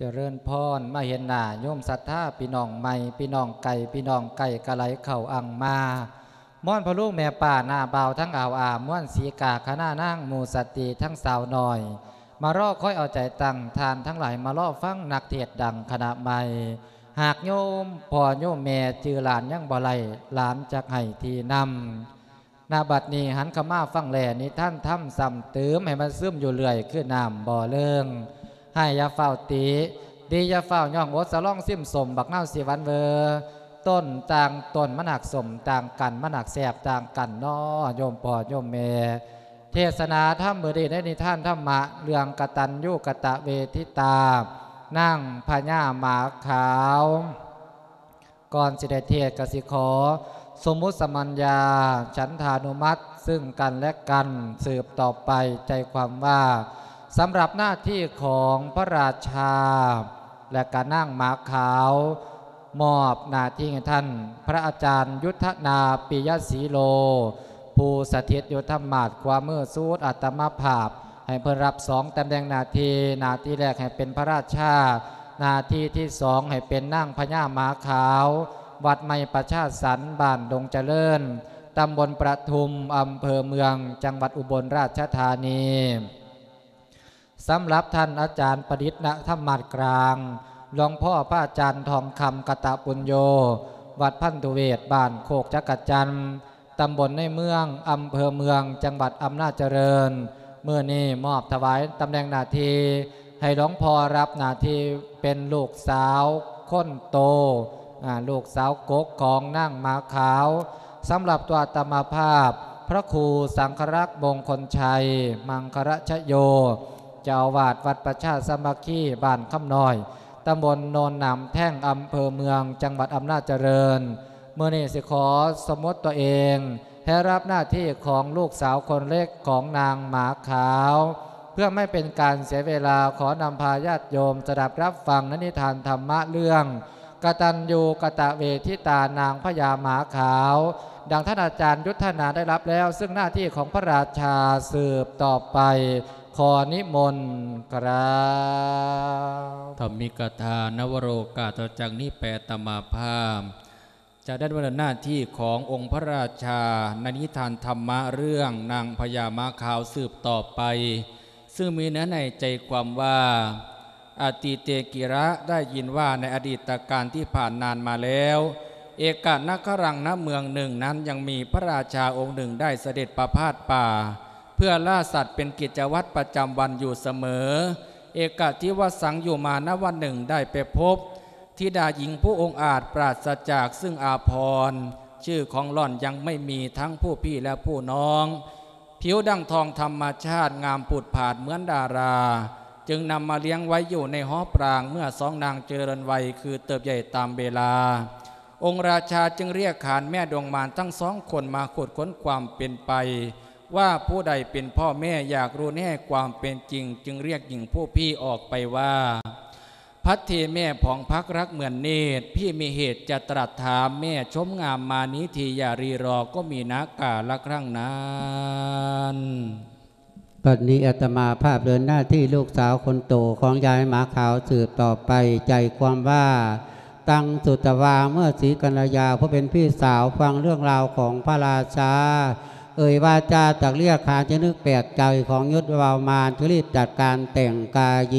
ຈະເລີນພອນ ມາເຫັນໜ້າໂຍມສັດທາ ພີ່ນ້ອງໃໝ່ ພີ່ນ້ອງໄກ ພີ່ນ້ອງໃກ້ກະໄຫຼເຂົ້າອັ່ງມາ ມ່ອນພໍ່ລຸງແມ່ປ້າ ນ້າບ່າວທັງອາວອາ ມ່ວນສີກາ ຄະນະນາງ ໝູ່ສະຕີ ທັງສາວນ້ອຍ ມາລໍຄອຍເອົາໃຈຕັ້ງ ທ່ານທັງຫຼາຍມາລໍຟັງນັກເທດດັງຄະນະໃໝ່ ຫາກໂຍມພໍ່ໂຍມແມ່ຈື່ຫຼານຍັງບໍ່ໄດ້ ຫຼານຈັກໃຫ້ທີ່ນຳ. ນະບັດນີ້ຫັນເຂົ້າມາຟັງແລ ນິທານທຳຊ້ຳຕື່ມໃຫ້ມັນຊຶມຢູ່ເລື້ອຍ ຄືນ້ຳບໍ່ເລີງ. ໃຫ້ຢ່າຟ້າວຕິ ດີຢ່າຟ້າວຍ້ອງ ອົດສະຫຼອງຊິມສົ້ມ ບັກນາວສີຫວານເວີ ຕົ້ນຕ່າງຕົ້ນມັນຫາກສົ້ມຕ່າງກັນ ມັນຫາກແຊບຕ່າງກັນນໍ ໂຍມພໍ່ໂຍມແມ່. ເທດສະໜາທຳມື້ນີ້ໃນນິທານທຳມະ ເລື່ອງກະຕັນຍູກະຕະເວທິຕາ ນາງພະຍາໝາຂາວ. ກ່ອນຊິໄດ້ເທດກະຊິຂໍສົມມຸດສະມັນຍາ ສັນທານຸມັດ ຊຶ່ງກັນແລະກັນ ສືບຕໍ່ໄປ ໃຈຄວາມວ່າ ສຳລັບໜ້າທີ່ຂອງພະລາຊາ ແລະກະນາງໝາຂາວ ມອບໜ້າທີ່ໃຫ້ທ່ານພະອາຈານ ຍຸດທະນາ ປິຍະສີໂລ ຜູ້ສະຖິດຢູ່ທຳມາດຂວາມືສຸດອາດຕະມາພາບ ໃຫ້ເພິ່ນຮັບສອງຕຳແໜ່ງໜ້າທີ່ ໜ້າທີ່ແລກໃຫ້ເປັນພະລາຊາ ໜ້າທີ່ທີສອງໃຫ້ເປັນນາງພະຍາໝາຂາວ ວັດໃໝ່ປະຊາສັນ ບ້ານດົງຈະເລີນ ຕຳບົນປະທຸມ ອຳເພີເມືອງ ຈັງຫວັດອຸບົນລາຊະທານີ. ສຳລັບທ່ານອາຈານປະດິດນະທຳມາດກລາງ ຫຼວງພໍ່ພະອາຈານທອງຄຳ ກະຕະປຸນໂຍ ວັດພັນທຸເວດ ບ້ານໂຄກຈັກກະຈັນ ຕຳບົນໃນເມືອງ ອຳເພີເມືອງ ຈັງຫວັດອຳນາດຈະເລີນ. ມື້ນີ້ມອບຖວາຍຕຳແໜ່ງໜ້າທີ່ໃຫ້ຫຼວງພໍ່ ຮັບໜ້າທີ່ເປັນລູກສາວຄົນໂຕ ອາ ລູກສາວກົກຂອງນາງໝາຂາວ. ສຳລັບຕົວອາດຕະມາພາບ ພະຄູສັງຄະລັກ ມົງຄົນໄຊ ມັງຄະລະຊະໂຍ ເຈົ້າອາວາດວັດປະຊາສາມັກຄີ ບ້ານຄຳນ້ອຍ ຕຳບົນໂນນນ້ຳແທງ ອຳເພີເມືອງ ຈັງຫວັດອຳນາດຈະເລີນ. ມື້ນີ້ຊິຂໍສົມມຸດຕົວເອງໃຫ້ຮັບໜ້າທີ່ຂອງລູກສາວຄົນເລັກຂອງນາງໝາຂາວ. ເພື່ອໄມ່ເປັນການເສຍເວລາ ຂໍນຳພາຍາດໂຍມສະດັບຮັບຟັງໃນນິທານທຳມະເລື່ອງ ກະຕັນຍູກະຕະເວທິຕາ ນາງພະຍາໝາຂາວ ດັ່ງທ່ານອາຈານຍຸດທະນາໄດ້ຮັບແລ້ວ ຊຶ່ງໜ້າທີ່ຂອງພະລາຊາສືບຕໍ່ໄປ. ຂໍນິມົນກາບ. ທຳມິກະທານະວະໂລກາດ ຕໍ່ຈາກນີ້ແປຕາມາພາບ ຈະໄດ້ດຳເນີນໜ້າທີ່ຂອງອົງພະລາຊາ ໃນນິທານທຳມະເລື່ອງນາງພະຍາໝາຂາວສືບຕໍ່ໄປ ຊຶ່ງມີເນື້ອໃນໃຈຄວາມວ່າ ອະຕິເຕກິລະ ໄດ້ຍິນວ່າໃນອະດີດຕະການທີ່ຜ່ານນານມາແລ້ວ ເອກະນະຄະລັງນະເມືອງໜຶ່ງນັ້ນ ຍັງມີພະລາຊາອົງໜຶ່ງໄດ້ສະເດັດປະພາດປ່າ ເພື່ອລ່າສັດເປັນກິດຈະວັດປະຈຳວັນຢູ່ສະເໝີ. ເອກະທິວະສັງ ຢູ່ມານະວັນໜຶ່ງໄດ້ໄປພົບທິດາຍິງຜູ້ອົງອາດປາສະຈາກຊຶ່ງອາພອນ ຊື່ຂອງຫຼອນຍັງໄມ່ມີທັງຜູ້ພີ່ແລະຜູ້ນ້ອງ ຜິວດັ່ງທອງທຳມະຊາດ ງາມຜູດຜາດເໝືອນດາລາ ຈຶ່ງນຳມາລ້ຽງໄວ້ຢູ່ໃນຫໍປາງ ເມື່ອສອງນາງຈະເລີນໄວຄືເຕີບໃຫຍ່ຕາມເວລາ. ອົງລາຊາຈຶ່ງລຽກຂານແມ່ດວງມານທັງສອງຄົນມາຂຸດຄົ້ນຄວາມເປັນໄປ ວ່າຜູ້ໃດເປັນພໍ່ແມ່ ຢາກຮູ້ແນ່ຄວາມເປັນຈິງ ຈຶ່ງລຽກຍິງຜູ້ພີ່ອອກໄປວ່າ ພັດເທແມ່ຜອງຜັກລັກເໝືອນເນດ ພີ່ມີເຫດຈະຕຣັດຖາມ ແມ່ຊົມງາມມານີທີ່ຢ່າຣີລໍ ກໍມີນາກາລະຄັ້ງນັ້ນ. ບັດນີ້ອາດຕະມາພາບເດີນໜ້າທີ່ລູກສາວຄົນໂຕຂອງຍາຍໝາຂາວສືບຕໍ່ໄປ ໃຈຄວາມວ່າ ຕັງສຸດຕະວາ ເມື່ອສີກັນລະຍາ ຜູ້ເປັນພີ່ສາວຟັງເລື່ອງລາວຂອງພະລາຊາ ເອີ່ຍວາຈາຕັກລຽກຂານ ຈຶ່ງນຶກແປກໃຈຂອງຍຸດວາວມານ ຈຶ່ງລີບຈັດການແຕ່ງກາຍ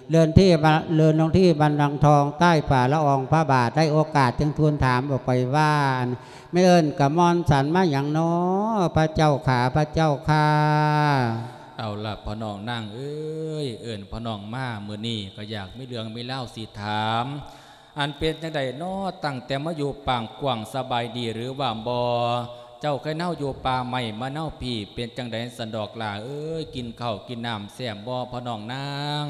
ເລື່ອນທີ່ ເລື່ອນລົງທີ່ບັນລັງທອງ ໃຕ້ຝາລະອອງພະບາດ ໄດ້ໂອກາດຈຶ່ງທູນຖາມອອກໄປວ່າ ແມ່ນເອີ້ນກະມ່ອນສັນມາຫຍັງນໍ ພະເຈົ້າຂາ ພະເຈົ້າຂ້າ. ເອົາລະ ພໍ່ນ້ອງນາງເອີຍ ເອີ້ນພໍ່ນ້ອງມາມື້ນີ້ ກໍຢາກມີເລື່ອງມີລາວຊິຖາມ ອັນເປັນຈັ່ງໃດນໍ ຕັ້ງແຕ່ມາຢູ່ປາງກວ້າງ ສະບາຍດີຫຼືວ່າບໍ່? ເຈົ້າເຄີຍເນົາຢູ່ປ່າໄມ້ມາເນົາພີ້ ເປັນຈັ່ງໃດສັນດອກຫຼ້າເອີຍ ກິນເຂົ້າກິນນ້ຳແຊບບໍ່ ພໍ່ນ້ອງນາງ?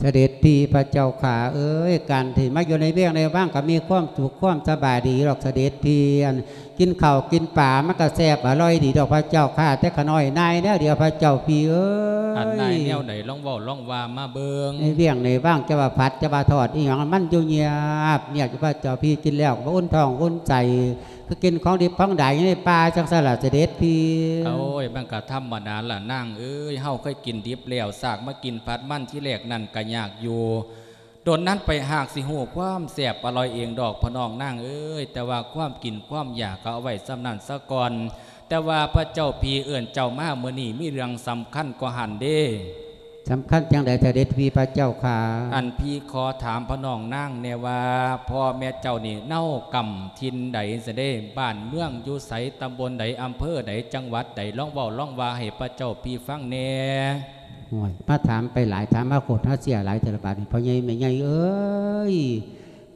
ສະເດັດພີ່ ພະເຈົ້າຂ້າເອີຍ ການທີ່ມາຢູ່ໃນວຽງໃນວັງກໍມີຄວາມສຸກຄວາມສະບາຍດີດອກ ສະເດັດພີ່ ອັນ ກິນເຂົ້າກິນປາມັນກໍແຊບອະລ່ອຍດີດອກ ພະເຈົ້າຂ້າ ແຕ່ຂະນ້ອຍນາຍແນວດຽວ ພະເຈົ້າພີ່ເອີຍ. ອັນນາຍແນວໃດ ລອງເວົ້າລອງວ່າມາເບິ່ງ. ໃນວຽງໃນວັງ ຈະວ່າຜັດຈະວ່າທອດອີ່ຫຍັງ ມັນຢູ່ງຽບງຽບຢູ່ ພະເຈົ້າພີ່ ກິນແລ້ວກໍບໍ່ອຸ່ນທ້ອງອຸ່ນໃຈ ໄປກິນຂອງດິບຂອງດາຢູ່ໃນປ່າຈັ່ງຊັ້ນລະ ເສດັດພີ່. ໂອ້ຍ ມັນກໍທຳມະດາລະນາງເອີຍ, ເຮົາເຄີຍກິນດິບແລ້ວ ຊາກມາກິນຜັດມັນທີແລກນັ້ນກໍຍາກຢູ່. ດົນນັ້ນໄປຫາກຊິຮູ້ຄວາມແຊບອະລ່ອຍເອງດອກ ພໍ່ນ້ອງນາງເອີຍ, ແຕ່ວ່າຄວາມກິນຄວາມຢາກກໍເອົາໄວ້ສ່ຳນັ້ນສາກ່ອນ. ແຕ່ວ່າພະເຈົ້າພີ່ເອີ້ນເຈົ້າມາມື້ນີ້ມີເລື່ອງສຳຄັນກວ່າຫັ້ນເດ້. ສຳຄັນຈັ່ງໃດເສດັດພີ່ພະເຈົ້າຂ້າ? ອັນພີ່ຂໍຖາມພໍ່ນ້ອງນາງແດ່ວ່າ ພໍ່ແມ່ເຈົ້ານີ້ເນົາກຳຖິ່ນໃດຊັ້ນເດ? ບ້ານເມືອງຢູ່ໃສ? ຕຳບົນໃດ? ອຳເພີໃດ? ຈັງຫວັດໃດ? ລອງເວົ້າລອງວ່າໃຫ້ພະເຈົ້າພີ່ຟັງແດ່. ໂອ້ຍ ມາຖາມໄປຫຼາຍ ຖາມມາໂຄດຫາເສຍຫຼາຍເທື່ອລະບາດນີ້ ພໍ່ໃຫຍ່ແມ່ໃຫຍ່ເອີຍ.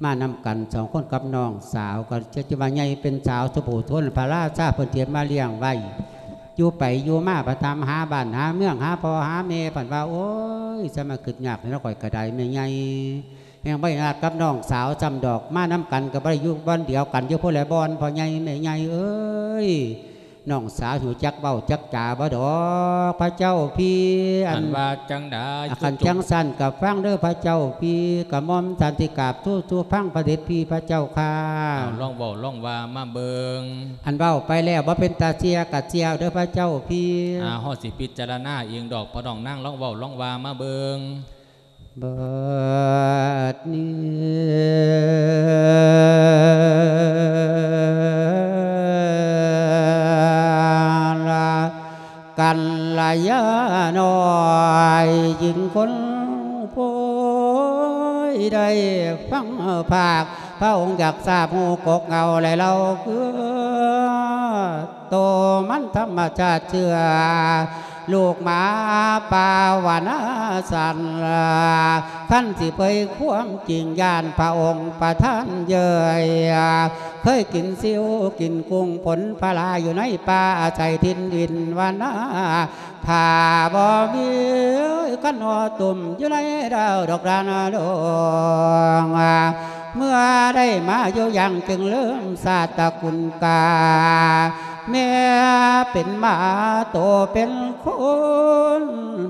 ມານຳກັນສອງຄົນກັບນ້ອງສາວ ກໍຈະ ຈະວ່າໃຫຍ່ເປັນສາວ ສົມໂພດຊົນ ພະລາຊາເພິ່ນຕຽມມາລ້ຽງໄວ້. ຢູ່ໄປຢູ່ມາ ໄປຕາມຫາບ້ານຫາເມືອງ ຫາພໍ່ຫາແມ່ ເພິ່ນວ່າ ໂອ້ຍ ສະມາຄຶດຍາກແທ້ເນາະ ຂ້ອຍກໍໄດ້ແມ່ໃຫຍ່. ແຮ່ງບໍ່ໄດ້ນັດກັບນ້ອງສາວຊ້ຳດອກ ມານຳກັນກໍບໍ່ໄດ້ຢູ່ບ່ອນດຽວກັນ ຢູ່ຄົນລະບ່ອນ ພໍ່ໃຫຍ່ແມ່ໃຫຍ່ເອີຍ. ນ້ອງສາວຮູ້ຈັກເວົ້າຈັກຈາບໍ່ດອກ ພະເຈົ້າພີ່? ອັນ ອັນວ່າຈັ່ງໃດ? ຄັນຈັ່ງຊັ້ນກໍຟັງເດີພະເຈົ້າພີ່, ກະໝ່ອມສັນຕິກາບທູ່ໆຟັງພະເດັດພີ່ພະເຈົ້າຂ້າ. ເອົາ ລອງເວົ້າລອງວ່າມາເບິ່ງ. ອັນເວົ້າໄປແລ້ວບໍ່ເປັນຕາເຊື່ອກະເຊື່ອເດີພະເຈົ້າພີ່. ອາ ເຮົາຊິພິຈາລະນາເອງດອກ ພໍ່ນ້ອງນາງ ລອງເວົ້າລອງວ່າມາເບິ່ງ. ບັດນີ້ ກັນລະຍານ້ອຍຍິງຄົນໂພຍ ໄດ້ຟັງພາກພະອົງ ຢາກຊາບຮູ້ກົກເຫງົ້າ ແລະເລົ່າຄື ໂຕມັນທຳມະຊາດເຊື່ອ ລູກໝາປ່າວານາສັນລະ ຄັນຊິເຜີຍຄວາມຈິງ ຢ້ານພະອົງປະທານເຍີ້ຍ ເຄີຍກິນຊິວກິນກຸ້ງ ພົນພະລາຢູ່ໃນປ່າ ອາໄສຖິ່ນດິນວານາ ຖ້າບໍ່ມີຄັນຫໍຕຸ່ມຢູ່ໃນດາວດອກດານດອງ ເມື່ອໄດ້ມາຢູ່ຢ່າງຈຶ່ງລືມຊາດຕະກຸນກາ ແມ່ເປັນໝາໂຕເປັນຄົນ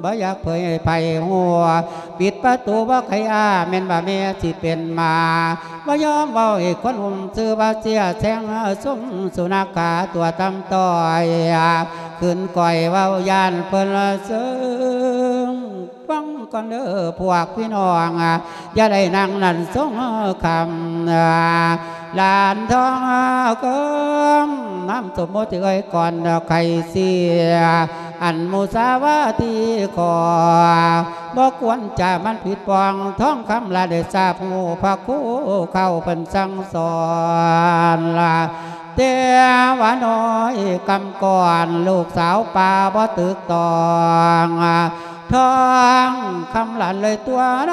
ບໍ່ຢາກເຜີຍໃຫ້ໃຜຮູ້ ປິດປະຕູບໍ່ໃຄ່ອາ ແມ່ນວ່າແມ່ຊິເປັນໝາ ບໍ່ຍອມເວົ້າໃຫ້ຄົນຮູ້ ຊື່ວ່າເສຍແຊງຊົມສຸນັກຂາຕົວຕ່ຳຕ້ອຍ ຂຶ້ນກ້ອຍເວົ້າຢ້ານເພິ່ນລະເຊິ່ງ ຟັງກ່ອນເດີພວກພີ່ນ້ອງ ຢ່າໄດ້ນັ່ງນັ້ນຊົງຄຳ ຫຼານທອງເກີມ ນາມສົມມຸດເອີຍກ່ອນໄຂ່ເສຍ ອັນມຸສາວາທີຂໍ ບໍ່ຄວນຈະມັນຜິດປ່ອງ ທອງຄຳລະໄດ້ຊາບຮູ້ ພະຄູເຄົ້າເພິ່ນສັ່ງສອນລະ ແຕ່ວ່ານ້ອຍກຳກ່ອນ ລູກສາວປ່າບໍ່ຖືກຕ້ອງ ທອງຄຳຫຼານເລີຍຕົວະນ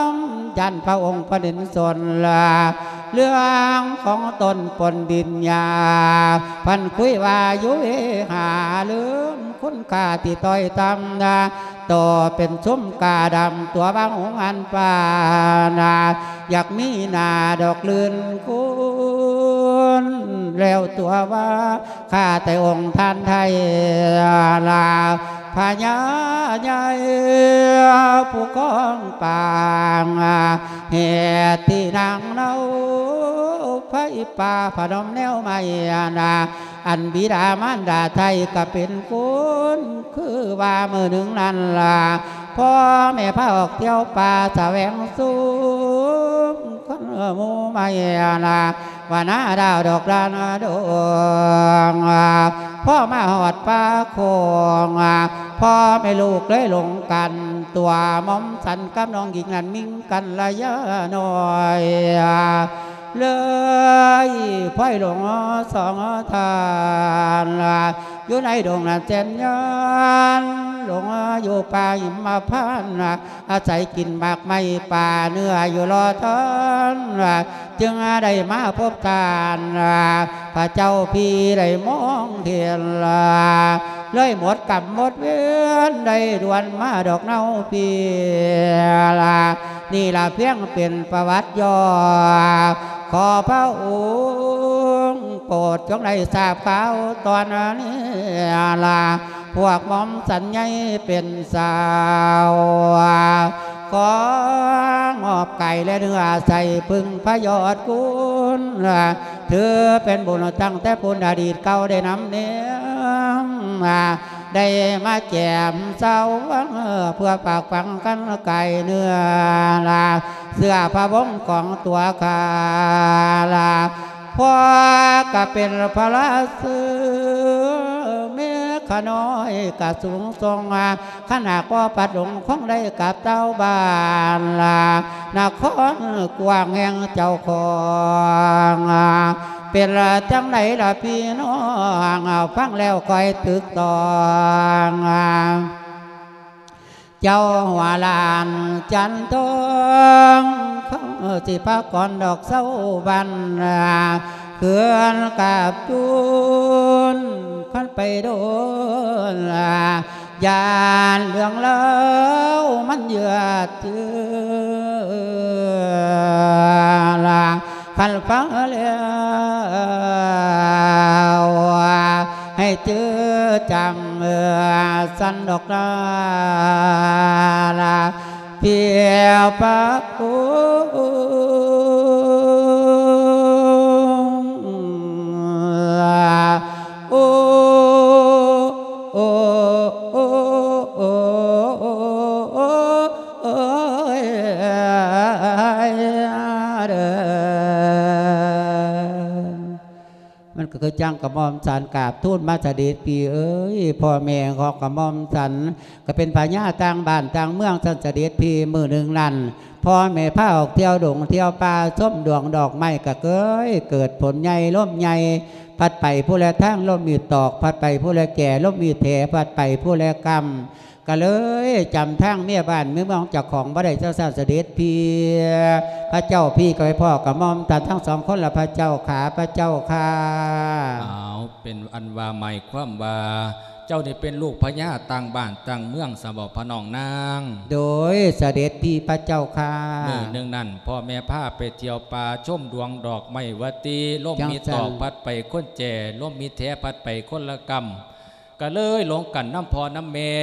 ຳ ຢ້ານພະອົງພະເດັນສົນລະ ເລື່ອງຂອງຕົນປົນດິນຍາ ພັນຄຸຍວ່າຢູ່ເວຫາ ລືມຄຸນຄ່າທີ່ຕ້ອຍຕ່ຳນາ ໂຕເປັນຊຸມກາດຳ ຕົວບາງອົງອັນປານາ ຢາກມີໜ້າດອກລື່ນຄູນ ແລ້ວຕົວວ່າ ຂ້າແຕ່ອົງທ່ານໄທລາ ພະຍາໃຫຍ່ຜູ້ຄອງປາງ ເຫດທີ່ນາງເນົາໄຟປ່າພະນົມແນວໄມ້ນາ ອັນບິດາມານດາໄທກໍເປັນຄຸນ ຄືວ່າມື້ໜຶ່ງນັ້ນລະ ພໍ່ແມ່ພາອອກທ່ຽວປ່າສະແຫວງສຸມ ຄົນໝູ່ໄມ້ນາ ວ່ານາດາວດອກດານດອງ ພໍມາຮອດປ່າໂຄງ ພໍ່ແມ່ລູກເລີຍຫຼົງກັນ ຕົວໝອມສັນກັບນ້ອງຍິງນັ້ນມິງກັນລະຍານ້ອຍ ເລີຍພອຍຫຼົງສອງທ່ານ ຢູ່ໃນດົງນັ້ນແສນຍານ ຫຼົງຢູ່ປ່າຫິມມະພານ ອາໄສກິນໝາກໄມ້ປ່າເນື້ອຢູ່ລໍທ່ານ ຈຶ່ງໄດ້ມາພົບທ່ານ ພະເຈົ້າພີ່ໄດ້ມອງເຫັນ ເລີຍໝົດກຳໝົດເວນ ໄດ້ດ່ວນມາດອກເນົາພີ່ລະ ນີ້ລະພຽງເປັນປະຫວັດຫຍໍ້ ຂໍພະອົງໂປດຈົ່ງໄດ້ຊາບຂ່າວຕອນນີ້ລະ ພວກໝອມສັນໃຫຍ່ເປັນສາວ ຂໍງອບກາຍແລະເນື້ອໃສ່ເພິ່ງພະຍອດຄຸນ ນ ຖືເປັນບຸນຕັ້ງແຕ່ພຸ້ນອະດີດເກົ່າໄດ້ນຳເນມ ໄດ້ມາແຈມເຊົາ ເພື່ອຝາກຝັງກັນກາຍເນື້ອ ເຊື້ອພະວົງຂອງຕົວຂ້າ ພໍ່ກະເປັນພະລາຊື ແມ່ຂ້ານ້ອຍກະສູງສົ່ງ ຄັນຫາກບໍ່ປັດຫຼົງ ຄົງໄດ້ກັບເຈົ້າບ້ານ ນະຄອນກວ້າງແຫ່ງເຈົ້າຂອງ ເປັນຈັ່ງໃດລະພີ່ນ້ອງ ຟັງແລ້ວຄ່ອຍຕຶກຕອງ ເຈົ້າຫົວຫຼານຈັນທອງ ເຂົາຊິພາກ່ອນດອກເຊົາວັນ ເຮືອນກາບຈູນ ຄັນໄປໂດນ ຢ້ານເລື່ອງລາວມັນເຍືອດເຈືອ ຄັນຟັງແລ້ວ ໃຫ້ຈື່ຈຳ ເອີ ຊັ້ນດອກນາ ພຽວປະໂອ ໂອ ໂອ ໂອ ໂອ ໂອ ໂອ ເດີ ມັນກໍຄືຈັ່ງກະໝ່ອມສັນກາບທູນມາສະເດັດພີ່ເອີຍ ພໍ່ແມ່ຂອງກະໝ່ອມສັນ ກໍເປັນພະຍາຕ່າງບ້ານຕ່າງເມືອງຊັ້ນສະເດັດພີ່ ມື້ໜຶ່ງນັ້ນ ພໍ່ແມ່ພາອອກທ່ຽວດົງທ່ຽວປ່າ ຊົມດວງດອກໄມ້ ກໍເກີຍເກີດຝົນໃຫຍ່ລົມໃຫຍ່ ພັດໄປຜູ້ລະທາງ ລົມມີຕອກ ພັດໄປຜູ້ລະແກ່ ລົມມີແຖ ພັດໄປຜູ້ລະກຳ ກໍເລີຍຈຳທາງເມຍບ້ານເມຍເມືອງເຈົ້າຂອງບໍ່ໄດ້ ເຈົ້າຊາດສະເດັດພີ່ ພະເຈົ້າພີ່ກໍໄປພໍ້ກະໝ່ອມທ່ານທັງສອງຄົນລະ ພະເຈົ້າຂາ ພະເຈົ້າຂ້າ. ອ້າວ ເປັນອັນວ່າໝາຍຄວາມວ່າ ເຈົ້ານີ້ເປັນລູກພະຍາຕ່າງບ້ານຕ່າງເມືອງຊະບໍພະນ້ອງນາງ? ໂດຍ ສະເດັດພີ່ພະເຈົ້າຂ້າ. ມື້ໜຶ່ງນັ້ນ ພໍ່ແມ່ພາໄປທ່ຽວປ່າຊົມດວງດອກໄມ້ວ່າຕິ ລົມມີຕອກພັດໄປຄົນແຈ ລົມມີແຖພັດໄປຄົນລະກຳ ກະເລີຍຫຼົງກັນນຳພໍ່ນຳແມ່.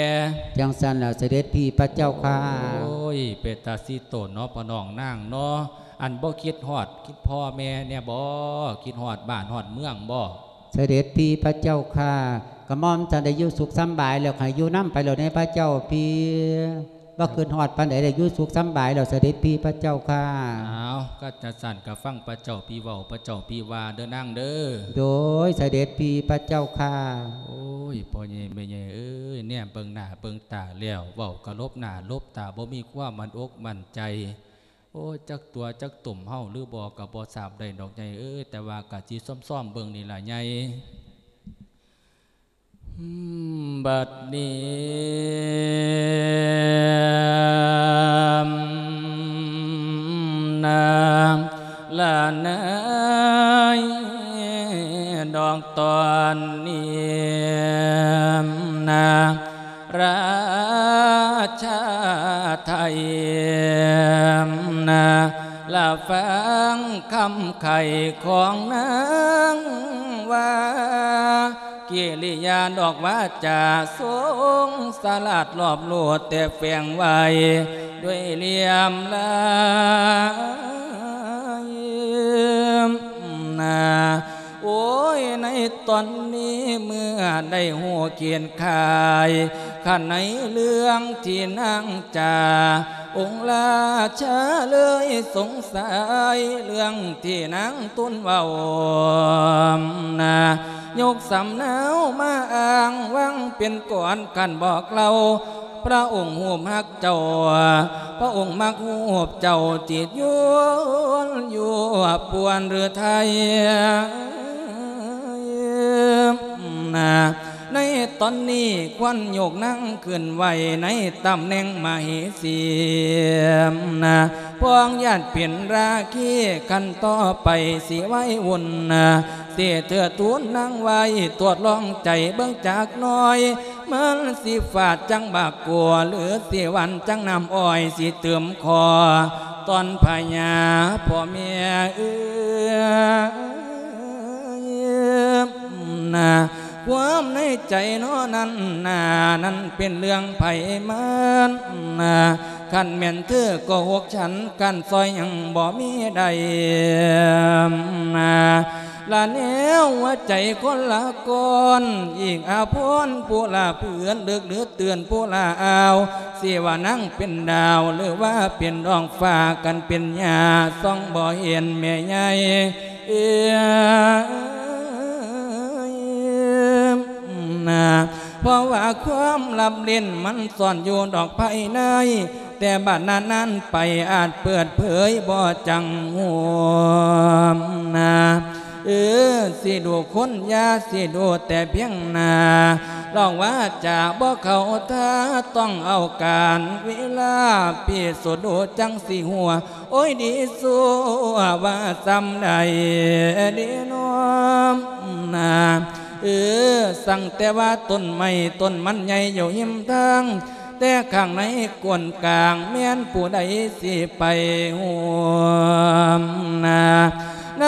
ຈັ່ງຊັ້ນລະ ສະເດັດພີ່ພະເຈົ້າຂ້າ. ໂອ້ຍ ເປັນຕາສີໂຕນເນາະ ພໍ່ນ້ອງນາງເນາະ ອັນບໍ່ຄິດຮອດ ຄິດພໍ່ແມ່ແດ່ບໍ? ຄິດຮອດບ້ານຮອດເມືອງບໍ? ສະເດັດພີ່ພະເຈົ້າຂ້າ ກະໝ່ອມທ່ານໄດ້ຢູ່ສຸກສຳບາຍແລ້ວ ໃຫ້ຢູ່ນຳໄປໂລດເດພະເຈົ້າພີ່. ບໍ່ຄິດຮອດປານໃດ ໄດ້ຢູ່ສຸກສຳບາຍແລ້ວ ສະເດັດພີ່ພະເຈົ້າຂ້າ. ອ້າວ ຄັນຈັ່ງຊັ້ນກະຟັງພະເຈົ້າພີ່ເວົ້າ ພະເຈົ້າພີ່ວ່າເດີນາງເດີ. ໂດຍ ສະເດັດພີ່ພະເຈົ້າຂ້າ. ໂອ້ຍ ພໍ່ໃຫຍ່ແມ່ໃຫຍ່ເອີຍ ແນມເບິ່ງໜ້າເບິ່ງຕາແລ້ວ ເວົ້າກະຫຼົບໜ້າຫຼົບຕາ ບໍ່ມີຄວາມໝັ້ນອົກໝັ້ນໃຈ. ໂອ້ຍ ຈັກຕົວະຈັກຕົມເຮົາຫຼືບໍ່ ກະບໍ່ຊາບໄດ້ດອກໃຫຍ່ເອີຍ ແຕ່ວ່າກະຊິຊອມໆເບິ່ງນີ້ລະໃຫຍ່. ບັດນີ້ນາ ລະນາຍ ດອກຕອນນີ້ນາ ລາຊາໄທນາ ລະຟັງຄຳໄຂຂອງນາງວ່າ ກິລິຍາດອກວາຈາຊົງສະຫຼາດລອບໂລດ ແຕ່ແຝງໄວ້ດ້ວຍຫຼ່ຽມລາຍນາ. ໂອ້ຍ ໃນຕອນນີ້ເມື່ອໄດ້ຮູ້ເຂດຂ່າຍ ຄັນໃນເລື່ອງທີ່ນາງຈາ ອົງລາຊາເລີຍສົງໄສເລື່ອງທີ່ນາງຕູນເວົ້ານາ ຍົກສຳເນົາມາອ້າງຫວັງເປັນກອນ ຄັນບອກເລົ່າ ພະອົງຮູບຮັກເຈົ້າ ພະອົງມັກຮູບເຈົ້າ ຈິດຍົວນຢູ່ປວນຫຼືໄທນາ. ໃນຕອນນີ້ຄວນຍົກນາງຂຶ້ນໄວ້ໃນຕຳແໜ່ງມະເຫສີນາ ພວງຍາດເປັນລາຄີ ຂັ້ນຕໍ່ໄປຊິໄວ້ວຸ່ນນາ ຊິເທີດທູນນາງໄວ້ ທວດລອງໃຈເບິ່ງຈັກໜ້ອຍ ມັນຊິຝາດຈັ່ງໝາກກົວ ຫຼືຊິຫວານຈັ່ງນ້ຳອ້ອຍ ຊິຕື່ມຂໍຕອນພະຍາພໍ່ແມ່ເອີຍນາ. ຄວາມໃນໃຈເນາະນັ້ນນາ ນັ້ນເປັນເລື່ອງໃຜມັນນາ ຄັນແມ່ນເທີກໍຫົກຊັ້ນ ການຊ່ອຍຍັງບໍ່ມີໄດ້ນາ ລະແນວຫົວໃຈຄົນລະກ່ອນ ອີກອາພອນຜູ້ລະເພື່ອນ ເລິກຫຼືເຕືອນຜູ້ລະອາວ ຊິວ່ານາງເປັນດາວ ຫຼືວ່າເປັນດອກຟ້າ ກັນເປັນຫຍ້າ ສ່ອງບໍ່ເຫັນແມ່ໃຫຍ່ ເອີຍ ນາ ເພາະວ່າຄວາມລັບເຫຼັ້ນມັນຊ່ອນຢູ່ດອກພາຍໃນ ແຕ່ບາດນານໆໄປອາດເປີດເຜີຍບໍ່ຈັກຮູ້ນາ ເອີ ຊິດູຄົນຢ່າຊິດູແຕ່ພຽງໜ້າ ລອງວາຈາບໍ່ເຂົ້າທ່າ ຕ້ອງເອົາການເວລາພິສູດດູ ຈັ່ງຊິຮູ້ ໂອ້ຍ ດີຊົ່ວວ່າຊ່ຳໃດເດນໍນາ ເອີ ສັງແຕ່ວ່າຕົ້ນໄມ້ຕົ້ນມັນໃຫຍ່ຢູ່ຮິມທາງ ແຕ່ຂ້າງໃນກົ້ນກາງແມ່ນຜູ້ໃດຊິໄປຮູ້ນາ ໃນ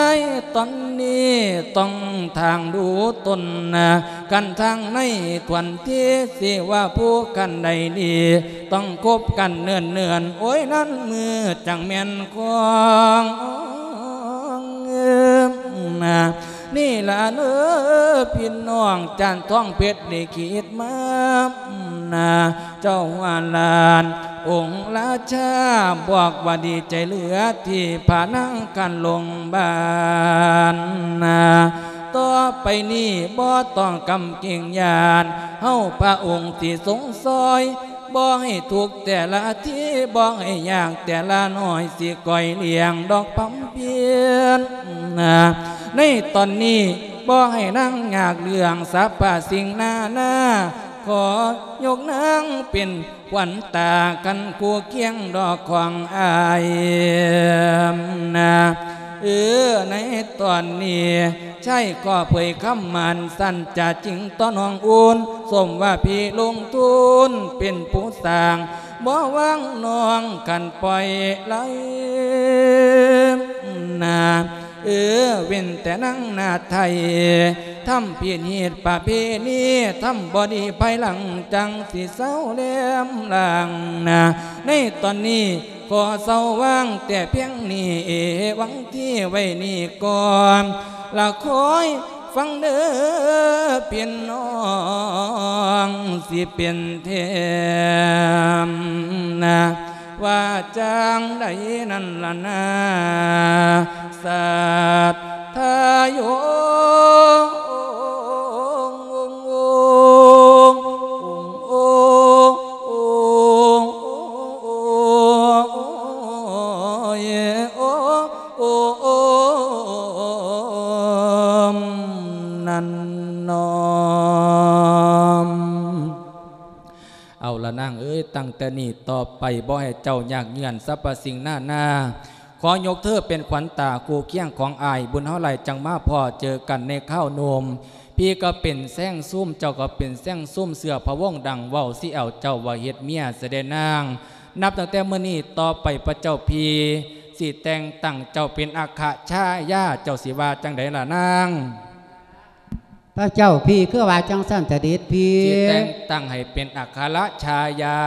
ຕອນນີ້ຕ້ອງທາງດູຕົ້ນນາ ຄັນທາງໃນຖ້ວນທີ່ຊິວ່າຜູ້ຄັນໃດດີ ຕ້ອງຄົບກັນເນີນໆ ໂອ້ຍ ນັ້ນມືຈັກແມ່ນຂອງນາ ນີ້ລະເດີພີ່ນ້ອງ ຈານທອງເພັດໄດ້ຄິດມານາ ເຈົ້າວ່າຫຼານອົງລາຊາ ບອກວ່າດີໃຈເຫຼືອທີ່ພານາງກັນລົງບານນາ ຕໍ່ໄປນີ້ບໍ່ຕ້ອງກຳເກງຢ້ານ ເຮົາພະອົງຊິຊົງຊ່ອຍ ບໍ່ໃຫ້ທຸກແຕ່ລະທີ ບໍ່ໃຫ້ຍາກແຕ່ລະໜ້ອຍ ຊິກອຍລ້ຽງດອກພຳພຽນນາ ໃນຕອນນີ້ບໍ່ໃຫ້ນາງຍາກເລື່ອງ ສັບພະສິ່ງນານາ ຂໍຍົກນາງເປັນຂວັນຕາ ຄັນຄູ່ຄຽງດອກຂອງອ້າຍນາ ເອີ ໃນຕອນນີ້ ຊາຍກໍເຜີຍຄຳໝັ້ນ ສັນຈະຈິງຕໍ່ນ້ອງອຸ່ນ ສົມວ່າພີ່ລົງທຶນເປັນຜູ້ສ້າງ ບໍ່ວາງນ້ອງຄັນປ່ອຍໄຫຼນາ ເອີ ເວັ້ນແຕ່ນາງໜ້າໄທ ທຳຜິດຮີດປະເພນີ ທຳບໍ່ດີພາຍຫຼັງ ຈັ່ງຊິເຊົາແຫຼມລ້າງນາ ໃນຕອນນີ້ ຂໍເຊົາວາງແຕ່ພຽງນີ້ ຫວັງທີ່ໄວ້ນີ້ກ່ອນ ລະຄອຍຟັງເດີພີ່ນ້ອງ ຊິເປັນແຖມນາ ວ່າຈັ່ງໃດນັ້ນລະນາ ສັດທາໂຍ ໂອມ ນັ້ນນອມ. ເອົາລະນາງເອີຍ ຕັ້ງແຕ່ນີ້ຕໍ່ໄປ ບໍ່ໃຫ້ເຈົ້າຍາກເຫຍື້ອນສັບພະສິ່ງນານາ ຂໍຍົກເທີເປັນຂວັນຕາຄູ່ຄຽງຂອງອ້າຍ ບຸນເຮົາຫຼາຍຈັ່ງມາພໍ້ເຈີກັນໃນຄາວໜຸ່ມ ພີ່ກໍເປັນແຊງຊຸມ ເຈົ້າກໍເປັນແຊງຊຸມ ເຊື້ອພະວົງດັ່ງເວົ້າ ຊິເອົາເຈົ້າໄວ້ເຮັດເມຍຊະເດນາງ ນັບຕັ້ງແຕ່ມື້ນີ້ຕໍ່ໄປ ພະເຈົ້າພີ່ຊິແຕ່ງຕັ້ງເຈົ້າເປັນອັກຂະຊາຍາ ເຈົ້າຊິວ່າຈັ່ງໃດລະນາງ? ພະເຈົ້າພີ່ຄືວ່າຈັ່ງຊັ້ນ ສະເດັດພີ່ ຊິແຕ່ງຕັ້ງໃຫ້ເປັນອັກຂະລະຊາຍາ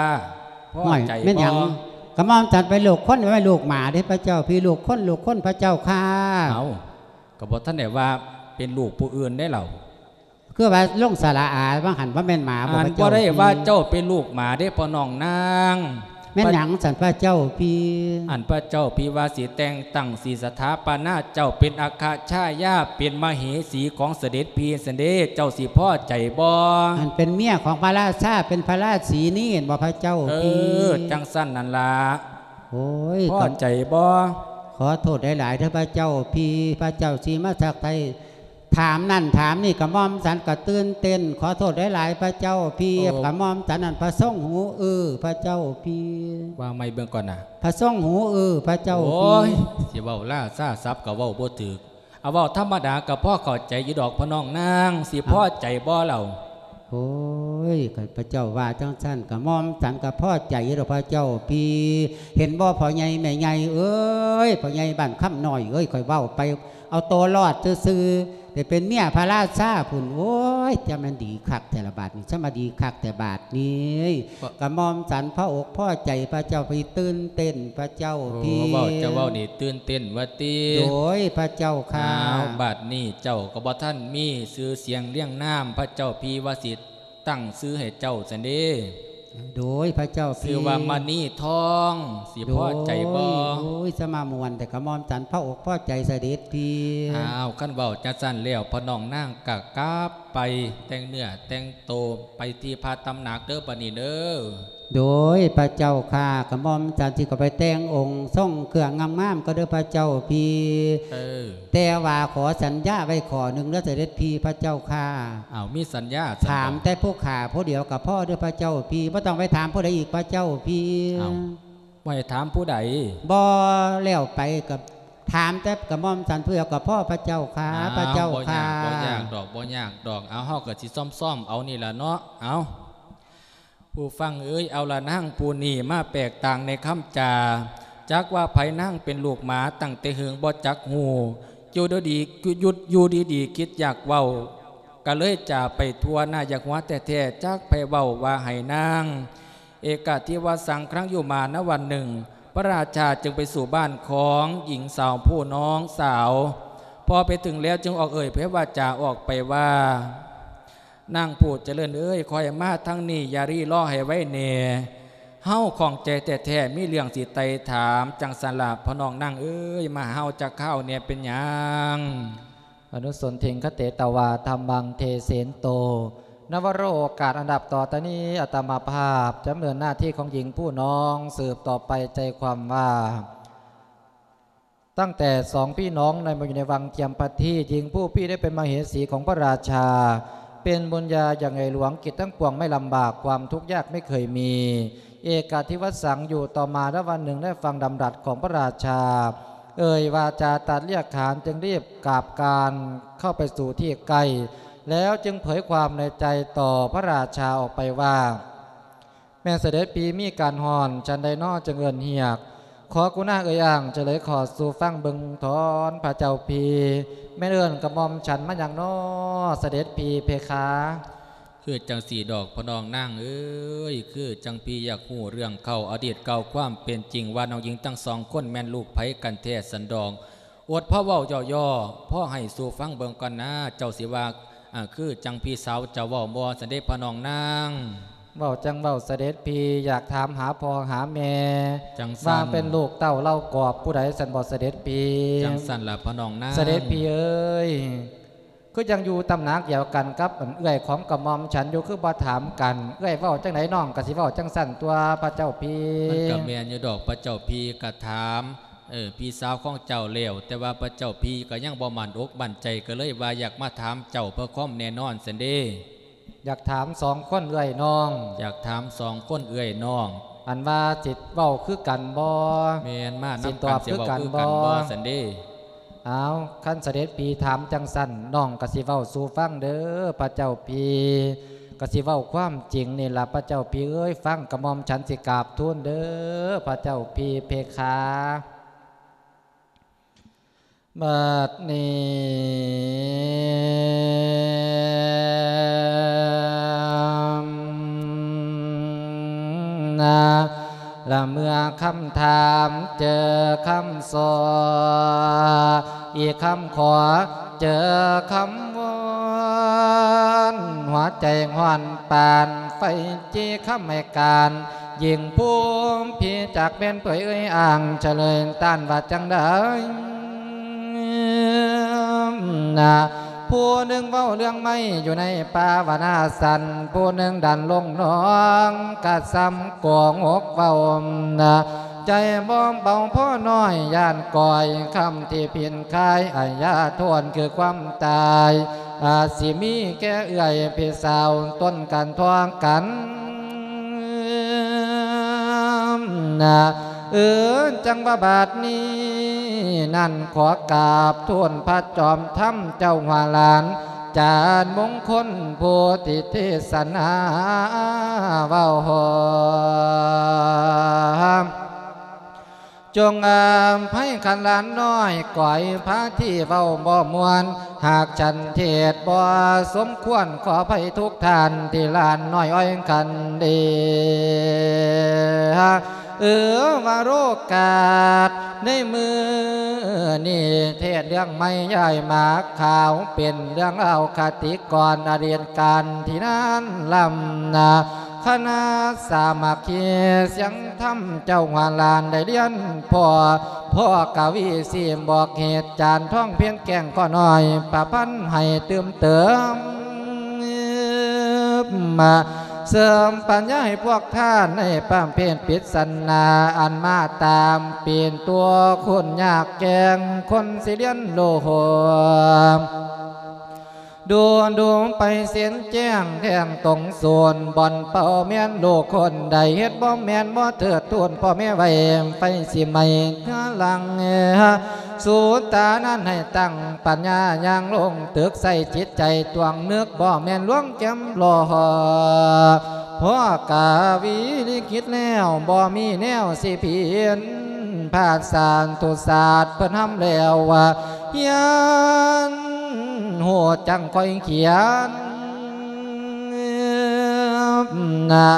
ພໍໃຈບໍ່? ແມ່ນຫຍັງ? ກະໝ່ອມສັນເປັນລູກຄົນ ແມ່ນລູກໝາເດ້ພະເຈົ້າພີ່ ລູກຄົນ ລູກຄົນພະເຈົ້າຄ່າ. ເອົ້າ ກໍບໍ່ທັນໄດ້ວ່າເປັນລູກຜູ້ອື່ນເດ້ລາວ. ຄືວ່າລົງສະຫຼະອາວ່າຫັ້ນ ບໍ່ແມ່ນໝາບໍ່? ອັນ ພະເຈົ້າ ບໍ່ໄດ້ວ່າເຈົ້າເປັນລູກໝາເດ້ພໍ່ນ້ອງນາງ. ແມ່ນຫຍັງຊັ້ນພະເຈົ້າພີ່? ອັນພະເຈົ້າພີ່ວ່າຊິແຕ່ງຕັ້ງ ຊິສະຖາປະນາເຈົ້າເປັນອັກຂະຊາຍາ ເປັນມະເຫສີຂອງສະເດັດພີ່ຊັ້ນເດ້ ເຈົ້າຊິພໍໃຈບໍ່? ອັນເປັນເມຍຂອງພະລາຊາ ເປັນພະລາສີນີ້ແມ່ນບໍ່ພະເຈົ້າພີ່? ເອີ ຈັ່ງຊັ້ນນັ້ນລະ. ໂອ້ຍ ພໍໃຈບໍ່? ຂໍໂທດຫຼາຍໆເດີພະເຈົ້າພີ່ ພະເຈົ້າສີມະສັກໄທ ຖາມນັ້ນຖາມນີ້ ກະໝ່ອມສັນກະຕື່ນເຕັ້ນ ຂໍໂທດຫຼາຍໆພະເຈົ້າພີ່. ໂອ້ ກະໝ່ອມສັນນັ້ນພະຊົງຫູອື້ ພະເຈົ້າພີ່. ວ່າໃໝ່ເບິ່ງກ່ອນນະ ພະຊົງຫູອື້ ພະເຈົ້າພີ່. ໂອ້ຍ ຊິເວົ້າລາຊາສັບກະເວົ້າບໍ່ຖືກ ເອົາເວົ້າທຳມະດາກະພໍເຂົ້າໃຈຢູ່ດອກພໍ່ນ້ອງນາງ ຊິພໍໃຈບໍ່ລາວ? ໂອ້ຍ ຄັນພະເຈົ້າວ່າຈັ່ງຊັ້ນ ກະໝ່ອມສັນກະພໍໃຈຢູ່ດອກພະເຈົ້າພີ່. ເຫັນບໍ່ພໍ່ໃຫຍ່ແມ່ໃຫຍ່ເອີຍ ພໍ່ໃຫຍ່ບ້ານຄຳນ້ອຍເອີຍ ຂ້ອຍເວົ້າໄປ ເອົາໂຕລອດຊື່ໆ ໄດ້ເປັນເມຍພະລາຊາພຸ້ນ. ໂອ້ຍ ຈະແມ່ນດີຄັກແທ້ລະບາດນີ້ ຈະມາດີຄັກແທ້ບາດນີ້. ກະໝ່ອມສັນພໍອົກພໍໃຈພະເຈົ້າພີ່ ຕື່ນເຕັ້ນພະເຈົ້າພີ່. ໂອ້ ເວົ້າ ເຈົ້າເວົ້ານີ້ຕື່ນເຕັ້ນວ່າຕິ? ໂດຍ ພະເຈົ້າຂ້າ. ອ້າວ ບາດນີ້ເຈົ້າກໍບໍ່ທັນມີຊື່ສຽງລຽງນາມ ພະເຈົ້າພີ່ວ່າຊິ ຕັ້ງຊື່ໃຫ້ເຈົ້າຊັ້ນເດ້. ໂດຍ ພະເຈົ້າພີ່. ຊື່ວ່າມະນີທອງ ຊິພໍໃຈບໍ່? ໂດຍ ໂອ້ຍ ສະມາມ່ວນແທ້ ກະໝ່ອມສັນພໍອົກພໍໃຈສະເດັດພີ່. ອ້າວ ຄັນເວົ້າຈັ່ງຊັ້ນແລ້ວ ພໍ່ນ້ອງນາງກະກັບໄປແຕ່ງເນື້ອແຕ່ງໂຕ ໄປທີ່ພະຕຳໜັກເດີ ບາດນີ້ເດີ. ໂດຍ ພະເຈົ້າຂ້າ. ກະໝ່ອມສັນຊິເຂົ້າໄປແຕ່ງອົງ ຊົງເຄື່ອງງາມໆ ກໍເດີພະເຈົ້າພີ່. ເອີ ແຕ່ວ່າຂໍສັນຍາໄວ້ຂໍ້ໜຶ່ງເດີສະເດັດພີ່ ພະເຈົ້າຂ້າ. ອ້າວ ມີສັນຍາຊັ້ນບໍ່? ຖາມແຕ່ຜູ້ຂ້າຜູ້ດຽວກໍພໍເດີພະເຈົ້າພີ່ ບໍ່ຕ້ອງໄປຖາມຜູ້ໃດອີກພະເຈົ້າພີ່. ອ້າວ ບໍ່ໃຫ້ຖາມຜູ້ໃດ? ບໍ່ ແລ້ວໄປກໍຖາມແຕ່ກະໝ່ອມສັນຜູ້ດຽວກໍພໍພະເຈົ້າຂ້າ. ອ້າວ ພະເຈົ້າຂ້າ. ບໍ່ຍາກ ບໍ່ຍາກດອກ ບໍ່ຍາກດອກ. ເອົາ ເຮົາກໍຊິຊ້ອມໆ ເອົານີ້ລະເນາະ. ເອົາ ຜູ້ຟັງເອີຍ ເອົາລະນາງຜູ້ນີ້ມາແປກຕ່າງໃນຄຳຈາ ຈັກວ່າໃຜນາງເປັນລູກໝາຕັ້ງແຕ່ເຫິງບໍ່ຈັກຮູ້ ຢູ່ດີໆ ຢູ່ ຢູ່ດີໆ ຄິດຢາກເວົ້າ ກະເລີຍຈາໄປທົ່ວ ໜ້າຢາກຫົວແທ້ໆ ຈັກໃຜເວົ້າວ່າໃຫ້ນາງ. ເອກະທິວະສັງ ຄັ້ງຢູ່ມານະວັນໜຶ່ງ ພະລາຊາຈຶ່ງໄປສູ່ບ້ານຂອງຍິງສາວຜູ້ນ້ອງສາວ ພໍໄປເຖິງແລ້ວຈຶ່ງອອກເອີ່ຍເຜີຍວາຈາອອກໄປວ່າ ນາງຜູ້ຈະເລີນເອີຍ ຄ່ອຍມາທາງນີ້ ຢ່າລີລໍໃຫ້ໄວແດ່ ເຮົາຂ້ອງໃຈແທ້ໆ ມີເລື່ອງຊິໄຕ່ຖາມ. ຈັ່ງຊັ້ນລະ ພໍ່ນ້ອງນາງເອີຍ ມາຫາເຮົາຈັກຄາວແດ່ ເປັນຫຍັງ? ອະນຸສົນທິງຄະເຕຕະວາ ທຳມັງເທເສນໂຕ ນະວະໂລ ໂອກາດອັນດັບຕໍ່ຈາກນີ້ ອາດຕະມາພາບຈະດຳເນີນໜ້າທີ່ຂອງຍິງຜູ້ນ້ອງສືບຕໍ່ໄປ ໃຈຄວາມວ່າ ຕັ້ງແຕ່ສອງພີ່ນ້ອງໃນ ມາຢູ່ໃນວັງຈຽມພັດທີ ຍິງຜູ້ນີ້ໄດ້ເປັນມະເຫສີຂອງພະລາຊາ ເປັນບຸນຍາຢ່າງໃຫຍ່ຫຼວງ ກິດທັງປວງໄມ່ລຳບາກ ຄວາມທຸກຍາກໄມ່ເຄີຍມີ ເອກະທິວະສັງ ຢູ່ຕໍ່ມາລະວັນໜຶ່ງ ໄດ້ຟັງດຳລັດຂອງພະລາຊາ ເອີ່ຍວາຈາຕັດລຽກຂານ ຈຶ່ງລີບກາບການເຂົ້າໄປສູ່ທີ່ໃກ້ ແລ້ວຈຶ່ງເຜີຍຄວາມໃນໃຈຕໍ່ພະລາຊາອອກໄປວ່າ ແມ່ນສະເດັດພີ່ມີການຮ້ອນ ສັນໃດນໍຈຶ່ງເອີ້ນຮຽກ? ຂໍກຸນາເອີ່ຍອ້າງ ຈະເລີຍຂໍສູ່ຟັງເບິ່ງທອນພະເຈົ້າພີ່ ແມ່ນເອີ້ນກະໝ່ອມສັນມາຫຍັງນໍ ສະເດັດພີ່ເພຄາ? ຄືຈັ່ງຊີ້ດອກ ພໍ່ນ້ອງນາງເອີຍ ຄືຈັ່ງພີ່ຢາກຮູ້ເລື່ອງເກົ່າອະດີດເກົ່າ ຄວາມເປັນຈິງວ່ານ້ອງຍິງທັງສອງຄົນແມ່ນລູກໃຜກັນແທ້ຊັ້ນດອກ. ອົດພໍເວົ້າຫຍໍ້ໆ ພໍໃຫ້ສູ່ຟັງເບິ່ງກ່ອນນາ ເຈົ້າຊິວ່າ ອາ ຄືຈັ່ງພີ່ສາວເຈົ້າເວົ້າບໍ່ຊັ້ນເດ ພໍ່ນ້ອງນາງ? ເວົ້າຈັ່ງເວົ້າສະເດັດພີ່ ຢາກຖາມຫາພໍ່ຫາແມ່ ຈັ່ງຊັ້ນ ວ່າເປັນລູກເຕົ້າເຫຼົ່າກອບຜູ້ໃດຊັ້ນບໍ່ສະເດັດພີ່? ຈັ່ງຊັ້ນລະພໍ່ນ້ອງນາງ. ສະເດັດພີ່ເອີຍ ຄືຈັ່ງຢູ່ຕຳໜັກດຽວກັນກັບເອື້ອຍຂອງກະໝ່ອມສັນຢູ່ ຄືບໍ່ຖາມກັນ? ເອື້ອຍເວົ້າຈັ່ງໃດນ້ອງກະຊິເວົ້າຈັ່ງຊັ້ນຕົວະພະເຈົ້າພີ່. ມັນກະແມ່ນຢູ່ດອກພະເຈົ້າພີ່ ກະຖາມ ເອີ ພີ່ສາວຂອງເຈົ້າແລ້ວ ແຕ່ວ່າພະເຈົ້າພີ່ກະຍັງບໍ່ໝັ້ນອົກໝັ້ນໃຈ ກະເລີຍວ່າຢາກມາຖາມເຈົ້າເພື່ອຄວາມແນ່ນອນຊັ້ນເດ. ຢາກຖາມສອງຄົນເອື້ອຍນ້ອງ. ຢາກຖາມສອງຄົນເອື້ອຍນ້ອງ. ອັນວ່າຊິເວົ້າຄືກັນບໍ່? ແມ່ນ ມານຳກັນ ຊິຕອບຄືກັນບໍ່? ຊິເວົ້າຄືກັນບໍ່ຊັ້ນເດ? ອ້າວ ຄັນສະເດັດພີ່ຖາມຈັ່ງຊັ້ນ ນ້ອງກະຊິເວົ້າສູ່ຟັງເດີພະເຈົ້າພີ່ ກະຊິເວົ້າຄວາມຈິງນີ້ລະພະເຈົ້າພີ່ເອີຍ ຟັງກະໝ່ອມສັນຊິກາບທູນເດີພະເຈົ້າພີ່ເພຄາ. ບັດນີ້ນະ ລະເມື່ອຄຳຖາມເຈີຄຳສໍ ອີກຄຳຂໍເຈີຄຳວອນ ຫົວໃຈຮ້ອນປານໄຟຈີຄຳໃຫ້ການ ຍິ່ງພູມພີຈາກແມ່ນເຜີຍເອີຍອ້າງ ສະເລີຍຕ້ານວ່າຈັ່ງໃດນະ? ຜູ້ໜຶ່ງເວົ້າເລື່ອງໄມ້ຢູ່ໃນປ່າວະນາສັນ ຜູ້ໜຶ່ງດັນລົງໜອງກະສ່ຳໂກຫກເວົ້ານະ ໃຈບໍ່ເບົາພໍນ້ອຍ ຢ້ານກ້ອຍຄຳທີ່ພິນຄາຍ ອາຍາໂທດຄືຄວາມຕາຍ ອາດຊິມີແກ່ເອື້ອຍພີ່ສາວ ຕົນກັນທອງກັນນະ ເອີ ຈັ່ງວ່າບາດນີ້ນັ້ນ ຂໍກາບທູນພະຈອມທຳເຈົ້າຫົວຫຼານ ຈານມົງຄົນຜູ້ທີ່ເທດສະໜາເວົ້າ ຈົ່ງອະໄພຄັນຫຼານນ້ອຍ ກ້ອຍພາທີ່ເວົ້າບໍ່ມ່ວນ ຫາກສັນເທດບໍ່ສົມຄວນ ຂໍອະໄພທຸກທ່ານ ທີ່ຫຼານນ້ອຍອ້ອຍຄັນເດ. ເອີ ວາໂລກາດໃນມື້ນີ້ ເທດເລື່ອງໃໝ່ ຍ້າຍໝາກຂາວ ເປັນເລື່ອງລາວຄະຕິກອນ ອະດີດການທີ່ນານລ້ຳນາ ຄະນະສາມັກຄີສຽງທຳ ເຈົ້າຫວານຫຼານໄດ້ລຽນພໍ່ ພໍ່ກະວີສີບອກເຫດ ຈານທອງເພັນແກ້ງກໍນ້ອຍ ປະພັນໃຫ້ຕື່ມເຕີມ ມາເສີມປັນຍາໃຫ້ພວກທ່ານ ໃນປະເພດປິດສະໜາ ອັນມາຕາມເປັນຕົວຄົນຍາກແກ້ງ ຄົນຊິລຽນໂລ ດູດູໄປເສັ້ນແຈ້ງແທ່ງຕົງສູນ ບ່ອນເປົ້າແມ່ນລູກຄົນໃດ ເຮັດບໍ່ແມ່ນບໍ່ເທີດທູນ ພໍ່ແມ່ໄວ້ໄຟຊິໄໝ້ເຮືອຫຼັງ ສູຕານັ້ນໃຫ້ຕັ້ງປັນຍາຍ່າງລົງຕຶກ ໃສ່ຈິດໃຈຕວງນຶກ ບໍ່ແມ່ນລວງແຈ່ມຫຼໍ່ ພໍກະວີລິກິດແລ້ວ ບໍ່ມີແນວຊິຜິດ ພາສານຕຸສາດເພິ່ນຮຳແລ້ວວ່າ ຮຽນຮູ້ຈັ່ງຄ່ອຍຂຽນ ນະ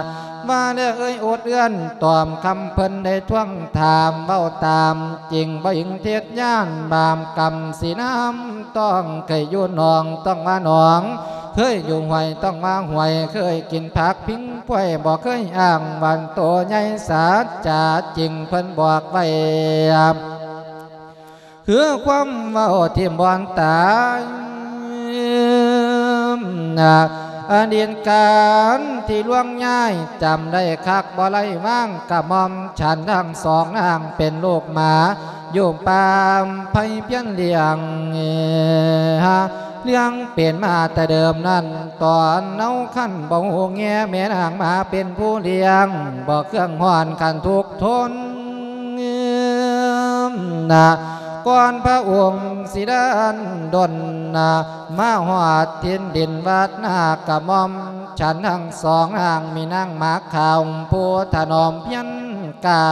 ວ່າແລ້ວເອີຍອົດເອື້ອນ ຕອບຄຳເພິ່ນໄດ້ທວງຖາມ ເວົ້າຕາມຈິງບໍ່ອີງເທັດຢ້ານ ບາບກຳສີນ້ຳ ຕ້ອງເຄີຍຢູ່ໜອງ ຕ້ອງວ່າໜອງ ເຄີຍຢູ່ຫ້ວຍ ຕ້ອງວ່າຫ້ວຍ ເຄີຍກິນຜັກພິງພວຍ ບໍ່ເຄີຍອ້າງວ່າໂຕໃຫຍ່ ສັດຈະຈິງເພິ່ນບອກໄວ້ ຄືຄວາມເວົ້າທີ່ບ່ອນຕາຍ ອະດີດການທີ່ລ່ວງຍ້າຍ ຈຳໄດ້ຄັກບໍ່ໄດ້ວາງ ກະໝ່ອມ ສັນທັງສອງນາງເປັນລູກໝາ ຢູ່ປ່າໄຜ່ພຽນລ້ຽງ ລ້ຽງເປັນມາແຕ່ເດີມນັ້ນ ຕອນເນົາຄັນບໍ່ຮູ້ແງ່ ແມ່ນາງໝາເປັນຜູ້ລ້ຽງ ບໍ່ເຄື່ອງຮ້ອນຄັນທຸກທົນ ນະ ກ່ອນພະອົງຊິດັນດົນ ນະ ມາຮອດຖິ່ນດິນວັດນາ ກະໝ່ອມ ສັນທັງສອງນາງ ມີນາງໝາຂາວ ຜູ້ຖະໜອມພຽນກາ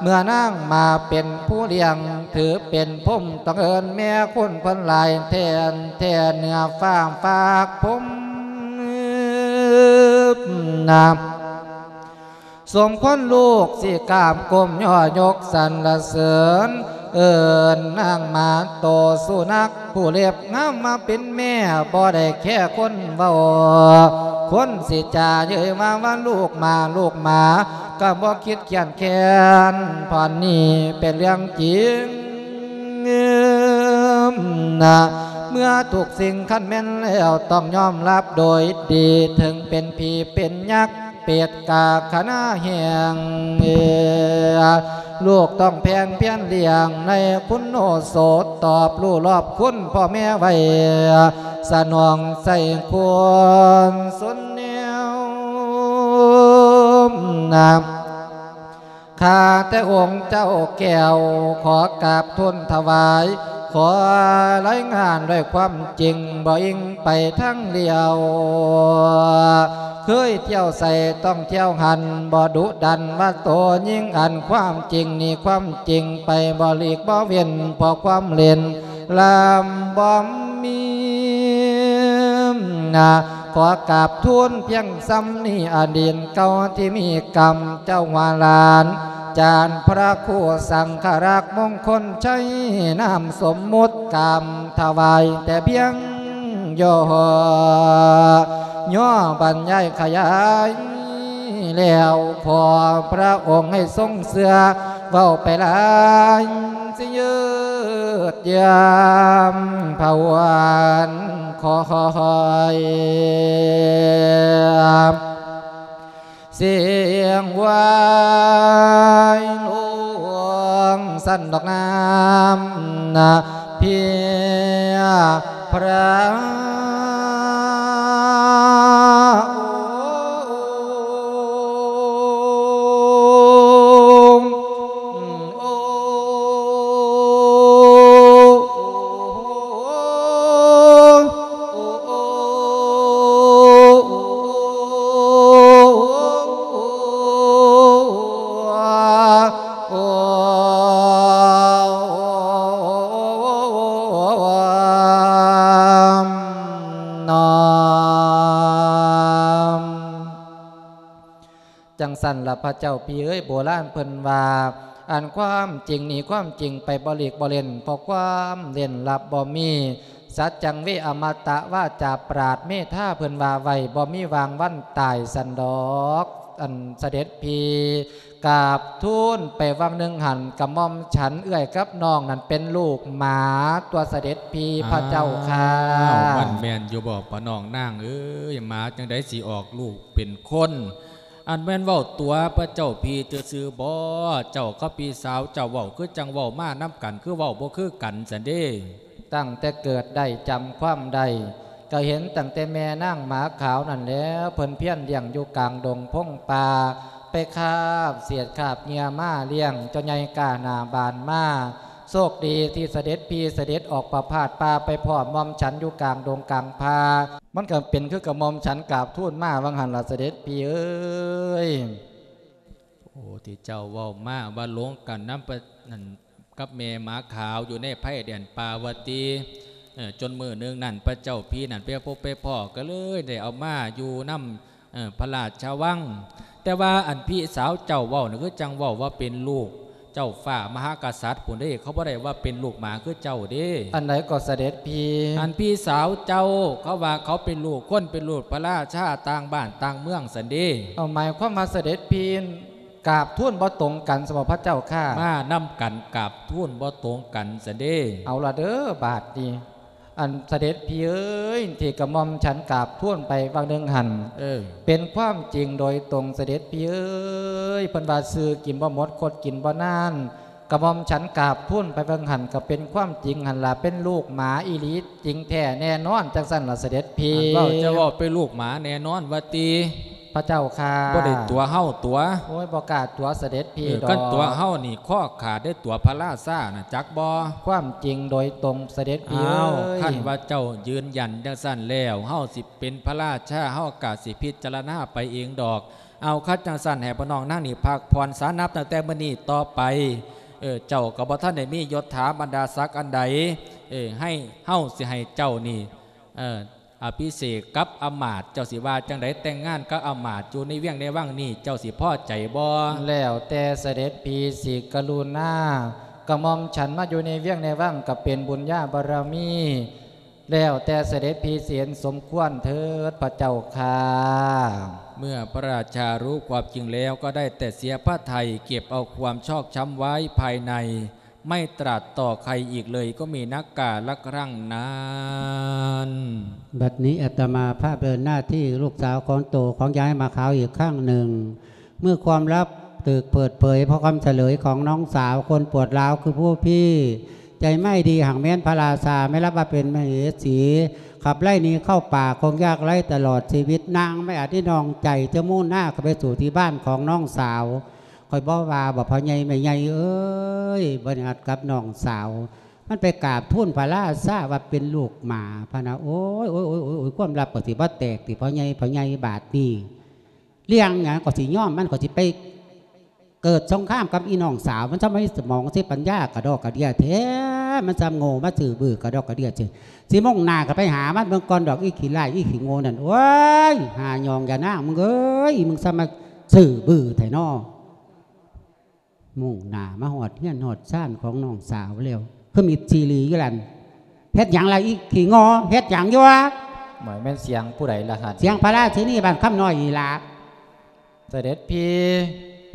ເມື່ອນາງໝາເປັນຜູ້ລ້ຽງ ຖືເປັນພົມ ຕ້ອງເອີ້ນແມ່ຄຸນເພິ່ນຫຼາຍແທນ ແທນເໜືອຟ້າຝາກພົມ ນາ ສົມຄວນລູກຊິກາບກົ້ມຍໍຍົກສັນລະເສີນ ເອີ້ນນາງໝາໂຕສຸນັກ ຜູ້ເລັບງາມມາເປັນແມ່ ບໍ່ໄດ້ແຄ່ຄົນເວົ້າ ຄົນຊິຈາເຍີ້ຍມາວ່າລູກໝາ ລູກໝາ ກະບໍ່ຄິດຄຽນແຄ້ນ ພອນນີ້ເປັນເລື່ອງຈິງ ນະ ເມື່ອທຸກສິ່ງຄັນແມ່ນແລ້ວ ຕ້ອງຍອມຮັບໂດຍດີ ເຖິງເປັນຜີເປັນຍັກ ເປດກາຄະນາແຫ່ງ ເອີ ລູກຕ້ອງແພງພຽນລ້ຽງ ໃນຄຸນໂອສົດ ຕອບຮູ້ລອບຄຸນພໍ່ແມ່ໄວ້ ສະໜອງໃສ່ຄວນສົນແນວ ນາ ຂ້າແຕ່ອົງເຈົ້າແກ້ວ ຂໍກາບທູນຖວາຍ ຂໍລາຍງານດ້ວຍຄວາມຈິງ ບໍ່ອີງໄປທາງລຽວ ເຄີຍທ່ຽວໃສຕ້ອງທ່ຽວຫັ້ນ ບໍ່ດຸດັນວ່າໂຕຍິ່ງອັນ ຄວາມຈິງນີ້ຄວາມຈິງໄປ ບໍ່ຫຼີກບໍ່ເວັ້ນ ເພາະຄວາມເຫຼັ້ນ ລຳບໍ່ມີນາ ຂໍກາບທູນພຽງສ່ຳນີ້ ອະດີດເກົ່າທີ່ມີກຳ ເຈົ້າວ່າຫຼານ ຈານພະຄູສັງຄະລັກ ມົງຄົນໄຊ ນາມສົມມຸດ ກາບຖວາຍແຕ່ພຽງຫຍໍ້ ຫຍໍ້ບັນຍາຍຂະຫຍາຍ ແລ້ວຂໍພະອົງໃຫ້ຊົງເຊື່ອ ເວົ້າໄປຫຼາຍຊິຍືດຢາມພະວັນຄອຍ ສຽງວາຍຫຼວງສັນດອກນ້ຳນະ ເພຍພະອົງ ຊັ້ນລະພະເຈົ້າພີ່ເອີຍ ໂບລານເພິ່ນວ່າ ອັນຄວາມຈິງນີ້ ຄວາມຈິງໄປບໍ່ຫຼີກບໍ່ເຫຼັ້ນ ເພາະຄວາມເຫຼັ້ນລັບບໍ່ມີ ສັດຈັງເວ ອະມະຕະ ວາຈາປາດເມທາ ເພິ່ນວ່າໄວ້ ບໍ່ມີຫວ່າງວັນຕາຍຊັ້ນດອກ. ອັນສະເດັດພີ່ ກາບທູນໄປຫວ່າງໜຶ່ງຫັ້ນ ກະໝ່ອມສັນເອື້ອຍກັບນ້ອງນັ້ນເປັນລູກໝາຕົວະ ສະເດັດພີ່ພະເຈົ້າຄ່າ. ອ້າວ ມັນແມ່ນຢູ່ບໍ່ ພໍ່ນ້ອງນາງເອີຍ? ໝາຈັ່ງໃດຊິອອກລູກເປັນຄົນ? ອັນແມ່ນເວົ້າຕົວະພະເຈົ້າພີ່ຊື່ໆບໍ? ເຈົ້າກັບພີ່ສາວເຈົ້າເວົ້າຄືຈັ່ງເວົ້າມານຳກັນ ຄືເວົ້າບໍ່ຄືກັນຊັ້ນເດ? ຕັ້ງແຕ່ເກີດໄດ້ຈຳຄວາມໄດ້ ກໍເຫັນຕັ້ງແຕ່ແມ່ນາງໝາຂາວນັ້ນແຫຼ້ວ ເພິ່ນພຽນລ້ຽງຢູ່ກາງດົງພົງປ່າ ໄປຄາບເສດຄາບເຫຍື່ອມາລ້ຽງ ຈົນໃຫຍ່ກ້າໜ້າບານມາ ໂຊກດີທີ່ສະເດັດພີ່ສະເດັດອອກປະພາດປ່າ ໄປພ້ອມໝ່ອມສັນຢູ່ກາງດົງກາງປ່າ. ມັນກໍເປັນຄືກັບໝ່ອມສັນກາບທູນມາຫວ່າງຫັ້ນລະ ສະເດັດພີ່ເອີຍ. ໂອ້ ທີ່ເຈົ້າເວົ້າມາວ່າຫຼົງກັນນຳປະ ນັ້ນ ກັບແມ່ໝາຂາວຢູ່ໃນໄພແດນປ່າວ່າຕິ. ເອີ ຈົນມື້ໜຶ່ງນັ້ນ ພະເຈົ້າພີ່ນັ້ນໄປພົບໄປພໍ້ ກໍເລີຍໄດ້ເອົາມາຢູ່ນຳ ເອີ ພະລາຊະວັງ. ແຕ່ວ່າອັນພີ່ສາວເຈົ້າເວົ້ານັ້ນ ຄືຈັ່ງເວົ້າວ່າເປັນລູກເຈົ້າຟ້າມະຫາກະສັດພຸ້ນເດ້ ເຂົາບໍ່ໄດ້ວ່າເປັນລູກໝາຄືເຈົ້າເດ້. ອັນໃດກໍສະເດັດພີ່? ອັນພີ່ສາວເຈົ້າ ເຂົາວ່າເຂົາເປັນລູກຄົນ ເປັນລູກພະລາຊາຕ່າງບ້ານຕ່າງເມືອງຊັ້ນເດ້. ເອົາ ໝາຍຄວາມວ່າສະເດັດພີ່ ກາບທູນບໍ່ຕົງກັນຊັ້ນບໍພະເຈົ້າຂ້າ? ມານຳກັນກາບທູນບໍ່ຕົງກັນຊັ້ນເດ້. ເອົາລະເດີບາດນີ້ ອັນສະເດັດພີ່ເອີຍ ທີ່ກະໝ່ອມສັນກາບທູນໄປຫວ່າງໜຶ່ງຫັ້ນ ເອີ ເປັນຄວາມຈິງໂດຍຕົງ ສະເດັດພີ່ເອີຍ. ເພິ່ນວ່າຊື້ກິນບໍ່ໝົດ ຄົດກິນບໍ່ນານ ກະໝ່ອມສັນກາບທູນໄປຫວ່າງຫັ້ນ ກະເປັນຄວາມຈິງຫັ້ນລະ ເປັນລູກໝາອີ່ຫຼີ ຈິງແທ້ແນ່ນອນ ຈັ່ງຊັ້ນລະສະເດັດພີ່. ອັນເວົ້າ ເຈົ້າເວົ້າເປັນລູກໝາແນ່ນອນວ່າຕິ? ພະເຈົ້າຂ້າ ບໍ່ໄດ້ຕົວະເຮົາຕົວະ. ໂອ້ຍ ບໍ່ກ້າຕົວະສະເດັດພີ່ດອກ. ເອີ ຄັນຕົວະເຮົານີ້ຄໍຂາດເດ້ ຕົວະພະລາຊານະ ຈັກບໍ່? ຄວາມຈິງໂດຍຕົງສະເດັດພີ່ເອີຍ. ອ້າວ ຄັນວ່າເຈົ້າຢືນຢັນຈັ່ງຊັ້ນແລ້ວ ເຮົາຊິເປັນພະລາຊາ ເຮົາກະຊິພິຈາລະນາໄປເອງດອກ. ເອົາ ຄັນຈັ່ງຊັ້ນໃຫ້ພໍ່ນ້ອງນາງນີ້ພັກຜ່ອນສານັບຕັ້ງແຕ່ມື້ນີ້ຕໍ່ໄປ. ເອີ ເຈົ້າກໍບໍ່ທັນໄດ້ມີຍົດຖາບັນດາສັກອັນໃດ. ເອີ ໃຫ້ ເຮົາຊິໃຫ້ເຈົ້ານີ້ ເອີ ອະພິເສກກັບອຳມາດ ເຈົ້າຊິວ່າຈັ່ງໃດ? ແຕ່ງງານກັບອຳມາດຢູ່ໃນວຽງໃນວັງນີ້ ເຈົ້າຊິພໍໃຈບໍ່? ແລ້ວແຕ່ສະເດັດພີ່ຊິກະລຸນາ ກະໝ່ອມສັນມາຢູ່ໃນວຽງໃນວັງ ກະເປັນບຸນຍາບາລະມີ ແລ້ວແຕ່ສະເດັດພີ່ຊິເຫັນສົມຄວນເທີດ ພະເຈົ້າຂ້າ. ເມື່ອພະລາຊາຮູ້ຄວາມຈິງແລ້ວ ກໍໄດ້ແຕ່ເສຍພະໄທ ເກັບເອົາຄວາມຊອກຊ້ຳໄວ້ພາຍໃນ ໄມ່ຕຣາດຕໍ່ໃຄອີກເລີຍ ກໍມີນັກກາລະຄັ້ງນັ້ນ. ບັດນີ້ອາດຕະມາພາບເດີນໜ້າທີ່ລູກສາວຄົນໂຕຂອງຍາຍໝາຂາວອີກຄັ້ງໜຶ່ງ. ເມື່ອຄວາມລັບຖືກເປີດເຜີຍ ເພາະຄຳສະເຫຼີຍຂອງນ້ອງສາວຄົນປວດຮ້າວຄືຜູ້ພີ້ ໃຈໄມ້ດີຫາກແມ່ນພະລາຊາ ແມ່ນລັບວ່າເປັນມະເຫສີ ຂັບໄລ່ໜີເຂົ້າປ່າຄົງຍາກໄຮ້ຕະຫຼອດຊີວິດ. ນາງໄມ່ອາດໜີນ້ອງໃຈ ຈະມຸ່ງໜ້າເຂົ້າໄປສູ່ທີ່ບ້ານຂອງນ້ອງສາວ. ຂ້ອຍບໍ່ວ່າບໍ່ ພໍ່ໃຫຍ່ແມ່ໃຫຍ່ເອີຍ ບໍ່ນັດກັບນ້ອງສາວ ມັນໄປກາບທູນພະລາຊາວ່າເປັນລູກໝາພະນະ. ໂອ້ຍ ໂອ້ຍ ໂອ້ຍ ໂອ້ຍ ຄວາມລັບກໍຊິບໍ່ແຕກຕິ ພໍ່ໃຫຍ່ ພໍ່ໃຫຍ່ ບາດນີ້ ລ້ຽງຫຍັງກໍຊິຍອມ ມັນກໍຊິໄປເກີດສົງຄາມກັບອີນ້ອງສາວ. ມັນຊ່ຳມີສະໝອງ ຊິປັນຍາກະດອກກະເດຍແທ້ ມັນຊ່ຳໂງ່ມາຊື່ບື້ກະດອກກະເດຍແທ້. ຊິມຸ່ງໜ້າກໍໄປຫາມັນເບິ່ງກ່ອນດອກ ອີຂີ້ລ້າຍ ອີຂີ້ໂງ່ນັ້ນ. ໂອ້ຍ ຫາຍອງ ຍານາງ ມຶງເອີຍ ມຶງຊ່ຳມາຊື່ບື້ແທ້ນໍ. ມຸ່ງໜ້າມາຮອດເຮືອນຮອດຊານຂອງນ້ອງສາວແລ້ວ ຄືມິດຊີລີຢູ່ຫັ້ນ. ເຮັດຫຍັງລະອີຂີ້ງໍ ເຮັດຫຍັງຢູ່ວະ? ໝາຍແມ່ນສຽງຜູ້ໃດລະຫັ້ນ? ສຽງພະລາຊິນີບ້ານຄຳນ້ອຍນີ້ລະ. ສະເດັດພີ່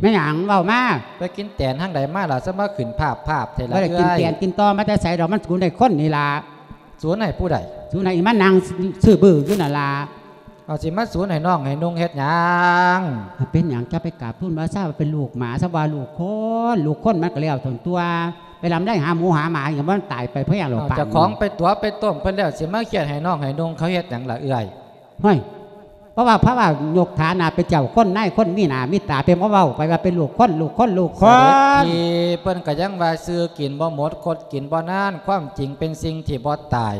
ແມ່ນຫຍັງ ເວົ້າມາ. ໄປກິນແຕນທາງໃດມາລະ ຊະມາຂຶ້ນພາບໆແທ້ລະ? ບໍ່ໄດ້ກິນແຕນກິນຕໍມາແຕ່ໃສດອກ ມັນສູນໃຫ້ຄົນນີ້ລະ. ສູນໃຫ້ຜູ້ໃດ? ສູນໃຫ້ອີ່ມານັ່ງຊື່ບື້ຢູ່ນັ້ນລະ. ເອົາ ຊິມາສູນໃຫ້ນ້ອງໃຫ້ນຸ່ງເຮັດຫຍັງ? ເປັນຫຍັງຈະໄປກາບທູນພະລາຊາວ່າເປັນລູກໝາ ຊະວ່າລູກຄົນ ລູກຄົນມັນກໍແລ້ວຕົນຕົວະ ໄປລຳໄລຫາໝູຫາໝາຫຍັງ ມັນຕາຍໄປເພາະຫຍັງດອກ. ເອົາ ປານ ເຈົ້າຂອງໄປຕົວະໄປຕົ້ມເພິ່ນແລ້ວ ຊິມາຄຽດໃຫ້ນ້ອງໃຫ້ນຸ່ງເຂົາເຮັດຫຍັງລະເອື້ອຍ? ຫ້ວຍ ເພາະວ່າ ເພາະວ່າຍົກຖານະເປັນເຈົ້າຄົນນາຍຄົນ ມີໜ້າມີຕາ ເປັນມາເວົ້າໄປວ່າເປັນລູກຄົນ ລູກຄົນ ລູກຄົນ. ສະເດັດພີ່ ເພິ່ນກໍຍັງວ່າຊື້ກິນບໍ່ໝົດ ຄົດກິນບໍ່ນານ ຄວາມຈິງເປັນສິ່ງທີ່ບໍ່ຕາຍ.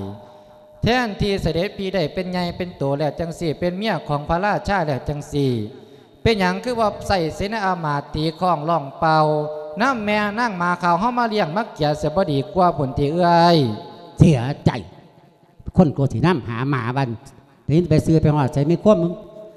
ແທນທີ່ສະເດັດພີ່ໄດ້ເປັນໃຫຍ່ເປັນໂຕແລ້ວຈັ່ງຊີ້ ເປັນເມຍຂອງພະລາຊາແລ້ວຈັ່ງຊີ້ ເປັນຫຍັງຄືບໍ່ໃຊ້ເສນາອາມາດຕີຄ້ອງຮ້ອງເປົ່າ ນຳແມ່ນາງໝາຂາວເຮົາມາລ້ຽງມາເກຍເສຍບໍ່ດີກວ່າພຸ້ນຕິເອື້ອຍ? ເສຍໃຈ ຄົນກໍຊິນຳຫາໝາວັນ ໄດ້ຍິນໄປຊື່ໄປຮອດໃສ ມີຄວາມ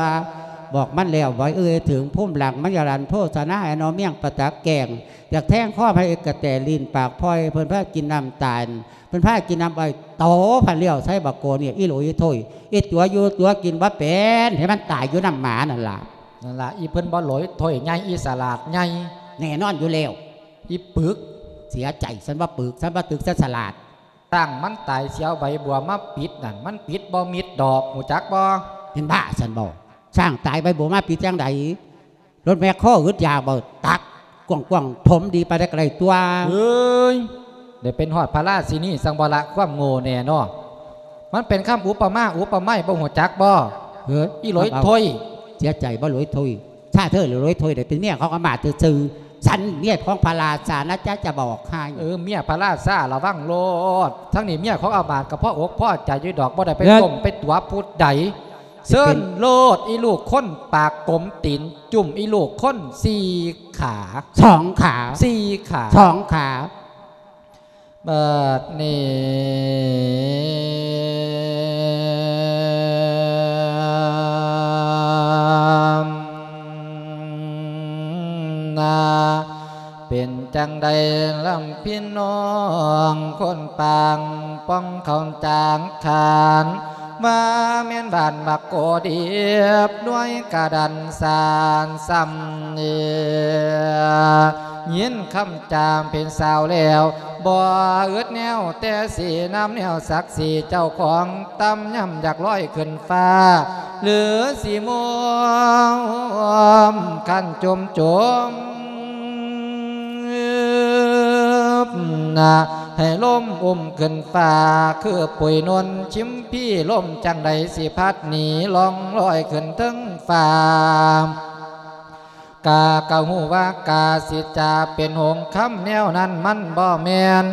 ອ ບອກມັນ ແລ້ວ ບໍ່ເອີ່ຍເຖິງພູມຫຼັງມັນຢາລັນໂພຊະນາ ໃຫ້ໜໍ່ມຽງປະຈັກແກ້ງ ຢາກແທງຄໍໃຫ້ເອກກະແຕລີ້ນປາກພອຍ ເພິ່ນພາກິນນ້ຳຕານ ເພິ່ນພາກິນນ້ຳອ້ອຍ ໂຕພັນລ້ຽວໃສ່ບັກໂກນີ້ ອີຫຼຸຍໂທ້ຍ ອີຕົວຢູ່ຕົວກິນບໍ່ເປັນ ໃຫ້ມັນຕາຍຢູ່ນ້ຳໝານັ້ນລະ. ນັ້ນລະ ອີເພິ່ນບໍ່ຫຼວຍຖ້ວຍໃຫຍ່ ອີສະຫຼາດໃຫຍ່ ແນ່ນອນຢູ່ແລ້ວ ອີປຶກ ເສຍໃຈ ສັນວ່າປຶກ ສັນວ່າຕຶກ ສັນສະຫຼາດ. ຊ້າງມັນຕາຍ ຊິເອົາໃບບົວມາປິດນັ້ນ ມັນປິດບໍ່ມິດດອກ ຮູ້ຈັກບໍ່? ເປັນບ້າຊັ້ນບໍ? ຊ້າງຕາຍ ໃບບົວມາປິດຈັ່ງໃດ? ລົດແມັກໂຄອຶດຢາກບໍ່? ຕັກກວ້າງໆ ຖົມດີປານໃດກໍໄດ້ຕົວະ. ເອີຍ ໄດ້ເປັນຮອດພະລາຊິນີ ຈັ່ງບໍ່ລະຄວາມໂງ່ແນ່ນໍ. ມັນເປັນຄຳອຸປະມາອຸປະໄມ ບໍ່ຮູ້ຈັກບໍ? ເອີຍ ອີຫຼວຍໂທ້ຍ ເສຍໃຈບໍ່ຫຼວຍໂທ້ຍ ຖ້າເທີຫຼວຍໂທ້ຍໄດ້ເປັນເມຍຂອງອາມາດຊື່ໆ ສັນເມຍຂອງພະລາຊານະຈະ ຈະບອກໃຫ້. ເອີ ເມຍພະລາຊາລະວັງໂລດ ທັງນີ້ເມຍຂອງອາມາດກໍພໍອົກພໍໃຈຢູ່ດອກ ບໍ່ໄດ້ໄປ ເອີ ຕົ້ມໄປຕົວະຜູ້ໃດ. ເຊີນໂລດ ອີລູກຄົນປາກກົມຕີນຈຸ້ມ ອີລູກຄົນສີ່ຂາ ສອງຂາ ສີ່ຂາ ສອງຂາ. ບັດນີ້ນາ ເປັນຈັ່ງໃດລຳພີ່ນ້ອງ ຄົນປາງປ່ອງເຂົ້າຈາງຄານ ວ່າແມ່ນບ້ານບັກໂກດີບ ດ້ວຍກະດັນສານສ່ຳເອ ຍິນຄຳຈາມເປັນສາວແລ້ວ ບໍ່ອຶດແນວແຕ່ສີນຳແນວສັກສີ ເຈົ້າຂອງຕ່ຳຍ່ຳຢາກລອຍຂຶ້ນຟ້າ ຫຼືສີໂມມຄັນຈຸ່ມໆ ນະ ໃຫ້ລົມອຸ້ມຂຶ້ນຟ້າ ຄືປຸຍນົນ ຊິມພີລົມຈັ່ງໃດຊິພັດໜີ ລ່ອງລອຍຂຶ້ນເທິງຟ້າ. ກາກະຮູ້ວ່າກາ ຊິຈະເປັນຫົງຄຳແນວນັ້ນມັນບໍ່ແມ່ນ.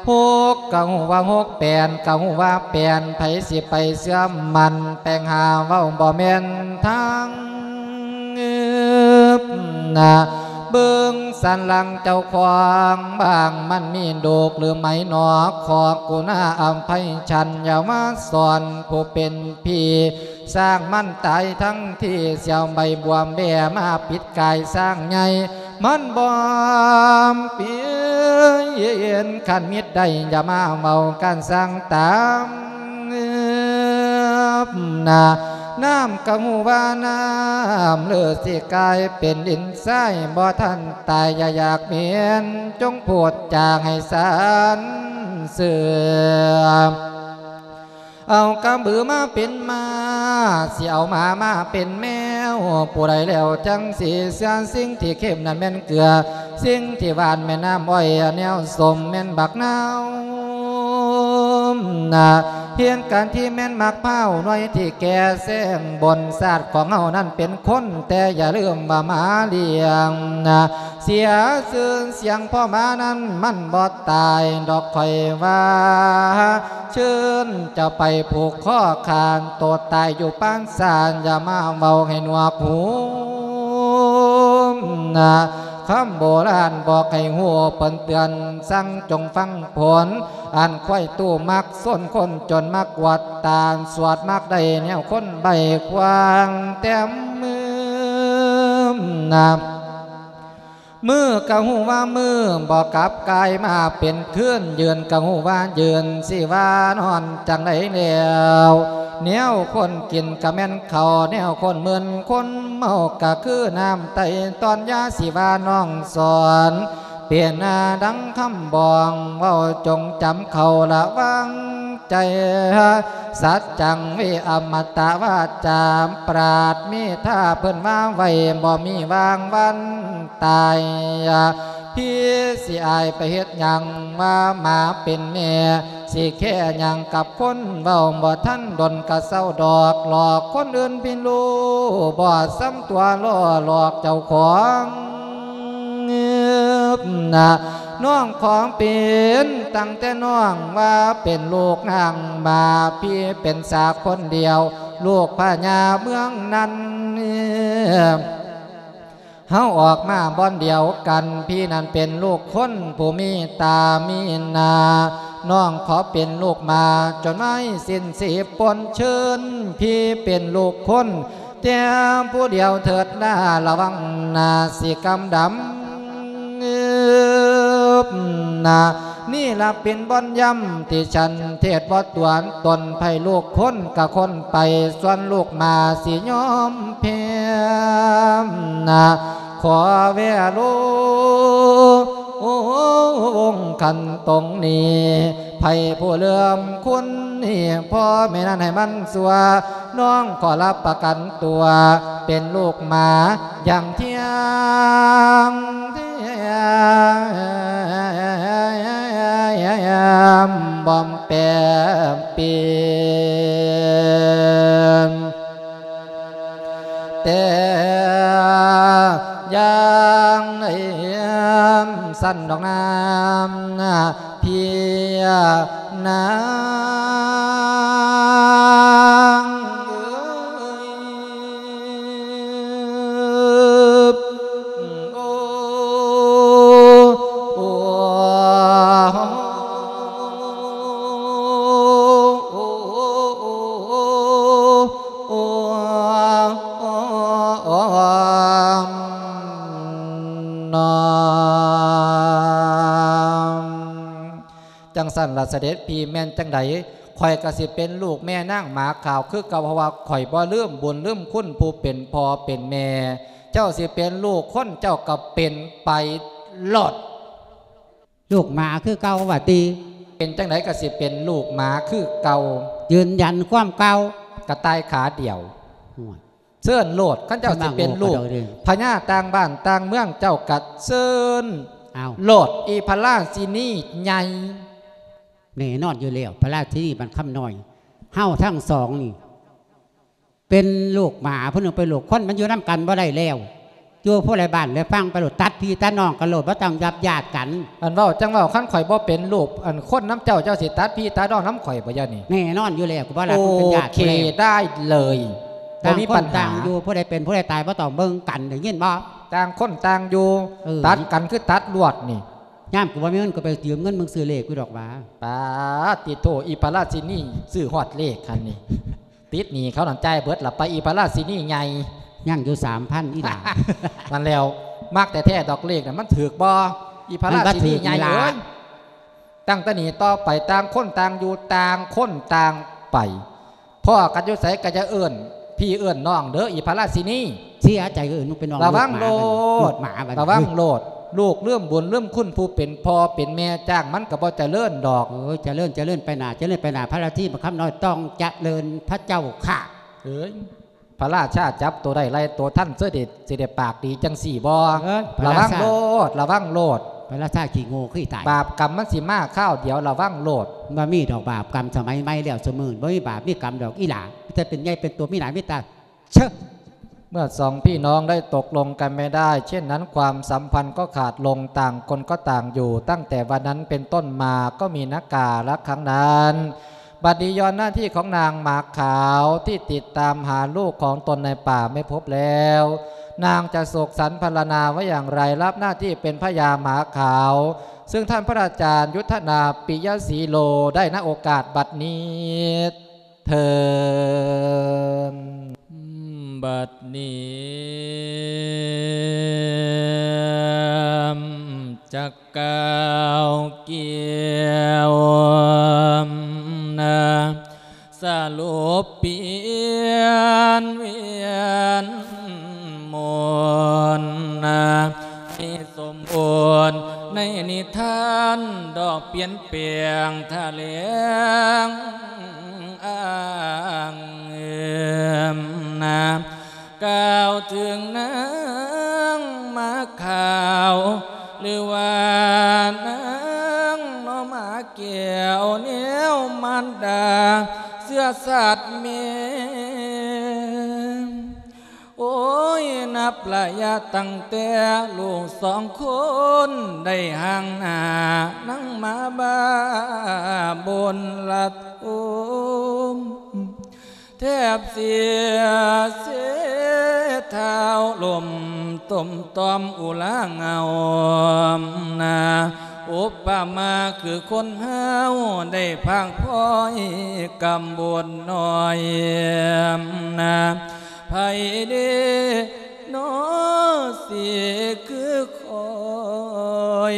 ຫົກກະຮູ້ວ່າຫົກ ແປນກະຮູ້ວ່າແປນ ໃຜຊິໄປເຊື່ອໝັ້ນ ແປງຫາເວົ້າບໍ່ແມ່ນທາງ. ນະ ເບິ່ງສັນຫຼັງເຈົ້າຂອງບ້າງ ມັນມີໂດກຫຼືໄໝໜໍ ຂໍກຸນາອະໄພ ສັນຢ່າມາສອນຜູ້ເປັນພີ່ ສ້າງມັນຕາຍທັງທີ່ ສຽວໃບບວມແບມາປິດກາຍຊ້າງໃຫຍ່ ມັນບອມປີນ ຄັນມິດໄດ້ຢ່າມາເວົ້າກັນສ້າງຕາມ ນະ ນ້ຳກະຮູ້ວ່ານ້ຳ ຫຼືຊິກາຍເປັນດິນຊາຍ ບໍ່ທັນຕາຍຢ່າຢາກເໝັນ ຈົ່ງພູດຈາໃຫ້ສັນເຊື່ອ ເອົາກະບືມາເປັນມ້າ ຊິເອົາໝາມາເປັນແມວ ຜູ້ໃດແລ້ວຈັ່ງຊິເຊື່ອ ສິ່ງທີ່ເຄັມນັ້ນແມ່ນເກືອ ສິ່ງທີ່ຫວານແມ່ນນ້ຳອ້ອຍ ແນວສົ້ມແມ່ນບັກນາວ ນະ ເຮັດການທີ່ແມ່ນໝາກພ້າວ ໜ່ວຍທີ່ແກ່ແຊງບົນ ຊາດຂອງເຮົານັ້ນເປັນຄົນ ແຕ່ຢ່າລືມວ່າໝາລ້ຽງນະ ເສຍຊື່ສຽງພໍ່ໝານັ້ນມັນບໍ່ຕາຍດອກ ຂ້ອຍວ່າ ເຊີນເຈົ້າໄປຜູກຄໍຂານໂຕຕາຍຢູ່ປານສານ ຢ່າມາເວົ້າໃຫ້ໜວກຫູນະ ຄຳໂບລານບອກໃຫ້ຮູ້ ເພິ່ນເຕືອນສັ່ງຈົ່ງຟັງຜົນ ອັນຄວາຍຕູ້ມັກຊົນຄົນຈົນມາກວດຕາ ສວດມັກໄດ້ແນວຄົນໃບ້ຂວາງແຕ້ມມືນະ ມື້ກະຮູ້ວ່າມື້ ບໍ່ກັບກາຍມາເປັນຄືນ ຢືນກະຮູ້ວ່າຢືນ ຊິວ່ານອນຈັ່ງໃດແລ້ວ ແນວຄົນກິນກະແມ່ນເຂົ້າ ແນວຄົນມຶນຄົນເມົາ ກະຄືນ້ຳໄຕຕອນຢາ ຊິວ່ານ້ອງສອນ ເປັນນາດັ່ງຄຳບອງ ເວົ້າຈົ່ງຈຳເຂົ້າລະວັງໃຈ ສັດຈັງເວ ອະມະຕະວາຈາ ປາດເມດທາເພິ່ນວ່າໄວ້ ບໍ່ມີວາງວັນຕາຍ ພີ່ຊິອາຍໄປເຮັດຫຍັງ ວ່າໝາເປັນແມ່ ຊິແຄ່ຫຍັງກັບຄົນເວົ້າ ບໍ່ທັນດົນກະເຊົາດອກ ຫຼອກຄົນອື່ນພິລູ ບໍ່ສ່ຳຕົວລໍ້ຫຼອກເຈົ້າຂອງ ນະ ນ້ອງຂອງເປັນ ຕັ້ງແຕ່ນ້ອງວ່າເປັນລູກນາງໝາ ພີ່ເປັນສາຄົນດຽວ ລູກພະຍາເມືອງນັ້ນ ເຮົາອອກມາບ່ອນດຽວກັນ ພີ່ນັ້ນເປັນລູກຄົນຜູ້ມີຕາມີໜ້າ ນ້ອງຂໍເປັນລູກໝາ ຈົນໄມ້ສິ້ນສີປົນເຊີນ ພີ່ເປັນລູກຄົນ ແຕ່ຜູ້ດຽວເຖີດລາ ລະວັງນາຊິກຳດຳ. ນາ ນີ້ລະເປັນບ່ອນຢ້ຳທີ່ສັນເທດບໍ່ຕົວນ ຕົນໃຜລູກຄົນກະຄົນໄປ ສ່ວນລູກໝາຊິຍອມແພ້. ນາ ຂໍແວໂລ ອົງຄັນຕົງນີ້ ໃຜຜູ້ເຫຼື້ອມຄຸນນີ້ ພໍ່ແມ່ນັ້ນໃຫ້ມັນຊົ່ວ ນ້ອງຂໍຮັບປະກັນຕົວ ເປັນລູກໝາຢ່າງທ່ຽງແທ້ ບໍ່ແປປ່ຽນ. ແຕ່ຢ່າງໃດຊັ້ນດອກນາ ເພຍນາງເອີຍ. ໂອ້ ໂອ້ ໂອ້ ໂອ້ ນອມ. ຈັ່ງຊັ້ນລະສະເດັດພີ່ ແມ່ນຈັ່ງໃດ ຂ້ອຍກະຊິເປັນລູກແມ່ນາງໝາຂາວຄືເກົ່າ ເພາະວ່າຂ້ອຍບໍ່ລືມບຸນລືມຄຸນຜູ້ເປັນພໍ່ເປັນແມ່. ເຈົ້າຊິເປັນລູກຄົນ ເຈົ້າກະເປັນໄປໂລດ. ລູກໝາຄືເກົ່າວ່າຕິ? ເປັນຈັ່ງໃດກະຊິເປັນລູກໝາຄືເກົ່າ. ຢືນຢັນຄວາມເກົ່າ. ກະຕ່າຍຂາດຽວ. ໂອ້ຍ ເຊີນໂລດ ຄັນເຈົ້າຊິເປັນລູກພະຍາຕ່າງບ້ານຕ່າງເມືອງ ເຈົ້າກະເຊີນ ເອົາ ໂລດ ອີພະລາຊິນີໃຫຍ່. ແນ່ນອນຢູ່ແລ້ວ ພະລາຊິນີບ້ານຄຳນ້ອຍ ເຮົາທັງສອງນີ້ ເປັນລູກໝາ ຜູ້ໜຶ່ງເປັນລູກຄົນ ມັນຢູ່ນຳກັນບໍ່ໄດ້ແລ້ວ. ຢູ່ຜູ້ໃດບ້ານໃດຝັ່ງໄປໂລດ ຕັດພີ່ຕັດນ້ອງກັນໂລດ ບໍ່ຕ້ອງຍັບຍາດກັນ. ອັນເວົ້າຈັ່ງເວົ້າ ຄັນຂ້ອຍບໍ່ເປັນລູກ ອັນຄົນນຳເຈົ້າ ເຈົ້າຊິຕັດພີ່ຕັດນ້ອງນຳຂ້ອຍບໍ່ ດຽວນີ້? ແນ່ນອນຢູ່ແລ້ວ ກູບໍ່ຮັກມຶງເປັນຍາດ ໂອເຄ ໄດ້ເລີຍ ບໍ່ມີປັນຫາ. ຕ່າງຄົນຕ່າງຢູ່ ຜູ້ໃດເປັນຜູ້ໃດຕາຍ ບໍ່ຕ້ອງເບິ່ງກັນ ໄດ້ຍິນບໍ່? ຕ່າງຄົນຕ່າງຢູ່ ເອີ ຕັດກັນຄືຕັດລວດນີ້. ຍາມກູບໍ່ມີເງິນ ກູໄປຢືມເງິນມຶງຊື້ເລກຢູ່ດອກຫວາ. ປາດຕິໂທ ອີພະລາຊິນີຊື້ຮອດເລກຫັ້ນນີ້. ຕິດໜີ້ເຂົານັ້ນ ຈ່າຍເບິດລະໄປ ອີພະລາຊິນີໃຫຍ່. ຍັງຢູ່ສາມພັນ ອີ່ຫຼ້າ. ນັ້ນແລ້ວ ມັກແທ້ໆດອກເລກນະ ມັນຖືກບໍ່ ອີພະລາຊິນີໃຫຍ່ເອີຍ? ຕັ້ງແຕ່ນີ້ຕໍ່ໄປ ຕ່າງຄົນຕ່າງຢູ່ ຕ່າງຄົນຕ່າງໄປ. ພໍ້ກັນຢູ່ໃສກະຢ່າເອີ້ນພີ່ເອີ້ນນ້ອງເດີ ອີພະລາຊິນີ. ເສຍໃຈເອີ້ນລູກເປັນນ້ອງ ລະວັງໂລດ ລູກໝາບັດນີ້ ລະວັງໂລດ. ລູກລືມບຸນລືມຄຸນຜູ້ເປັນພໍ່ເປັນແມ່ ຈ້າງມັນກະບໍ່ຈະເລີນດອກ. ໂອ້ຍ ຈະເລີນ ຈະເລີນໄປໜ້າ ຈະເລີນໄປໜ້າ ພະລາຊິນີບັກຄຳນ້ອຍຕ້ອງຈະເລີນພະເຈົ້າຂ້າ. ເອີຍ ພະລາຊາຈັບໂຕໄດ້ໄລ່ໂຕທັນ ເສີເດດ ຊິໄດ້ປາກດີຈັ່ງຊີ້ບໍ່? ເອີຍ ລະວັງໂລດ ລະວັງໂລດ. ພະລາຊາຂີ້ໂງ່ຄືຕາຍ ບາບກຳມັນຊິມາຄາວດຽວ ລະວັງໂລດ. ບໍ່ມີດອກບາບກຳ ສະໄໝໃໝ່ແລ້ວ ຊຸມື້ນີ້ບໍ່ມີບາບມີກຳດອກ ອີ່ຫຼ້າ. ມີແຕ່ເປັນໃຫຍ່ເປັນໂຕ ມີໜ້າມີຕາ ເຊີ. ເມື່ອสองพี่น้องได้ตกลงกันไม่ได้ เช่นนั้นความสัมพันธ์ก็ขาดลง ต่างคนก็ต่างอยู่ ตั้งแต่วันนั้นเป็นต้นมาก็มีนาการะครั้งนั้น บัดนี้ย้อนหน้าที่ของนางหมาขาวที่ติดตามหาลูกของตนในป่าไม่พบแล้ว นางจะโศกสันพรรณนาว่าอย่างไร รับหน้าที่เป็นพญาหมาขาว ซึ่งท่านพระอาจารย์ยุทธนาปิยศรีโล ได้ ณ โอกาสบัดนี้ ເທີ້ນ. ບັດນີ້ຈັກກ່າວກ່ຽວນະ ສະຫຼຸບປ່ຽນວຽນມົນນະ ໃຫ້ສົມບູນໃນນິທານ ດອກປ່ຽນແປງຖະແຫຼງ ອ້າງເອີມນາ ກ່າວເຖິງນາງໝາຂາວ ຫຼືວ່ານາງໜໍ່ໝາແກ້ວ ແນວມານດາເຊື້ອຊາດແມ່. ໂອ້ຍ ນັບໄລຍະຕັ້ງແຕ່ລູກສອງຄົນໄດ້ຫ່າງໜ້າ ນາງໝາບ້າບົນລະທຸມ ແທບເສຍເສ ທ້າວລົ້ມຕົມຕອມອຸລາເຫງົານາ ອຸປະມາຄືຄົນເຮົາໄດ້ພາກພ້ອຍກຳບົດນ້ອຍນາ. ໃຜເດນໍ ຊິຄືຂ້ອຍ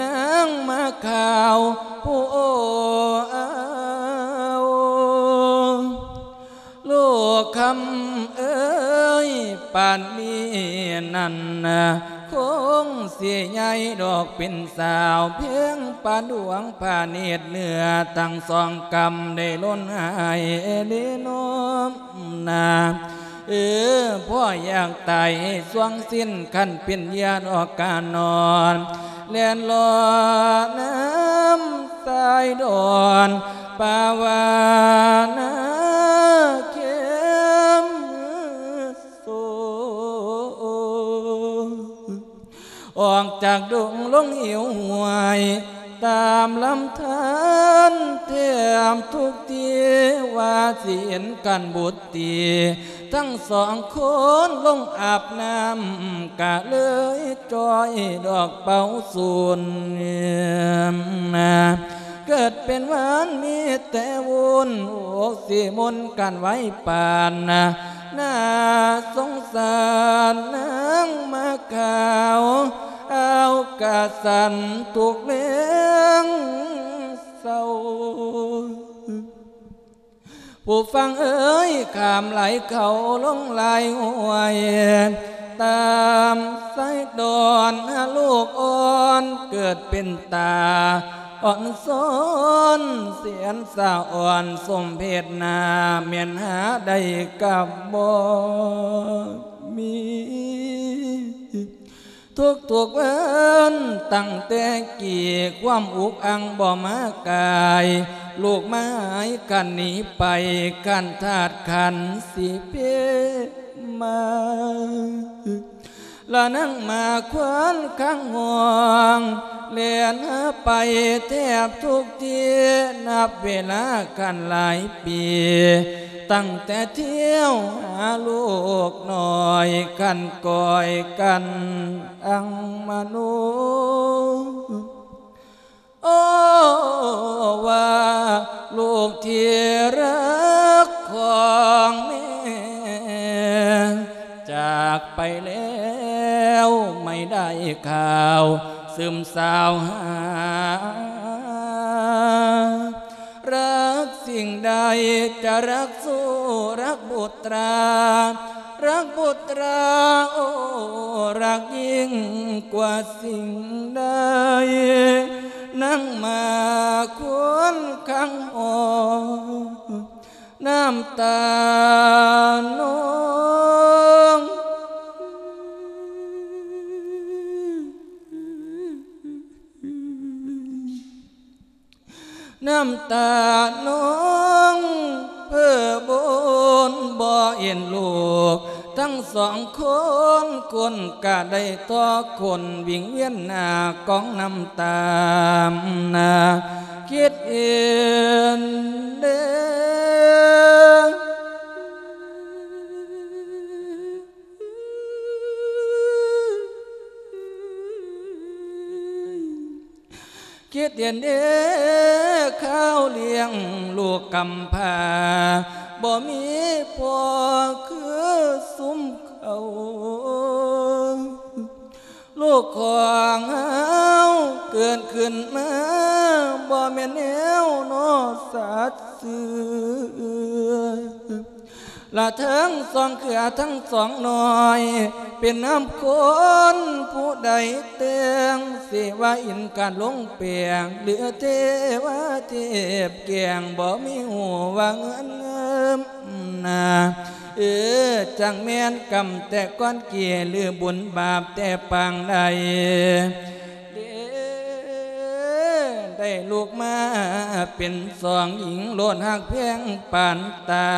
ນາງໝາກຂາວຜູ້ເອົາ. ລູກຄຳເອີຍ ປານນີ້ນັ້ນນະ ຄົງຊິໃຫຍ່ດອກເປັນສາວ ພຽງປານດວງພະເນດ ເນື້ອທັງສອງກຳໄດ້ລົ້ນຫາຍເດນໍນາ. ເອີ ພໍ່ຢາກຕາຍໃຫ້ສວງສິ້ນ ຄັນເປັນຢາດອອກການນອນ ແລ່ນລອດນ້ຳສາຍດອນ ປາວານາເຂັມໂສ ອອກຈາກດົງລົງເຫວຫ້ວຍ ຕາມລຳທານແທບທຸກທີ່ ວ່າຊິເຫັນກັນບຸດຕີ ທັງສອງຄົນລົງອາບນ້ຳ ກະເລີຍຈ່ອຍດອກເປົ່າສູນ. ເກີດເປັນຫວານມີແຕ່ວຸ່ນ ອົກຊິມົນກັນໄວປານນາ ໜ້າສົງສານນາງໝາກຂາວ ອາວກະສັນທຸກແລງເສົ້າ. ຜູ້ຟັງເອີຍ ຂ້າມໄຫຼເຂົາລົງໄຫຼຫ້ວຍ ຕາມສາຍດອນ ຫາລູກອ່ອນເກີດເປັນຕາອ່ອນຊອນ ແສນສະອອນສົມເພັດໜ້າ ແມ່ນຫາໄດ້ກັບບໍ່ມີ. ທຸກໆວັນຕັ້ງແຕ່ກີ້ ຄວາມອຸກອັ່ງບໍ່ມາກາຍ ລູກມາຫາຍກັນໜີໄປ ຄັນທາດຂັນຊິເພມາ ລະນາງໝາກຂວັນຄັງຫ້ອງ ແລ່ນຫາໄປແທບທຸກທີ່ ນັບເວລາຄັນຫຼາຍປີ ຕັ້ງແຕ່ທ່ຽວຫາລູກນ້ອຍ ຄັນກ້ອຍກັນອັງມະໂນ ໂອ້ ວ່າລູກທີ່ຮັກຂອງແມ່ ຈາກໄປແລ້ວໄມ່ໄດ້ຂ່າວ ຊຶມຊາວຫາ ລັກສິ່ງໃດຈະລັກຊູ່ ລັກບຸດຕາ ລັກບຸດຕາ ໂອ້ ລັກຍິ່ງກວ່າສິ່ງໃດ ນາງໝາກຂວັນຄັງຫ້ອງ ນ້ຳຕານອງ ນ້ຳຕານອງເພີບົນບໍ່ເຫັນລູກ ທັງສອງຄົນຄົນກະໄດ້ຕໍ່ຄົນ ວິງວຽນໜ້າກອງນ້ຳຕາ ນາຄິດເຫັນເດ້ ຄິດເຫັນເດ້ ຄາວລ້ຽງລູກກຳພ້າ ບໍ່ມີພໍ່ຄືຊຸມເຂົາ ລູກຂອງເຮົາເກີດຂຶ້ນມາ ບໍ່ແມ່ນແນວນໍສັດຊື່ ລະທັງສອງເຄືອທັງສອງນ້ອຍ ເປັນນາມຄົນຜູ້ໃດແຕ່ງ ເສວະອິນກະລົງແປງ ຫຼືເທວະເທບແກງ ບໍ່ມີຮູ້ວ່າເງິນເງິມນາ ເອີ ຈັ່ງແມ່ນກຳແຕ່ກ່ອນກີ້ ຫຼືບຸນບາບແຕ່ປາງໃດ ເດ້ ໄດ້ລູກມາເປັນສອງຍິງ ໂລດຮັກແພງປານຕາ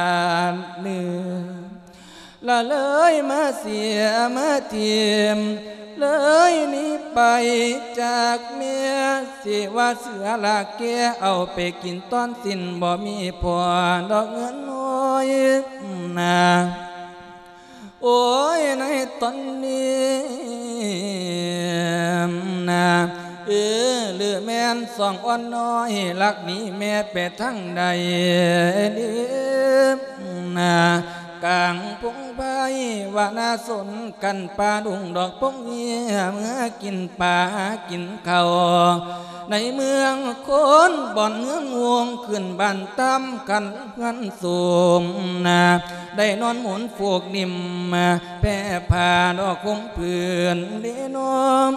ເນື້ອ ລະເລີຍມາເສຍມາຖິ້ມ ເລີຍໜີໄປຈາກແມ່ ເສວະເສືອລາກແກ່ ເອົາໄປກິນຕອນສິ້ນ ບໍ່ມີພໍ່ດອກເງິນນ້ອຍນາ ໂອ້ຍ ໃນຕອນນີ້ນາ ເອີ ຫຼືແມ່ນສອງອ່ອນນ້ອຍ ລັກໜີແມ່ໄປທາງໃດນາ ກາງພົງໄພວະນາຊົນ ກັນປ່າດົງດອກພົງເຫືອ ເມືອກິນປາກິນເຂົ້າ ໃນເມືອງຄົນບ່ອນເຮືອງວົງ ຂຶ້ນບ້ານຕາມຄັນເຮືອນສູງນາ ໄດ້ນອນໝູນຟູກໜິ່ມ ແຜ່ຜ້າດອກຫົ່ມພື້ນເດນ້ອມ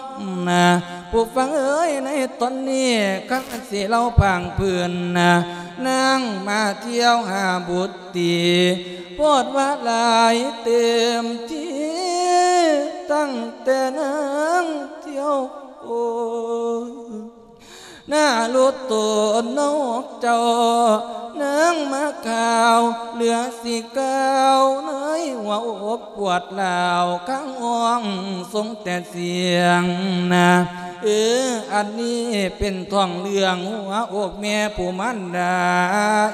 ນາ ຜູ້ຟັງເອີຍ ໃນຕອນນີ້ ຄັນຊິເລົ່າພາງພື້ນນາ ນາງມາທ່ຽວຫາບຸດຕີ ໂພດວ່າຫຼາຍເຕັມທີ່ ຕັ້ງແຕ່ນາງທ່ຽວໂອ ນາລຸໂຕນອກເຈົ້າ ນາງມາຂ່າວເຫຼືອຊິກ່າວ ໃນຫົວອົບປວດລາວ ຄັງຮ້ອງຊົງແຕ່ສຽງນາ ເອີ ອັນນີ້ເປັນທ້ອງເລື່ອງຫົວອົກແມ່ຜູ້ມານດາ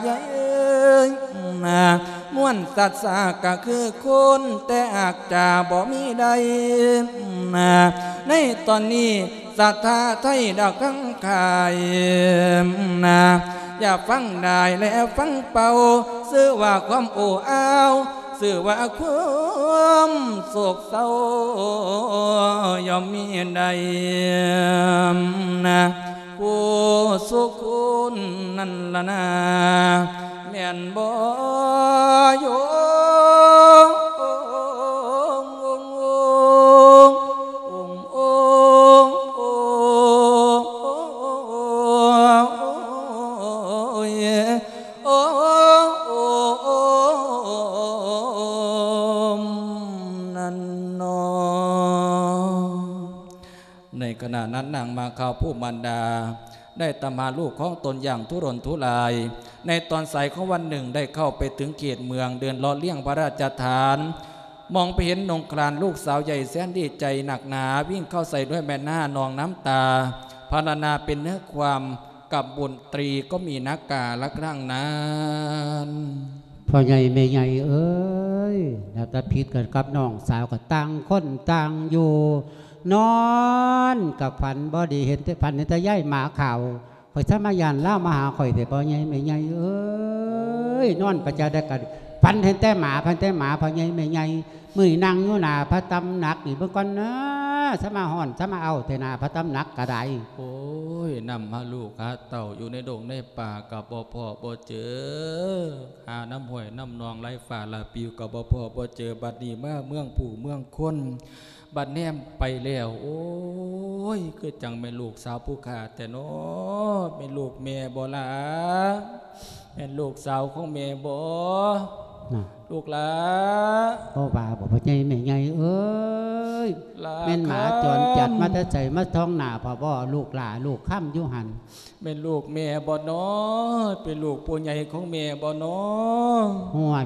ຍາຍເອີຍນາ ມ່ວນສັດສາກະຄືຄົນ ແຕ່ອາດຈະບໍ່ມີໄດ້ນາ ໃນຕອນນີ້ ສະຖາໄທດາກທັງຂາຍນາ ຢ່າຟັງດາຍແລະຟັງເປົ່າ ຊື່ວ່າຄວາມໂອ້ອາວ ຊື່ວ່າຄວາມໂສກເສົ້າ ຍ່ອມມີໄດ້ນາ ຜູ້ສຸຄົນນັ້ນລະນາ ແມ່ນບໍ່ໂຍ ໃນຂະນະນັ້ນ ນາງມາຂ່າວຜູ້ມານດາ ໄດ້ຕາມຫາລູກຂອງຕົນຢ່າງທຸລົນທຸລາຍ. ໃນຕອນສາຍຂອງວັນໜຶ່ງ ໄດ້ເຂົ້າໄປເຖິງເຂດເມືອງ ເດີນເລາະລຽງພະລາຊະຖານ ມອງໄປເຫັນນົງຄລານລູກສາວໃຫຍ່ແສນດີໃຈໜັກໜາ ວິ່ງເຂົ້າໃສ່ດ້ວຍແມ່ນານອງນ້ຳຕາ ພາລະນາເປັນເນື້ອຄວາມ ກັບບຸນຕີກໍມີນາກາລະຄັ້ງນັ້ນ. ພໍ່ໃຫຍ່ແມ່ໃຫຍ່ເອີຍ ແນວຕາຜິດກັນກັບນ້ອງສາວ ກໍຕ່າງຄົນຕ່າງຢູ່ ນອນກໍຝັນບໍ່ດີ ເຫັນແຕ່ ຝັນເຫັນແຕ່ຍາຍໝາຂາວ ຂ້ອຍສາມາຢ້ານລາວມາຫາຂ້ອຍແທ້ ພໍ່ໃຫຍ່ແມ່ໃຫຍ່ເອີຍ ນອນປະຈາໃດກໍຝັນເຫັນແຕ່ໝາ ຝັນແຕ່ໝາ ພໍ່ໃຫຍ່ແມ່ໃຫຍ່. ມື້ນີ້ນັ່ງຢູ່ໜ້າພະຕຳໜັກນີ້ເບິ່ງກ່ອນນາ ສາມາຮ້ອນ ສາມາເອົາແທ້ໜ້າພະຕຳໜັກກໍໄດ້. ໂອ້ຍ ນຳຫາລູກຫາເຕົ້າຢູ່ໃນດົງໃນປ່າກໍບໍ່ພໍ້ບໍ່ເຈີ ຫານຳຫ້ວຍນຳໜອງໄຫຼຟ້າລະປິວກໍບໍ່ພໍ້ບໍ່ເຈີ ບັດນີ້ມາເມືອງຜູ້ເມືອງຄົນ ບັດແນມໄປແລ້ວ ໂອ້ຍ ຄືຈັ່ງແມ່ນລູກສາວຜູ້ຂ້າແທ້ນໍ ແມ່ນລູກແມ່ບໍ່ລະ? ແມ່ນລູກສາວຂອງແມ່ບໍ່ ນະ ລູກຫຼ້າ? ບໍ່ວ່າບໍ່ ພໍ່ໃຫຍ່ແມ່ໃຫຍ່ເອີຍ ຫຼ້າ ແມ່ນໝາຈອນຈັດມາແຕ່ໃສ ມາທ້ອງໜ້າພໍ່ບໍ່ ລູກຫຼ້າລູກຄຳຢູ່ຫັ້ນ? ແມ່ນລູກແມ່ບໍ່ນໍ? ເປັນລູກຜູ້ໃຫຍ່ຂອງແມ່ບໍ່ນໍ? ຫ້ວຍ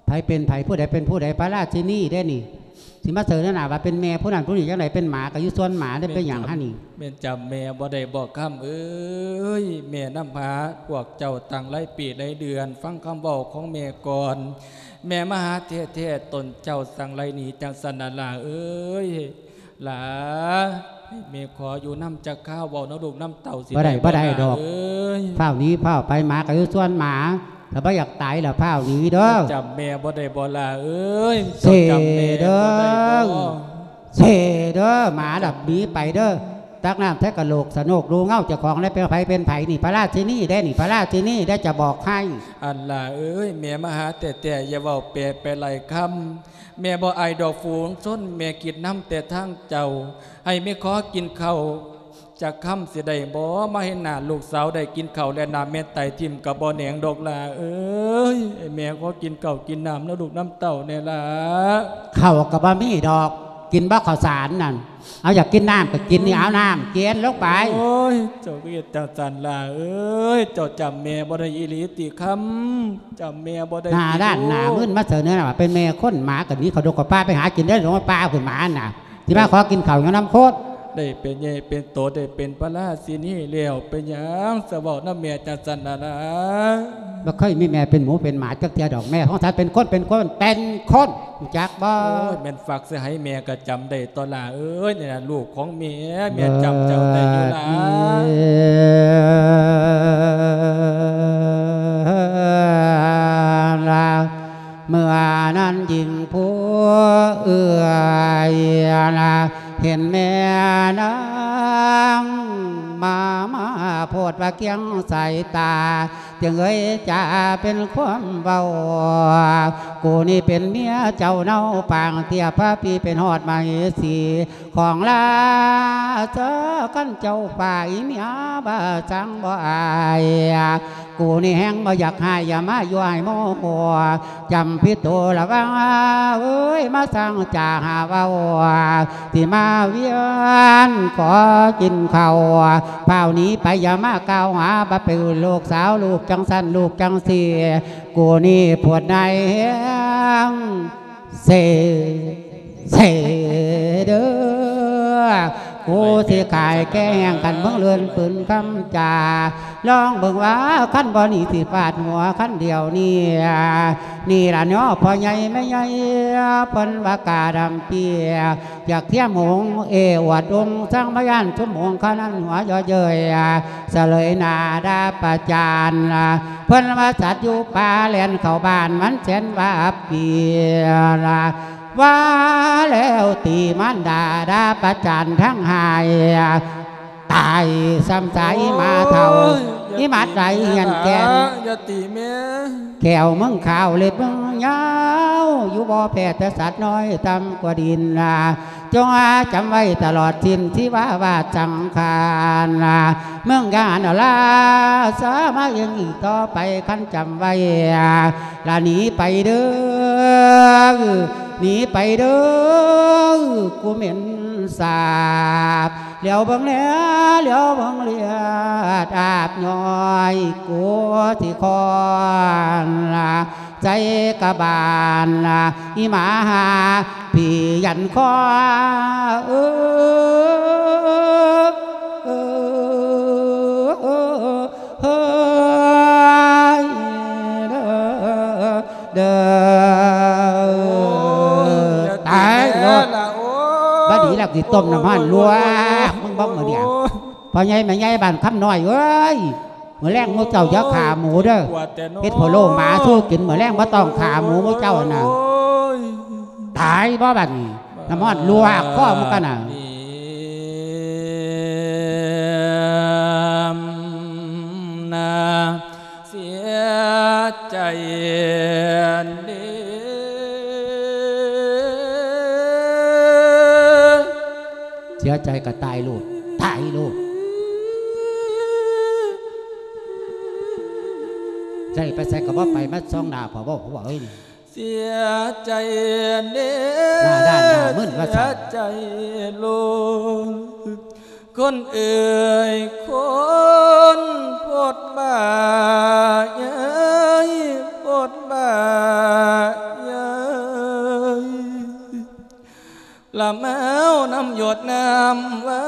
ໃຜເປັນໃຜ ຜູ້ໃດເປັນຜູ້ໃດ ພະລາຊິນີເດ້ນີ້ ຊິມາເສີນໜ້າວ່າເປັນແມ່ຜູ້ນັ້ນຜູ້ນີ້ຈັ່ງໃດ ເປັນໝາກໍຢູ່ສ່ວນໝາໄດ້ ເປັນຫຍັງຫັ້ນນີ້? ແມ່ນຈຳແມ່ບໍ່ໄດ້ບໍ ຄຳເອີຍ ແມ່ນຳພາພວກເຈົ້າຕັ້ງຫຼາຍປີຫຼາຍເດືອນ ຟັງຄຳເວົ້າຂອງແມ່ກ່ອນ ແມ່ມາຫາແທ້ໆ ຕົນເຈົ້າສັ່ງໄລ່ໜີຈັ່ງຊັ້ນນະຫຼ້າເອີຍ. ຫຼ້າ ໃຫ້ແມ່ຂໍຢູ່ນຳຈັກຄາວ ເວົ້ານຳລູກນຳເຕົ້າຊິ ບໍ່ໄດ້ ໄດ້ບໍ່ ບໍ່ໄດ້ດອກ ຫຼ້າເອີຍ. ຟ້າວໜີ ຟ້າວໄປ ໝາກໍຢູ່ສ່ວນໝາ ຖ້າບໍ່ຢາກຕາຍລະຟ້າວໜີເດີ. ເຈົ້າຈຳແມ່ບໍ່ໄດ້ບໍ່ຫຼ້າເອີຍ? ເສເດີ ເຈົ້າຈຳແມ່ບໍ່ໄດ້ບໍ່? ເສເດີ ໝາລະໜີໄປເດີ. ຕັກນ້ຳໃສ່ກະໂຫຼກສະໂນກ ດູເງົາເຈົ້າຂອງໄດ້ ເປັນໃຜເປັນໃຜນີ້ ພະລາຊິນີເດ້ນີ້ ພະລາຊິນີເດ້ ຈະບອກໃຫ້. ອັນຫຼ້າເອີຍ ແມ່ມາຫາແທ້ໆ ຢ່າເວົ້າແປໄປຫຼາຍຄຳ ແມ່ບໍ່ອາຍດອກຝູງຊົນ ແມ່ຄິດນຳແຕ່ທາງເຈົ້າ ໃຫ້ແມ່ຂໍກິນເຂົ້າຈັກຄຳຊິໄດ້ບໍ່? ມາເຫັນໜ້າລູກສາວໄດ້ກິນເຂົ້າແລະນ້ຳ ແມ່ໄຕຖິ້ມກໍບໍ່ແໜງດອກຫຼ້າເອີຍ. ໃຫ້ແມ່ຂໍກິນເຂົ້າກິນນ້ຳນຳລູກນຳເຕົ້າແດ່ຫຼ້າ. ເຂົ້າກໍບໍ່ມີດອກ ກິນບໍ່ເຂົ້າສານນັ້ນ. ເອົາ ຢາກກິນນ້ຳກໍກິນນີ້ ເອົານ້ຳກິນລົງໄປ. ໂອ້ຍ ເຈົ້າຄືເຮັດຈັ່ງຊັ້ນຫຼ້າເອີຍ? ເຈົ້າຈຳແມ່ບໍ່ໄດ້ອີ່ຫຼີຕິຄຳ? ຈຳແມ່ບໍ່ໄດ້ຕິ? ໜ້າດ້ານໜ້າມຶນມາເສີເໜືອວ່າເປັນແມ່ຄົນ ໝາກໍໜີເຂົ້າດົງເຂົ້າປ່າໄປຫາກິນໄດ້ ລົງມາປ່າພຸ້ນໝານະ ຊິມາຂໍກິນເຂົ້າຫຍັງນຳຄົນ? ໄດ້ເປັນໃຫຍ່ເປັນໂຕ ໄດ້ເປັນພະລາຊິນີແລ້ວ ເປັນຫຍັງສະເວົ້ານຳແມ່ຈັ່ງຊັ້ນນະນາ? ບໍ່ເຄີຍມີແມ່ເປັນໝູເປັນໝາຈັກເທື່ອດອກ ແມ່ຂອງສັດເປັນຄົນ ເປັນຄົນ ເປັນຄົນ ຮູ້ຈັກບໍ່? ໂອ້ຍ ແມ່ນ ຝາກໃສ່ໃຫ້ແມ່ກໍຈຳໄດ້ຕົວະຫຼ້າເອີຍ. ນີ້ລະລູກຂອງແມ່ ແມ່ຈຳເຈົ້າໄດ້ຢູ່ຫຼ້າ. ລະ ເມື່ອນັ້ນຍິງຜູ້ເອື້ອຍ ເຫັນແມ່ນາງມາ ມາໂພດວ່າກຽງສາຍຕາ ຈຶ່ງເອີຍຈາເປັນຄວາມເວົ້າ ກູນີ້ເປັນເມຍເຈົ້າເນົາ ປາງເທຍພະພີເປັນຮອດມະເຫສີ ຂອງລາຊາ ຄັນເຈົ້າຝ່າຍເມຍບາສັງບໍ່ອາຍ ກູນີ້ແຮງບໍ່ຢາກຮ້າຍ ຢ່າມາຢູ່ໃຫ້ໂມໂຫ ຈຳຜິດໂຕລະວັງເອີຍ ມາສ້າງຈາຫາເວົ້າ ທີ່ມາວຽນຂໍກິນເຂົ້າ ພ້າວໜີໄປ ຢ່າມາກ່າວຫາ ບໍ່ເປັນລູກສາວ ລູກຈັ່ງຊັ້ນ ລູກຈັ່ງຊີ້ ກູນີ້ປວດໃນແຮງ ເສ ເສເດີ ກູຊິຂາຍແກ້ແຮງ ຄັນເບິ່ງເລື່ອນປືນຄຳຈາ ລອງເບິ່ງວ່າ ຄັນບໍ່ໜີຊິຟາດຫົວ ຄັນດຽວນີ້ ນີ້ລະເນາະ ພໍ່ໃຫຍ່ແມ່ໃຫຍ່ ເພິ່ນວ່າກາດຳເປຍ ຢາກທຽມອົງເອອວດອົງ ສັງພະຍານຊຸມຫົງ ຄະນັ້ນຫົວຍໍເຍີຍ ສະເຫຼີຍໜ້າດາປະຈານ ເພິ່ນວ່າສັດຢູ່ປ່າແລ່ນເຂົ້າບ້ານ ມັນແສນວ່າອັບປີລະ ວ່າແລ້ວຕີມານດາ ດາປະຈານທັງຫາຍ ຕາຍຊ້ຳສາອີໝາເຖົ້າ ໂອ້ຍ ອີໝາໄຕຮຽນແກ່ນ ຢ່າຕີແມ່ ແຂ້ວມຶງຂາວເລັບມຶງຍາວ ຢູ່ບໍ່ແພ້ແຕ່ສັດນ້ອຍຕ່ຳກວ່າດິນນາ ຈົ່ງຈຳໄວ້ຕະຫຼອດສິ້ນຊີວາວາດສັງຂານນາ ມຶງຢ່າຫັ້ນລາຊາມາເອີງອີກຕໍ່ໄປ ຄັນຈຳໄວ້ ລະໜີໄປເດີ ໜີໄປເດີ ກູເໝັນສາບ ຫຼຽວເບິ່ງແລ ຫຼຽວເບິ່ງເລືອດອາບຍ້ອຍ ກູຊິຄອນໃສ່ກະບານ ອີໝາຫາຜີຢັນຄໍ ເອີ ເອີ ເອີ ເຮີ້ຍເດີ ເດີ ໂອ້ຍ ຕາຍໂລດ ຢ່າຕີແມ່ລະ ໂອ້ຍ ບາດນີ້ລະຊິຕົ້ມນ້ຳຮ້ອນລວກ ໂອ້ຍ ມຶງບອກມື້ນີ້ ໂອ້ຍ ພໍ່ໃຫຍ່ແມ່ໃຫຍ່ບ້ານຄຳນ້ອຍເອີຍ ມື້ແລງໝູ່ເຈົ້າຢ່າຂ້າໝູເດີ ໂອ້ຍ ເຮັດພະໂລ້ໝາສູ່ກິນ ມື້ແລງບໍ່ຕ້ອງຂ້າໝູໝູ່ເຈົ້ານະ ໂອ້ຍ ຕາຍບໍ່ບາດນີ້ ນ້ຳຮ້ອນລວກຄໍມຶງກັນນະ ນາ ເສຍໃຈເດ້ ເສຍໃຈກໍຕາຍໂລດ ຕາຍໂລດ ໃຈໄປໃສກໍບໍ່ໄປ ມາສ່ອງໜ້າພໍ່ເວົ້າ ພໍ່ເວົ້າເອີຍ ເສຍໃຈເດ້ ໜ້າດ້ານໜ້າມຶນວ່າຊັ້ນ ເສຍໃຈໂລດ ຄົນເອີຍ ຄົນໂພດບ້າເອີຍ ໂພດບ້າເອີຍ ລະມາວນ້ຳຢົດນ້ຳໄວ້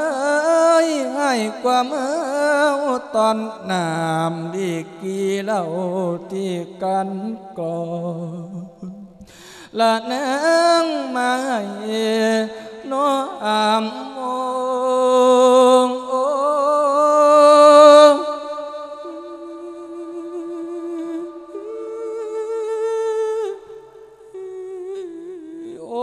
ໃຫ້ກວ່າມາວຕອນນ້ຳດີກີເຫຼົ້າທີ່ກັນກອງ ລະນາງມາໃຫ້ນ້ອງອາມໂມງ ໂອ ໂອ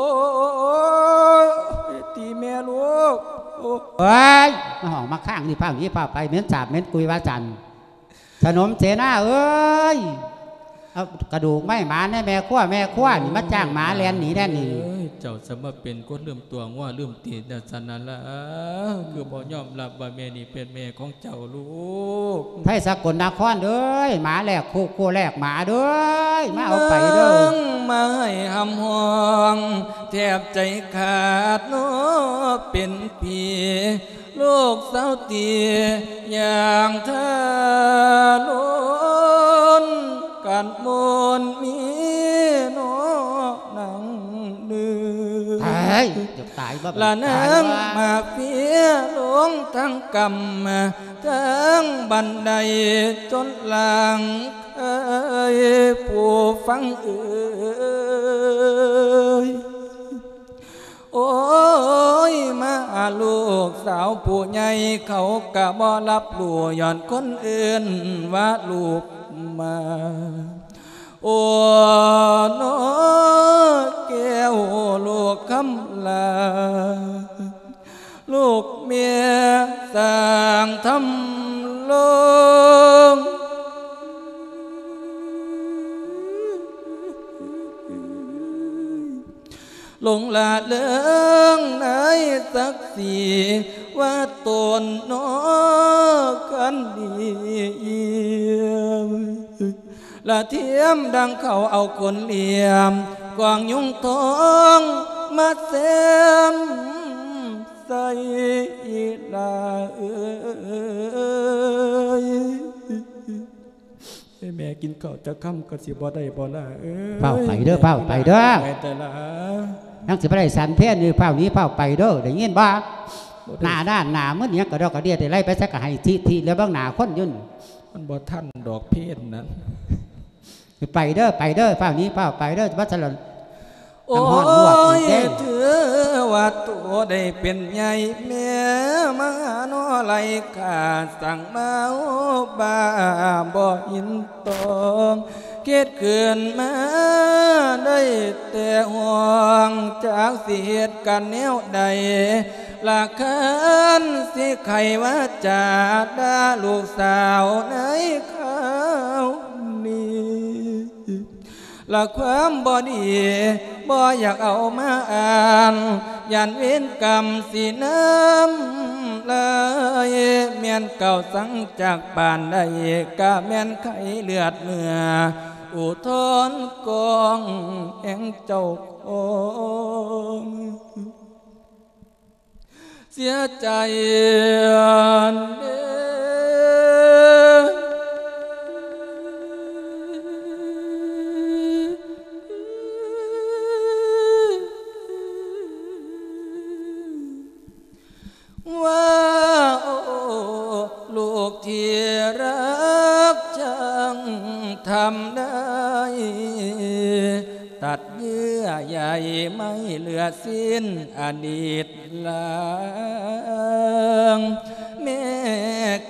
ຕີແມ່ລູກ ໂອ ເອີຍ ມາຫ້ອງມາຄ້າງນີ້ ພາໜີພາໄປ ເໝັນສາບເໝັນກຸຍວ່າຊັ້ນ. ສະໜົມເສນາເອີຍ ເອົາກະດູກໄມ້ໝາແດ່ ແມ່ຄົວ ແມ່ຄົວນີ້ມາຈ້າງໝາແລ່ນໜີແດ່ນີ້ ເອີຍ ເຈົ້າສະມາເປັນຄົນລືມຕົວງົວລືມຕີນຈັ່ງຊັ້ນນັ້ນລະ ຄືບໍ່ຍອມຮັບວ່າແມ່ນີ້ເປັນແມ່ຂອງເຈົ້າລູກ ໄທສະກົນນະຄອນເອີຍ ໝາແລກຄຸກ ຄຸກແລກໝາເດີ ມາເອົາໄປເດີ ນາງມາໃຫ້ຮຳຮ້ອງ ແທບໃຈຂາດເນາະ ເປັນຜີ ລູກສາວຕີຢ່າງທາລຸນ ກັນມົນມີເນາະນາງເດີ ຕາຍ ຢາກຕາຍບໍ່ ລະນາງມາເຟຍລົງທັງກຳ ທັງບັນໄດຈົນລ່າງເອີຍ ຜູ້ຟັງເອີຍ ໂອ້ຍ ມາລູກສາວຜູ້ໃຫຍ່ ເຂົາກະບໍ່ຮັບຮູ້ ຍ້ອນຄົນອື່ນວ່າລູກມາ ໂອ້ ນອແກ້ວລູກຄຳຫຼ້າ ລູກແມ່ສ້າງທຳລົງ ຫຼົງລະເລີງໃນສັກສີວ່າຕົນນອຄັນດີ ລະທຽມດັ່ງເຂົາເອົາຂົນຫຼຽມ ກວາງຍຸງທອງມາແຊມໃສ່ອີ່ຫຼ້າເອີຍ. ໃຫ້ແມ່ກິນເຂົ້າຈັກຄຳກໍຊິບໍ່ໄດ້ບໍ່ລະເອີຍ. ຟ້າວໄປເດີ ຟ້າວໄປເດີ ໄປແຕ່ລະ ຍັງຊິບໍ່ໄດ້ສັນເພນຢູ່ ຟ້າວໜີ ຟ້າວໄປເດີ ໄດ້ຍິນບໍ່? ບໍ່ໄດ້ ໜ້າດ້ານໜ້າມຶນຫຍັງກະດອກກະເດຍ ໄດ້ໄລ່ໄປໃສກະໃຫ້ທິທິແລ້ວເບິ່ງໜ້າຄົນຢູ່ ມັນບໍ່ທັນດອກເພນນັ້ນ. ໄປເດີ ໄປເດີ ຟ້າວໜີ ຟ້າວໄປເດີ ວ່າຊັ້ນລະ. ໂອ້ຍ ນຳຮ້ອນລວກອີກເດ້ ຖືວ່າໂຕໄດ້ເປັນໃຫຍ່ ແມ່ມາຫານອໄຫຼຂ້າ ສັ່ງມາໂອບາບໍ່ຍິນຕອງ ຄິດຂຶ້ນມາໄດ້ແຕ່ຫ່ວງ ຈັກຊິເຮັດກັນແນວໃດ ລະຄັນຊິໄຂວາຈາ ດ່າລູກສາວໃນຄາວນີ້ ລະຄວາມບໍ່ດີບໍ່ຢາກເອົາມາອ່ານ ຢ້ານເວນກຳຊິນຳລາຍ ແມ່ນເກົ່າສັງຈາກປານໃດ ກະແມ່ນໄຂ້ເລືອດເນື້ອ ອຸທອນກອງແຫ່ງເຈົ້າຂອງ ເສຍໃຈເດີ ວ່າ ໂອ້ ລູກທີ່ຮັກ ຊ່າງທຳໄດ້ ຕັດເຍື່ອໃຍໄມ້ເຫຼືອສິ້ນອະດີດ ລາງ ແມ່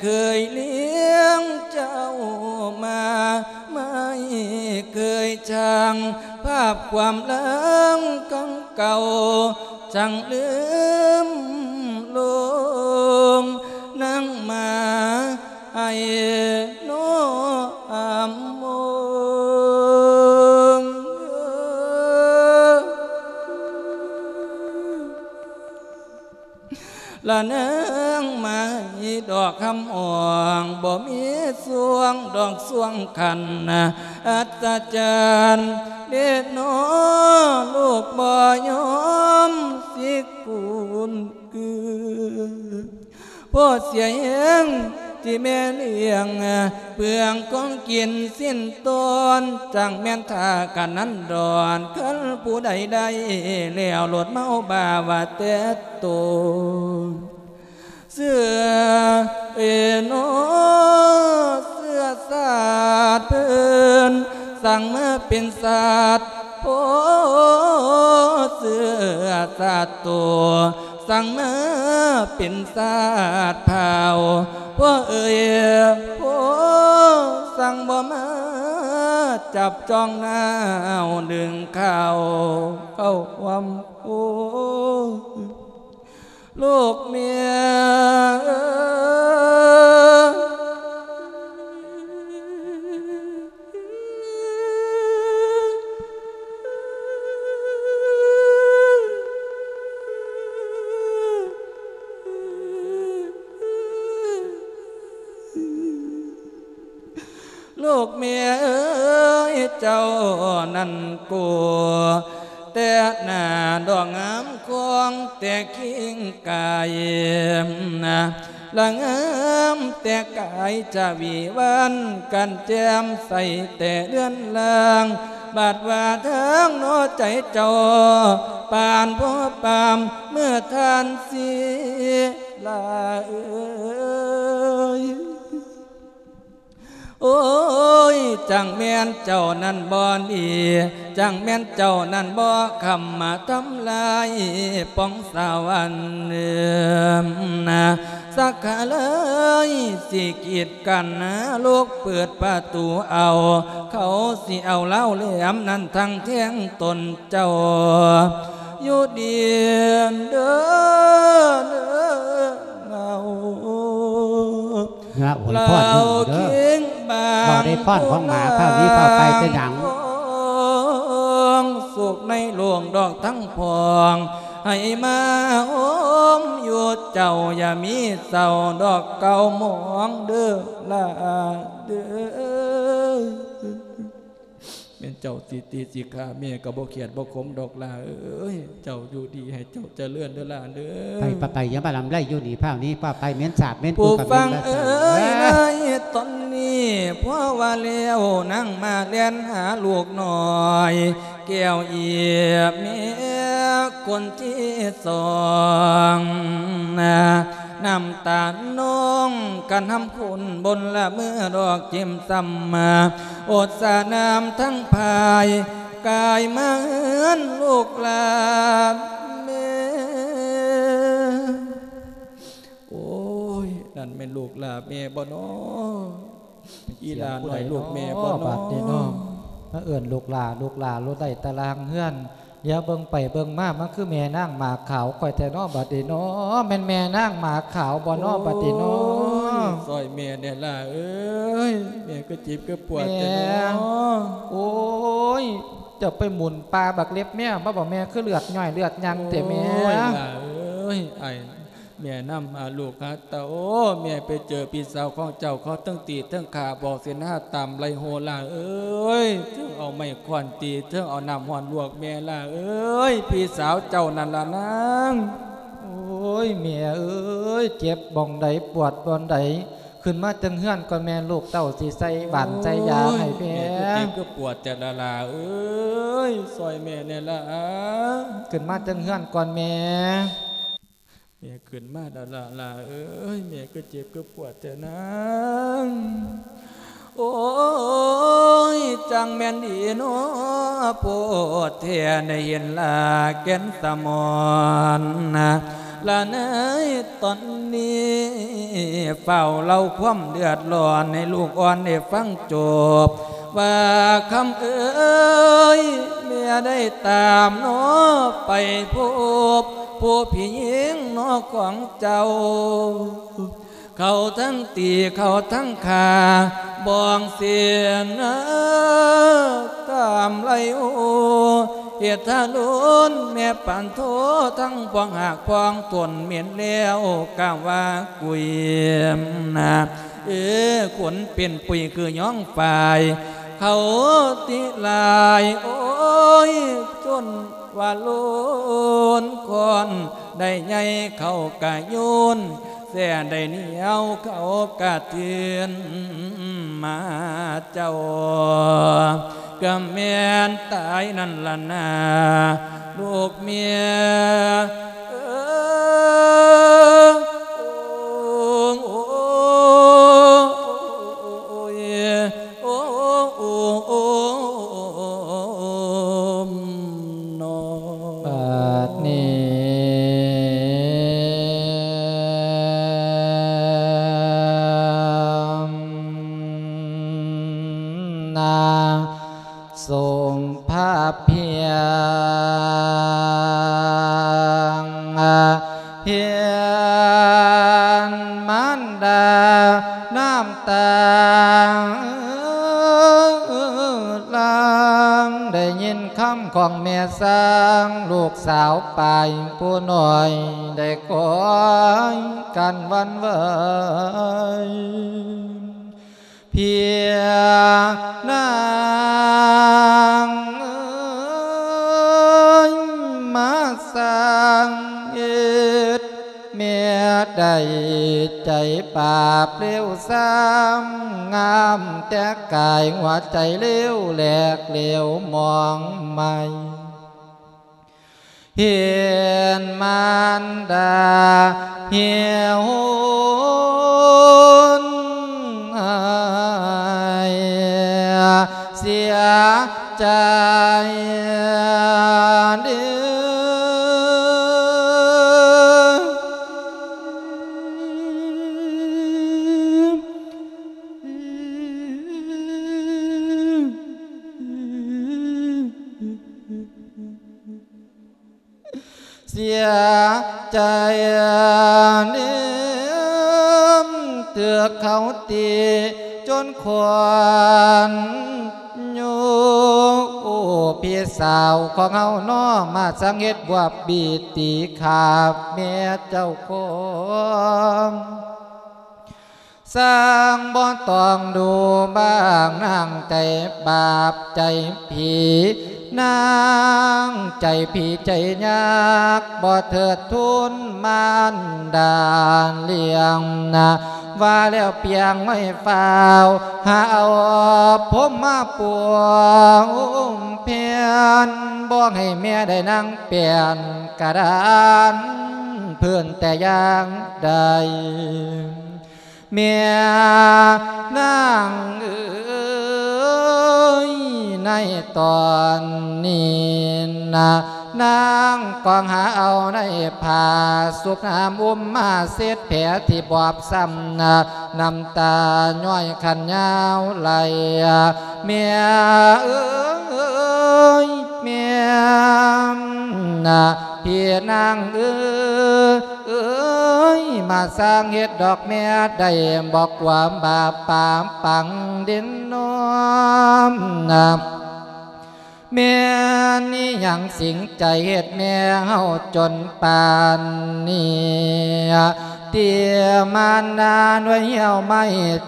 ເຄີຍລ້ຽງເຈົ້າມາ ໄມ່ເຄີຍຊ່າງ ພາບຄວາມຫຼັງຄັ້ງເກົ່າ ຊ່າງລືມລົງ ນາງໝາ ໄອໂນອາມງ ລະນາງໄມ້ດອກຄຳອ່ອງ ບໍ່ມີຊ່ວງດອກຊ່ວງຄັນ ອັດສະຈັນເດເນາະ ລູກບໍ່ຍອມຊິກຸນ ຄື ພໍເສຍແຮງທີ່ແມ່ລ້ຽງ ເປືອງຂອງກິນສິ້ນຕອນ ຈັ່ງແມ່ນຖ້າກັນນັ້ນດອນ ຄັນຜູ້ໃດໄດ້ແລ້ວໂລດເມົາບ້າວ່າແຕ່ໂຕ ເຊື້ອເອໂນ ເຊື້ອຊາດເພິ່ນ ສັ່ງມາເປັນຊາດພໍ່ ເຊື້ອຊາດໂຕ ສັ່ງມາເປັນຊາດພາວ ພໍ່ເອີຍ ພໍ່ສັ່ງບໍ່ມາຈັບຈ້ອງນາວດຶງຂ່າວເຂົ້າຮ່ວມໂອ ລູກເມຍເອີຍ ລູກເມຍເອີຍ ເຈົ້ານັ້ນໂກ ແຕ່ໜ້າດອກງາມຄອງແຕ່ຄີງກາຍ ລະງາມແຕ່ກາຍຈະຫວີຫວານກັນແຈ່ມໃສແຕ່ເລື່ອນລາງ ບາດວ່າທາງໜໍໃຈເຈົ້າ ປານພໍປາມເມື່ອທ່ານສີລາເອີຍ. ໂອ້ຍ ຈັ່ງແມ່ນເຈົ້ານັ້ນບໍ່ດີ ຈັ່ງແມ່ນເຈົ້ານັ້ນບໍ່ຄ້ຳມາທຳລາຍປ່ອງສະຫວັນ ນະ ສັກກະເລີຍຊິກີດກັນ ລູກເປີດປະຕູເອົາ ເຂົາຊິເອົາລາວແຫຼມນັ້ນທັງແທງຕົນເຈົ້າ ຢູ່ດີເດີ ເດີເອົາ ເນາະ ອວຍພອນເດີ ລາວເຄັ່ງບາງ ເວົ້າໄດ້ພອນຂອງໝາ ພາວນີ້ພາວໄປເປັນຫຍັງ ສຸກໃນໂລກດອກທັງພອງ ໃຫ້ມາໂຮມຢູ່ເຈົ້າ ຢ່າມີເສົ້າດອກເກົ່າໝອງເດີຫຼ້າເດີ. ແມ່ນເຈົ້າຊິຕີຊິຂ້າແມ່ກໍບໍ່ຂຽດບໍ່ຂົມດອກຫຼ້າເອີຍ ເຈົ້າຢູ່ດີໃຫ້ເຈົ້າຈະເລີນເດີຫຼ້າເດີ. ໄປ ໄປ ໄປ ຢ່າມາລຳໄລຢູ່ນີ້ພາວນີ້ພາວໄປ ເໝັນສາບເໝັນ ຜູ້ຟັງເອີຍ ໃນຕອນນີ້ ເພາະວ່າແລ້ວນາງມາແລ່ນຫາລູກນ້ອຍ ແກ້ວອີບແມ່ຄົນທີສອງ ນ້ຳຕານອງກະນຳຄຸນບົນລະເມືອດອກຈິ້ມຊ້ຳມາ ອົດສານ້ຳທັງພາຍ ກາຍມາເຮືອນລູກຫຼານແມ່. ໂອ້ຍ ນັ້ນແມ່ນລູກຫຼານແມ່ບໍ່ນໍ? ອີຫຼ້ານ້ອຍລູກແມ່ບໍ່ນໍ? ບາດນີ້ນໍ ມາເອີ້ນລູກຫຼານ ລູກຫຼານໂລດ ໄດ້ຕາລ່າງເຮືອນ ດຽວເບິ່ງໄປເບິ່ງມາ ມັນຄືແມ່ນາງໝາກຂາວຂ້ອຍແທ້ນໍ ບາດນີ້ນໍ ແມ່ນແມ່ນາງໝາກຂາວບໍ່ນໍ ໂອ້ຍ ບາດນີ້ນໍ? ຊ່ອຍແມ່ແດ່ຫຼ້າເອີຍ ແມ່ຄືເຈັບຄືປວດແທ້ນໍ? ໂອ້ຍ ເຈົ້າໄປໝຸນປາບັກເລັບແມວມາບໍ່ ແມ່ຄືເລືອດຍ້ອຍເລືອດຍັງແທ້ແມ່? ໂອ້ຍ ຫຼ້າເອີຍ ອ້າຍ ແມ່ນຳຫາລູກຫາເຕົ້າ ແມ່ໄປເຈີພີ່ສາວຂອງເຈົ້າ ເຂົາເຖິງຕີເຖິງຂ້າ ບອກສິນຫາຕາມໄລ່ໂຫ ຫຼ້າເອີຍ ເຖິງເອົາໄມ້ຄ້ອນຕີ ເຖິງເອົານ້ຳຮ້ອນລວກແມ່ ຫຼ້າເອີຍ ພີ່ສາວເຈົ້ານັ້ນລະນາງ. ໂອ້ຍ ແມ່ເອີຍ ເຈັບບ່ອນໃດ ປວດບ່ອນໃດ ຂຶ້ນມາເທິງເຮືອນກ່ອນແມ່ ລູກເຕົ້າຊິໃສ່ຫວານໃສ່ຢາໃຫ້ແມ່. ໂອ້ຍ ແມ່ຄືເຈັບຄືປວດແທ້ລະຫຼ້າເອີຍ ຊ່ອຍແມ່ແດ່ຫຼ້າ. ຂຶ້ນມາເທິງເຮືອນກ່ອນແມ່. ແມ່ຂຶ້ນມາແລ້ວຫຼ້າ ຫຼ້າເອີຍ ແມ່ຄືເຈັບຄືປວດແທ້ນາງ? ໂອ້ຍ ຈັ່ງແມ່ນດີເນາະ ໂພດແທ້ໄດ້ເຫັນລາແກ່ນສະໝອນນະ ລະໃນຕອນນີ້ ຟ້າວເລົ່າຄວາມເດືອດຮ້ອນໃຫ້ລູກອ່ອນໄດ້ຟັງຈົບ ວ່າຄຳເອີຍ ແມ່ໄດ້ຕາມເນາະ ໄປພົບຜູ້ພີ່ຍິງເນາະຂອງເຈົ້າ ເຂົາທັງຕີເຂົາທັງຂ້າ ບອງເສນຕາມໄລ່ໂອ ເຮັດທາລຸນແມ່ປານໂທ ທັງພວງຫາກພວງຕົ້ນເໝັນແລ້ວ ກະວ່າກຸຍນະ ເອີ ຄົນເປັນປຸຍຄືຍອງຝ້າຍ ເຂົາຕິລາຍ ໂອ້ຍ ຈົນວ່າໂລນຄອນ ໄດ້ໃຫຍ່ເຂົາກະໂຍນ ແຊໄດ້ໜຽວເຂົາກະເທືອນມາເຈົ້າ ກະແມ່ນຕາຍນັ້ນລະນາ ລູກເມຍເອີຍ ໂອ້ຍ ໂອ້ ໂອ້ ໂອ້ ໂອ້ ເນາະ ບາດນີ້ ນາ ສົມພະພຽງ ເຫັນມານດານ້ຳຕາຫຼັ່ງ ໄດ້ຍິນຄຳຂອງແມ່ຊ່າງ ລູກສາວປາຍຜູ້ນ້ອຍ ໄດ້ກອຍກັນຫວັ່ນໄຫວ. ພຽງນາງເອີຍ ມາສ້າງເຮັດ ແມ່ໄດ້ໃຈບາບເລວຊ້ຳ ງາມແຕ່ກາຍ ຫົວໃຈເລວແຫຼກເຫຼວໝອງໄໝ້. ເຫັນມານດາຫິວໂຫຍ ໃຈເດີ ເສຍໃຈເດີ ຖືກເຂົາຕີຈົນຂວັນໂຍ. ໂອ້ ພີ່ສາວຂອງເຮົາເນາະ ມາສັງເຮັດບວບບີຕີຂ້າແມ່ເຈົ້າຂອງ. ຊ່າງບໍ່ຕ້ອງດູບາງນາງໃຈບາບໃຈຜີ ນາງໃຈຜີໃຈຍາກ ບໍ່ເທີດທູນມານດາລ້ຽງນາ ວ່າແລ້ວປຽງໄວ້ຟ້າວ ຫາເອົາພົມມາປົວອຸ້ມແຜ່ນ ບໍ່ໃຫ້ແມ່ໄດ້ນັ່ງແປ້ນກະດານພື້ນແຕ່ຢ່າງໃດ. ແມ່ນາງເອີຍ ໃນຕອນນີ້ນະ ນາງກອງຫາເອົາໃນຜ້າຊຸບນ້ຳອຸ້ມມາເຊັດແຜທີ່ບອບຊ້ຳນະ ນ້ຳຕາຍ້ອຍຂັນຍາວໄຫຼ. ແມ່ເອີຍ ແມ່ນະ ພີ່ນາງເອີຍ ເອີຍ ມາສ້າງເຮັດດອກແມ່ໄດ້ບໍ່ ຄວາມບາບປາມປັງເດັ່ນນ້ອມນະ ແມ່ນອີຫຍັງສິງໃຈເຮັດແມ່ເຮົາຈົນປານນີ້ ຕີມານນາດ້ວຍຫ່ຽວໄມ້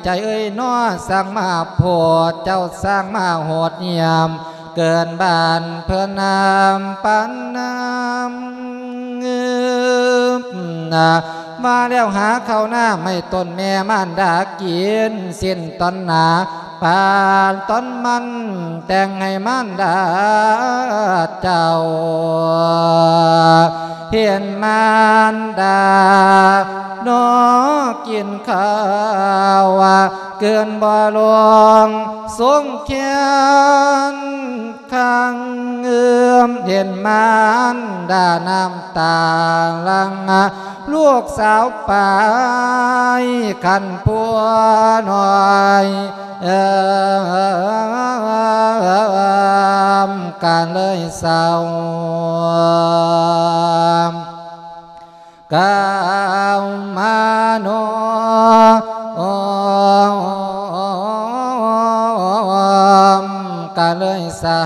ໃຈເອີຍນໍ ສ້າງມາໂພດ ເຈົ້າສ້າງມາໂຫດຫ້ຽມ ເກີນບ້ານເພິ່ນນຳປານນຳ ເງືອບນາ ມາແລ້ວຫາເຂົ້ານ້ຳໃຫ້ຕົນແມ່ມານດາກິນ ສິ້ນຕອນໜາປານຕອນມັນ ແຕ່ງໃຫ້ມານດາເຈົ້າ ເຫັນມານດາ ນອກກິນຂ້າວ ເກີນບໍ່ລວງສົງແຄ້ນຄັງເງືອມ ເຫັນມານດານ້ຳຕາຫຼັ່ງ ລູກສາວປາຍຄັນຜົວນ້ອຍ ເອີມ ກະເລີຍເສົ້າ ກ່າວມາໂນ ໂອມ ກະເລີຍສາ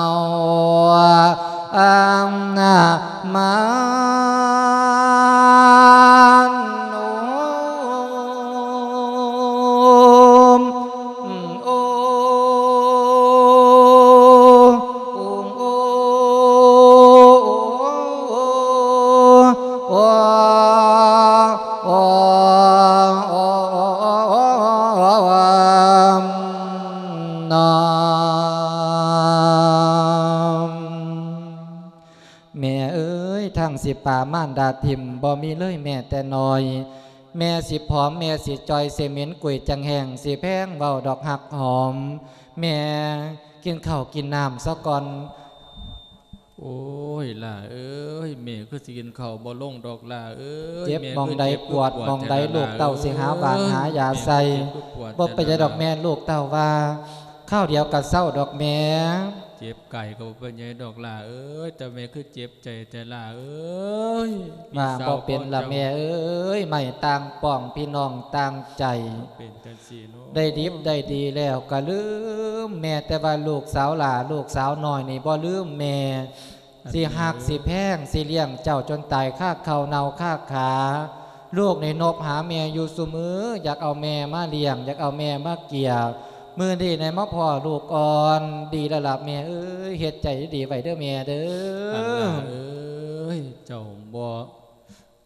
ວ ອັນນາມານ ໂອມ ໂອ ໂອ ໂອ ໂອ ນອມ. ແມ່ເອີຍ ທັງຊິປາມານດາຖິ້ມບໍ່ມີເລີຍແມ້ແຕ່ນ້ອຍ ແມ່ຊິຜອມ ແມ່ຊິຈ່ອຍ ຊິເໝັນກຸຍຈັງແຫ້ງ ຊິແພງເວົ້າດອກຮັກຫອມ ແມ່ກິນເຂົ້າກິນນ້ຳຊະກ່ອນ. ໂອ້ຍ ຫຼ້າເອີຍ ແມ່ຄືຊິກິນເຂົ້າບໍ່ລົງດອກ ຫຼ້າເອີຍ ເຈັບໝ່ອງໃດ ແມ່ຄືເຈັບ ປວດໝ່ອງໃດ ຄືປວດແທ້ ຫຼ້າ ລູກເຕົ້າຊິຫາຫວ່ານຫາຢາໃສ່ ເອີຍ ແມ່ຄືເຈັບຄືປວດແທ້ ບໍ່ເປັນຫຍັງດອກແມ່ ລູກເຕົ້າວ່າ ຄາວດຽວກະເຊົາດອກແມ່ ເຈັບກາຍກະບໍ່ເປັນຫຍັງດອກ ຫຼ້າເອີຍ ແຕ່ແມ່ຄືເຈັບໃຈແທ້ ຫຼ້າເອີຍ ວ່າບໍ່ເປັນລະແມ່ເອີຍ ໄມ້ຕ່າງປ້ອງ ພີ່ນ້ອງຕ່າງໃຈ ເປັນຈັ່ງຊີ້ເນາະ ໄດ້ດິບໄດ້ດີແລ້ວກະລືມແມ່ ແຕ່ວ່າລູກສາວຫຼ້າ ລູກສາວນ້ອຍນີ້ບໍ່ລືມແມ່ ຊິຮັກຊິແພງ ຊິລ້ຽງເຈົ້າຈົນຕາຍຄາເຂົ້າເນົ່າຄາຂາ ລູກນີ້ນົບຫາແມ່ຢູ່ຊຸມື້ ຢາກເອົາແມ່ມາລ້ຽງ ຢາກເອົາແມ່ມາກຽບ ມື້ນີ້ໄດ້ມາພໍ້ລູກອ່ອນ ດີແລ້ວລະແມ່ເອີຍ ເຮັດໃຈດີໆໄວ້ເດີແມ່ເດີ. ອັນລະເອີຍ ເຈົ້າບໍ່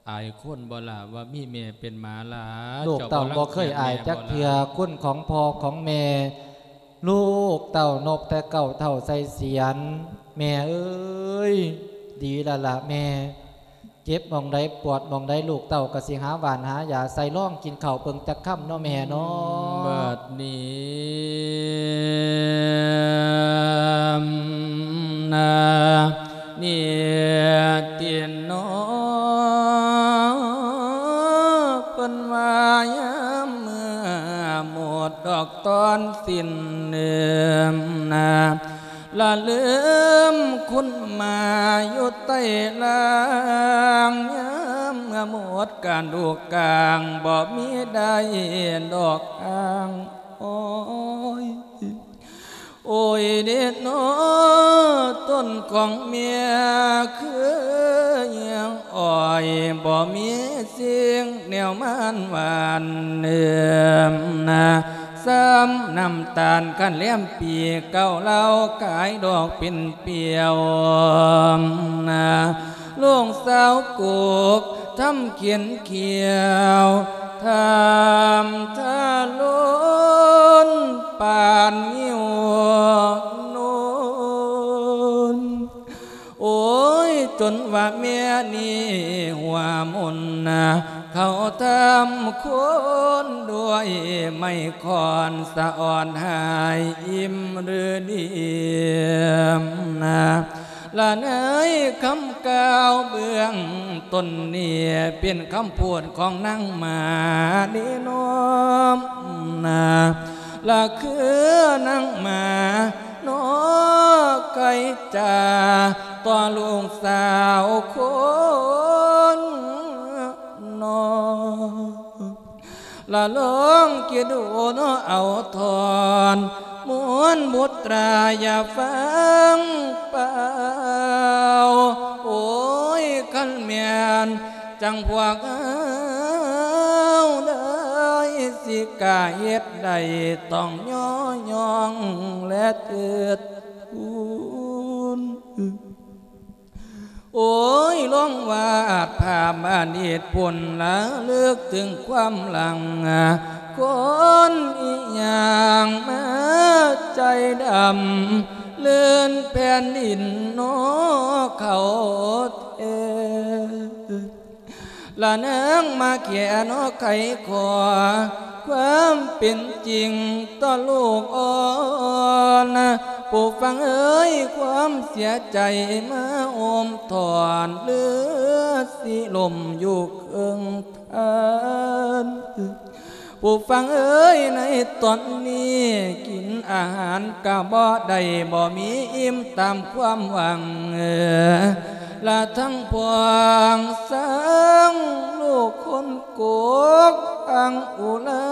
ອາຍຄົນບໍ່ລະ ວ່າມີແມ່ເປັນໝາລະ ລູກເຕົ້າບໍ່ເຄີຍອາຍຈັກເທື່ອ ຄຸນຂອງພໍ່ຂອງແມ່ ລູກເຕົ້ານົບແຕ່ເກົ້າເທົ່າໃສ່ສຽນ ແມ່ເອີຍ ດີແລ້ວລະແມ່ ເຈັບໝ່ອງໃດປວດໝ່ອງໃດ ລູກເຕົ້າກະຊິຫາຫວ່ານຫາຢາໃສ່ ລອງກິນເຂົ້າເບິ່ງຈັກຄຳເນາະແມ່ເນາະ ບາດນີ້ ນາ ນິຕິໂນ ເພິ່ນວ່າຍາມເມື່ອໝົດດອກຕອນສິ້ນເນີມນາ ລະລືມຄຸນມາຢູ່ໃຕ້ລ່າງ ຍາມເມື່ອໝົດການດູກາງ ບໍ່ມີໄດ້ດອກອ້າງ ໂອ້ຍ ໂອ້ຍເດເນາະ ຕົ້ນຂອງເມຍຄືຫຍັງອ້ອຍ ບໍ່ມີສິ່ງແນວມານຫວານເນີມນາ ຊ້ຳນ້ຳຕານຄັນແລມປີເກົ່າ ເຫຼົ້າຂາຍດອກເປັນປ່ຽວນາ ລູກສາວກົກທຳຂຽນຂຽວ ທຳທາລຸນປານງິ້ວໂນນ ໂອ້ຍ ຈົນວ່າແມ່ນີ້ຫົວມົນນາ ເຂົາທຳຄົນດ້ວຍໄມ້ຄ້ອນ ສະອອນຫາຍອີ່ມຫຼືດີມນາ ລະໃນຄຳກ່າວເບື້ອງຕົ້ນນີ້ ເປັນຄຳພູດຂອງນາງໝາເດເນາະນາ ລະຄືນາງໝາເນາະ ໄກ່ຈາຕໍ່ລູກສາວຄົນນ້ອຍ ລະລອງຄິດດູເນາະ ເອົາທ່ອນ ມວນບຸດຕາຢ່າຟັງເປົ່າ ໂອ້ຍ ຄັນແມ່ນຈັ່ງພວກເຮົາເລີຍ ຊິກ້າເຮັດໄດ້ ຕ້ອງຍໍຍ້ອງ ແລະເທີດທູນ. ໂອ້ຍ ລອງວາດພາບອະດີດພຸ້ນ ລະລຶກເຖິງຄວາມຫຼັງ ຄົນອີ່ຫຍັງມາໃຈດຳ ເລື່ອນແຜ່ນດິນເນາະເຂົາແທ້ ລະນາງມາແຂນຫອໄຂຂໍຄວາມເປັນຈິງຕໍ່ລູກອ່ອນ ຜູ້ຟັງເອີຍ ຄວາມເສຍໃຈມາໂອມຖອນ ເຫຼືອຊິລົ້ມຢູ່ເຄິ່ງທານ ຜູ້ຟັງເອີຍ ໃນຕອນນີ້ກິນອາຫານກະບໍ່ໄດ້ ບໍ່ມີອີ່ມຕາມຄວາມຫວັງ ລະທັງພວງຊ້າງລູກຄົນກົກ ອັ່ງອຸລາ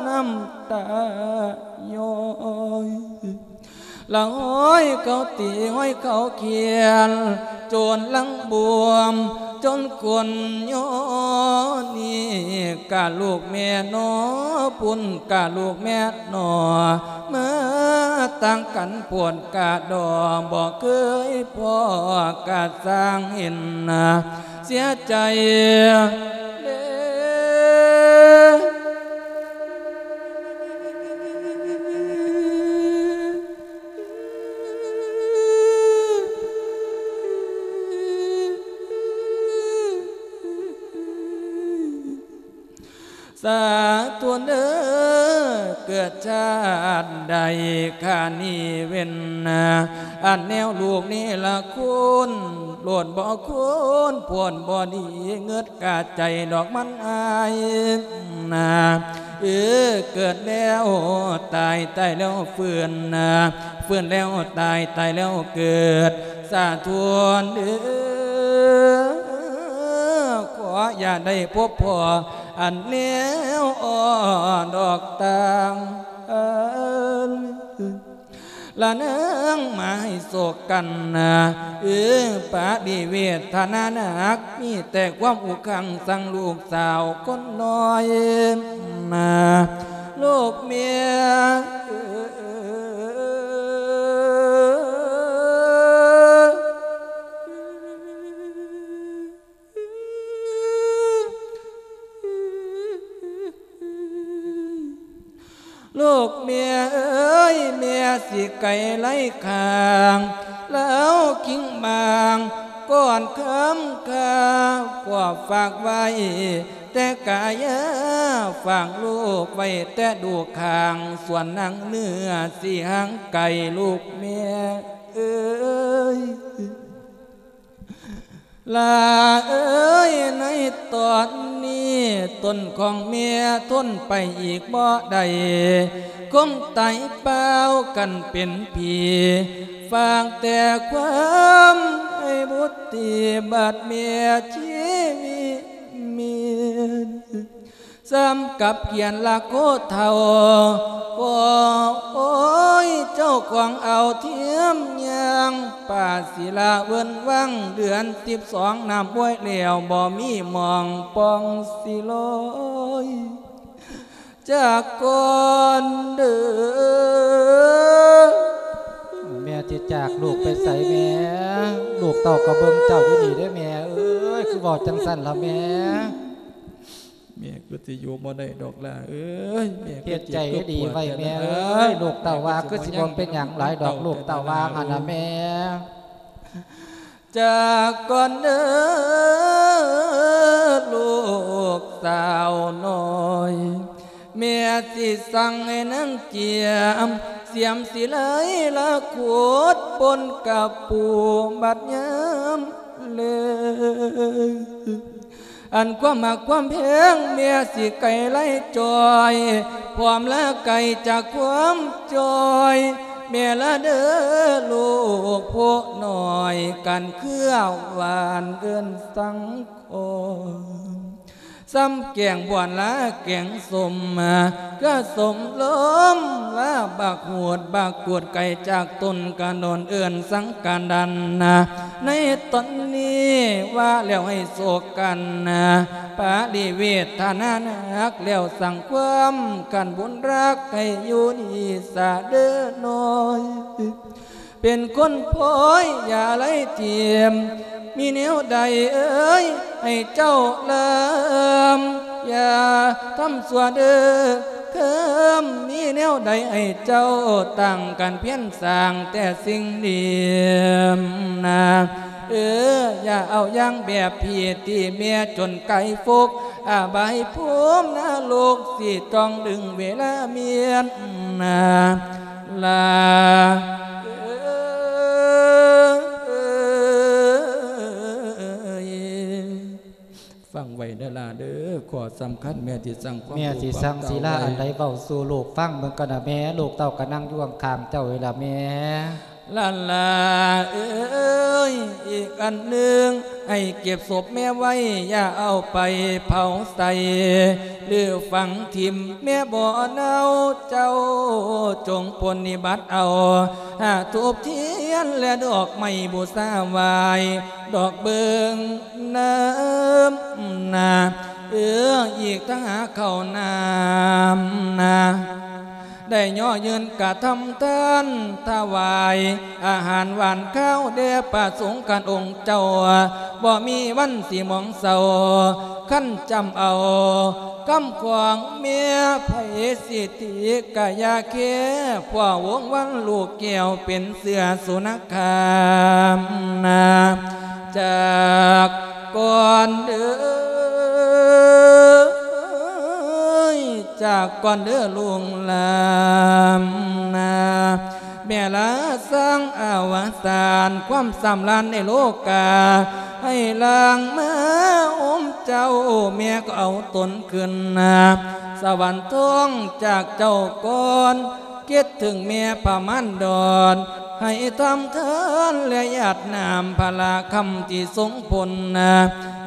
ນ້ຳຕາຍ້ອຍ ລະຮ້ອຍເຂົາຕີ ຮ້ອຍເຂົາຂຽນ ຈົນຫຼັງບວມ ຈົນກົ້ນຍ້ອຍນີ້ ກະລູກແມ່ໜໍ ພຸ້ນກະລູກແມ່ໜໍ ມາຕ່າງກັນໂພດກະດໍ ບໍ່ເຄີຍພໍ້ກະຊ່າງເຫັນນາ ເສຍໃຈເດ້. ສາທຸເດີ ເກີດຊາດໃດຂ້ານີ້ເວັ້ນນາ ອັນແນວລູກນີ້ລະຄຸນ ໂລດບໍ່ຄຸນ ໂພດບໍ່ດີ ເງິດກະໃຈດອກມັນອາຍນາ ເອີ ເກີດແລ້ວຕາຍ ຕາຍແລ້ວຟື້ນນາ ຟື້ນແລ້ວຕາຍ ຕາຍແລ້ວເກີດ ສາທຸເດີ ຂໍຢ່າໄດ້ພົບພໍ້ ອັນແນວອ່ອນດອກຕ່າງ ລະນາງມາໃຫ້ໂສກກັນນາ ເອີ ປະລິເວດຖານະໜັກ ມີແຕ່ຄວາມອຸຄັງຊັງລູກສາວຄົນນ້ອຍນາ ລູກເມຍເອີ. ລູກແມ່ເອີຍ ແມ່ຊິໄກໄຫຼຂ້າງ ລາວຄິງບາງ ກ່ອນຄຳຂ້າກໍຝາກໄວ້ແຕ່ກາຍາ ຝາກລູກໄວ້ແຕ່ດູຂ້າງ ສ່ວນນາງເນື້ອຊິຫ່າງໄກລູກແມ່ ເອີຍ ຫຼ້າເອີຍ ໃນຕອນນີ້ ຕົນຂອງແມ່ທົນໄປອີກບໍ່ໄດ້ ຄົງຕາຍເປົ່າກັນເປັນຜີ ຝາກແຕ່ຄວາມໃຫ້ບຸດຕີ ບາດແມ່ຊີວິດມີ ສ່ຳກັບຂຽນລາໂຄເຖົ້າ ກໍໂອ້ຍ ເຈົ້າຂອງເອົາທຽມຍ່າງ ປາສີລາເວີ້ນວັງ ເດືອນສິບສອງ ນ້ຳຫ້ວຍແລ້ວ ບໍ່ມີໝ່ອງປ່ອງຊິລອຍ ຈາກກ່ອນເດີ. ແມ່ຊິຈາກລູກໄປໃສແມ່? ລູກເຕົ້າກໍເບິ່ງເຈົ້າຢູ່ນີ້ເດ້ແມ່ເອີຍ ຄືເວົ້າຈັ່ງຊັ້ນລະແມ່? ແມ່ຄືຊິຢູ່ບໍ່ໄດ້ດອກຫຼ້າເອີຍ ແມ່ຄືເຈັບຄືປວດແທ້ລະ ເຮັດໃຈດີໄວ້ແມ່ເອີຍ ລູກເຕົ້າວ່າຄືຊິບໍ່ເປັນຫຍັງຫຼາຍດອກ ລູກເຕົ້າວ່າຫັ້ນນະແມ່. ຈາກກ່ອນເດີລູກສາວນ້ອຍ ແມ່ຊິສັ່ງໃຫ້ນາງກຽມ ສຽມສີໄລລະຂຸດປົນກະປູ ບັດຍາມແລງ ອັນຄວາມຮັກຄວາມແພງ ແມ່ຊິໄກ່ໄລ່ຈ່ອຍ ພ້ອມລະໄກ່ຈາກຄວາມຈ່ອຍ ແມ່ລະເດີລູກຜູ້ນ້ອຍ ກັນເຄືອຫວານເອີ້ນສັງຄອນ ສ່ຳແກງບວນລະແກງສົ້ມ ກະສົ້ມລົມລະບັກຫູດ ບັກກູດ ໄກ່ຈາກຕົ້ນກະໂນນ ເອີ້ນສັງກະດັນ ໃນຕອນນີ້ວ່າແລ້ວໃຫ້ໂຊກກັນ ປະລິເວດຖານະໜັກແລ້ວສັງຄວາມ ຄັນບຸນຮັກໃຫ້ຢູ່ດີສາເດີນ້ອຍ ເປັນຄົນພອຍຢ່າໄລ່ຖິ້ມ ມີແນວໃດເອີຍໃຫ້ເຈົ້າລຳ ຢ່າທຳຊົ່ວເດີເຄີມ ມີແນວໃດໃຫ້ເຈົ້າຕັ້ງກັນພຽນສ້າງແຕ່ສິ່ງດີນາ ເອີ ຢ່າເອົາຢ່າງແບບຜິດ ທີ່ແມ່ຈົນໄກຟົກ ອະບາຍພູມນະລົກ ຊິຕ້ອງດຶງເວລາມຽນນາ ລາເອີຍ. ຟັງໄວ້ເດີຫຼ້າເດີ ຂໍ້ສຳຄັນ ແມ່ຊິສັ່ງຄວາມ ແມ່ຊິສັ່ງສີລາອັນໃດເວົ້າສູ່ລູກຟັງເບິ່ງກ່ອນນະແມ່ ລູກເຕົ້າກະນັ່ງຢູ່ຂ້າງໆເຈົ້ານີ້ລະແມ່. ຫຼານຫຼ້າເອີຍ ອີກອັນໜຶ່ງ ໃຫ້ເກັບສົບແມ່ໄວ້ ຢ່າເອົາໄປເຜົາໃສ່ ຫຼືຝັງຖິ້ມແມ່ບໍ່ເນົ່າ ເຈົ້າຈົ່ງປົນນິບັດເອົາ ຫາທູບທຽນ ແລະ ດອກໄມ້ບູຊາໄຫວ້ ດອກເບິ່ງນຳນາ ເອີ ອີກທັງຫາເຂົ້ານ້ຳນາ ໄດ້ຍໍຍື່ນກະທຳທານ ຖວາຍອາຫານຫວານຄາວ ແດ່ພະສົງຄັນອົງເຈົ້າ ບໍ່ມີວັນຊິໝອງເສົ້າ ຄັນຈຳເອົາຄຳຂອງແມ່ ໃຜຊິຕິກະຢ່າແຄ ເພາະວົງວັນລູກແກ້ວ ເປັນເຊື້ອສຸນະຄາມນາ ຈາກກ່ອນເດີ ຈາກກ່ອນເດີລູກຫຼານນາ ແມ່ລາສ້າງອະວະສານ ຄວາມສຳລານໃນໂລກາ ໃຫ້ຫຼັ່ງມາອົບເຈົ້າ ແມ່ກໍເອົາຕົນຂຶ້ນນາ ສະຫວັນທອງຈາກເຈົ້າກ່ອນ ຄິດເຖິງແມ່ພະມານດອນ ໃຫ້ທຳທານ ແລະ ຢາດນ້ຳພະລາຄຳທີ່ຊົງພົ້ນນາ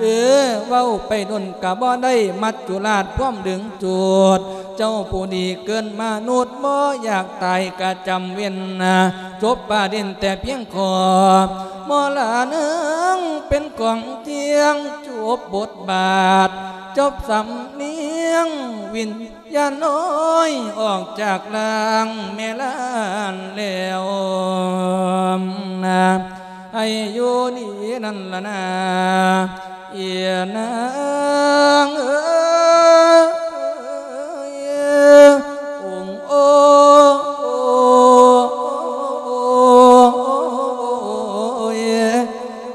ເອີ ເວົ້າໄປດົນກະບໍ່ໄດ້ ມັດຈຸລາດພວມດຶງຈູດ ເຈົ້າຜູ້ດີເກີດມະນຸດ ບໍ່ຢາກຕາຍກະຈຳເວັນນາ ຈົບປະເດັນແຕ່ພຽງຂໍ້ ໝໍລານາງເປັນຂອງທ່ຽງ ຈົບບົດບາດ ຈົບສຳນຽງ ວິນ ຢ່ານ້ອຍອອກຈາກຮ່າງແມ່ຫຼານແລ້ວນາ ໃຫ້ຢູ່ດີນັ້ນລະນາ ເອີຍນາງເອີຍ ອົງໂອ ໂອ ໂອ ໂອ ໂອ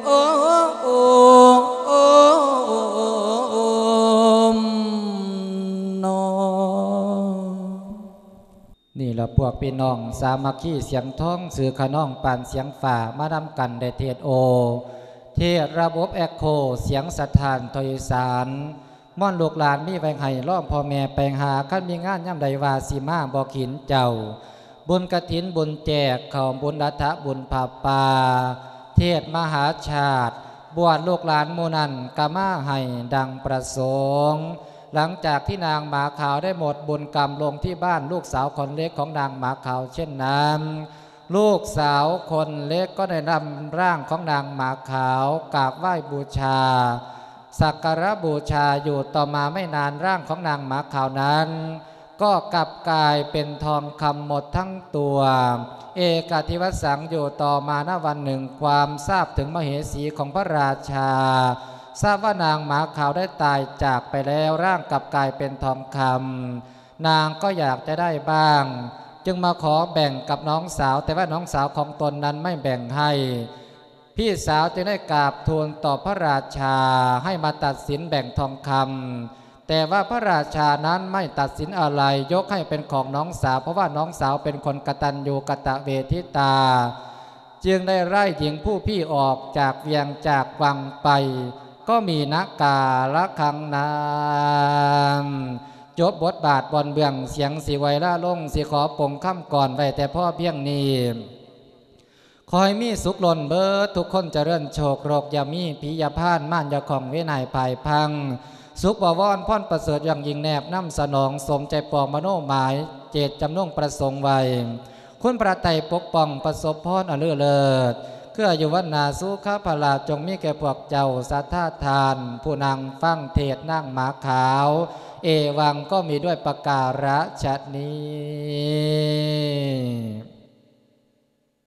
ໂອ ໂອ ໂອ ໂອ ໂອ ໂອ ໂອ ນີ້ລະພວກພີ່ນ້ອງສາມັກຄີສຽງທອງ ຊື່ຂະນອງປານສຽງຟ້າ ມານຳກັນໄດ້ເທດໂອ ເທດລະບົບແອັກໂຄ ສຽງສະທ້ານທອຍສານ ມ່ອນລູກຫຼານມີໄວ້ໃຫ້ ລອງພໍ່ແມ່ໄປຫາ ຄັນມີງານຍາມໃດວ່າຊິມາ ບໍ່ຂີນເຈົ້າ ບຸນກະຖິນ ບຸນແຈກເຂົ້າ ບຸນອັດຖະ ບຸນຜ້າປ່າ ເທດມະຫາຊາດ ບວດລູກຫຼານໝູ່ນັ້ນກະມາໃຫ້ດັ່ງປະສົງ. ຫຼັງຈາກທີ່ນາງໝາຂາວໄດ້ໝົດບຸນກຳລົງທີ່ບ້ານ ລູກສາວຄົນເລັກຂອງນາງໝາຂາວເຊັ່ນນັ້ນ ລູກສາວຄົນເລັກກໍໄດ້ນຳຮ່າງຂອງນາງໝາຂາວກາບໄຫວ້ບູຊາ ສັກກາລະບູຊາຢູ່. ຕໍ່ມາໄມ່ນານ ຮ່າງຂອງນາງໝາຂາວນັ້ນ ກໍກັບກາຍເປັນທອງຄຳໝົດທັງຕົວ ເອກາທິວະສັງ ຢູ່. ຕໍ່ມານະວັນໜຶ່ງ ຄວາມຊາບເຖິງມະເຫສີຂອງພະລາຊາ ຊາບວ່ານາງໝາຂາວໄດ້ຕາຍຈາກໄປແລ້ວ ຮ່າງກັບກາຍເປັນທອງຄຳ ນາງກໍຢາກຈະໄດ້ບ້າງ ຈຶ່ງມາຂໍແບ່ງກັບນ້ອງສາວ ແຕ່ວ່ານ້ອງສາວຂອງຕົນນັ້ນໄມ່ແບ່ງໃຫ້. ພີ່ສາວຈຶ່ງໄດ້ກາບທູນຕໍ່ພະລາຊາໃຫ້ມາຕັດສິນແບ່ງທອງຄຳ ແຕ່ວ່າພະລາຊານັ້ນໄມ່ຕັດສິນອະໄລ ຍົກໃຫ້ເປັນຂອງນ້ອງສາວ ເພາະວ່ານ້ອງສາວເປັນຄົນກະຕັນຍູກະຕະເວທິຕາ ຈຶ່ງໄດ້ໄລ່ຍິງຜູ້ພີ່ອອກຈາກວຽງຈາກວັງໄປ ກໍມີນະກາລະຄັງນາມ. ຈົບບົດບາດບ່ອນເບື້ອງ ສຽງຊິໄວລາລົງ ຊິຂໍປົງຄຳກອນໄວ້ແຕ່ພໍພຽງນີ້. ຂໍໃຫ້ມີສຸກລົ້ນເບີດທຸກຄົນ ຈະເລີນໂຊກໂລກຢ່າມີ ຜີຢ່າພານ ມານຢ່າຂ້ອງ ເວນໃຫ້ພາຍພັງ ສຸກບະວອນພອນປະເສີດ ຢ່າງຍິ່ງແນບນຳສະໜອງ ສົມໃຈປອງມະໂນໝາຍ ເຈດຈຳນົງປະສົງໄວ້ ຄຸນພະໄຕປົກປ້ອງ ປະສົບພອນອັນເລີດເລີດ ຄືອາຍຸວັນນາສຸຂະພະລາ ຈົ່ງມີແກ່ພວກເຈົ້າສັດທາທ່ານ ຜູ້ນັ່ງຟັງເທດນາງໝາຂາວ ເອວັງ ກໍມີດ້ວຍປະກາລະຊະນີ້.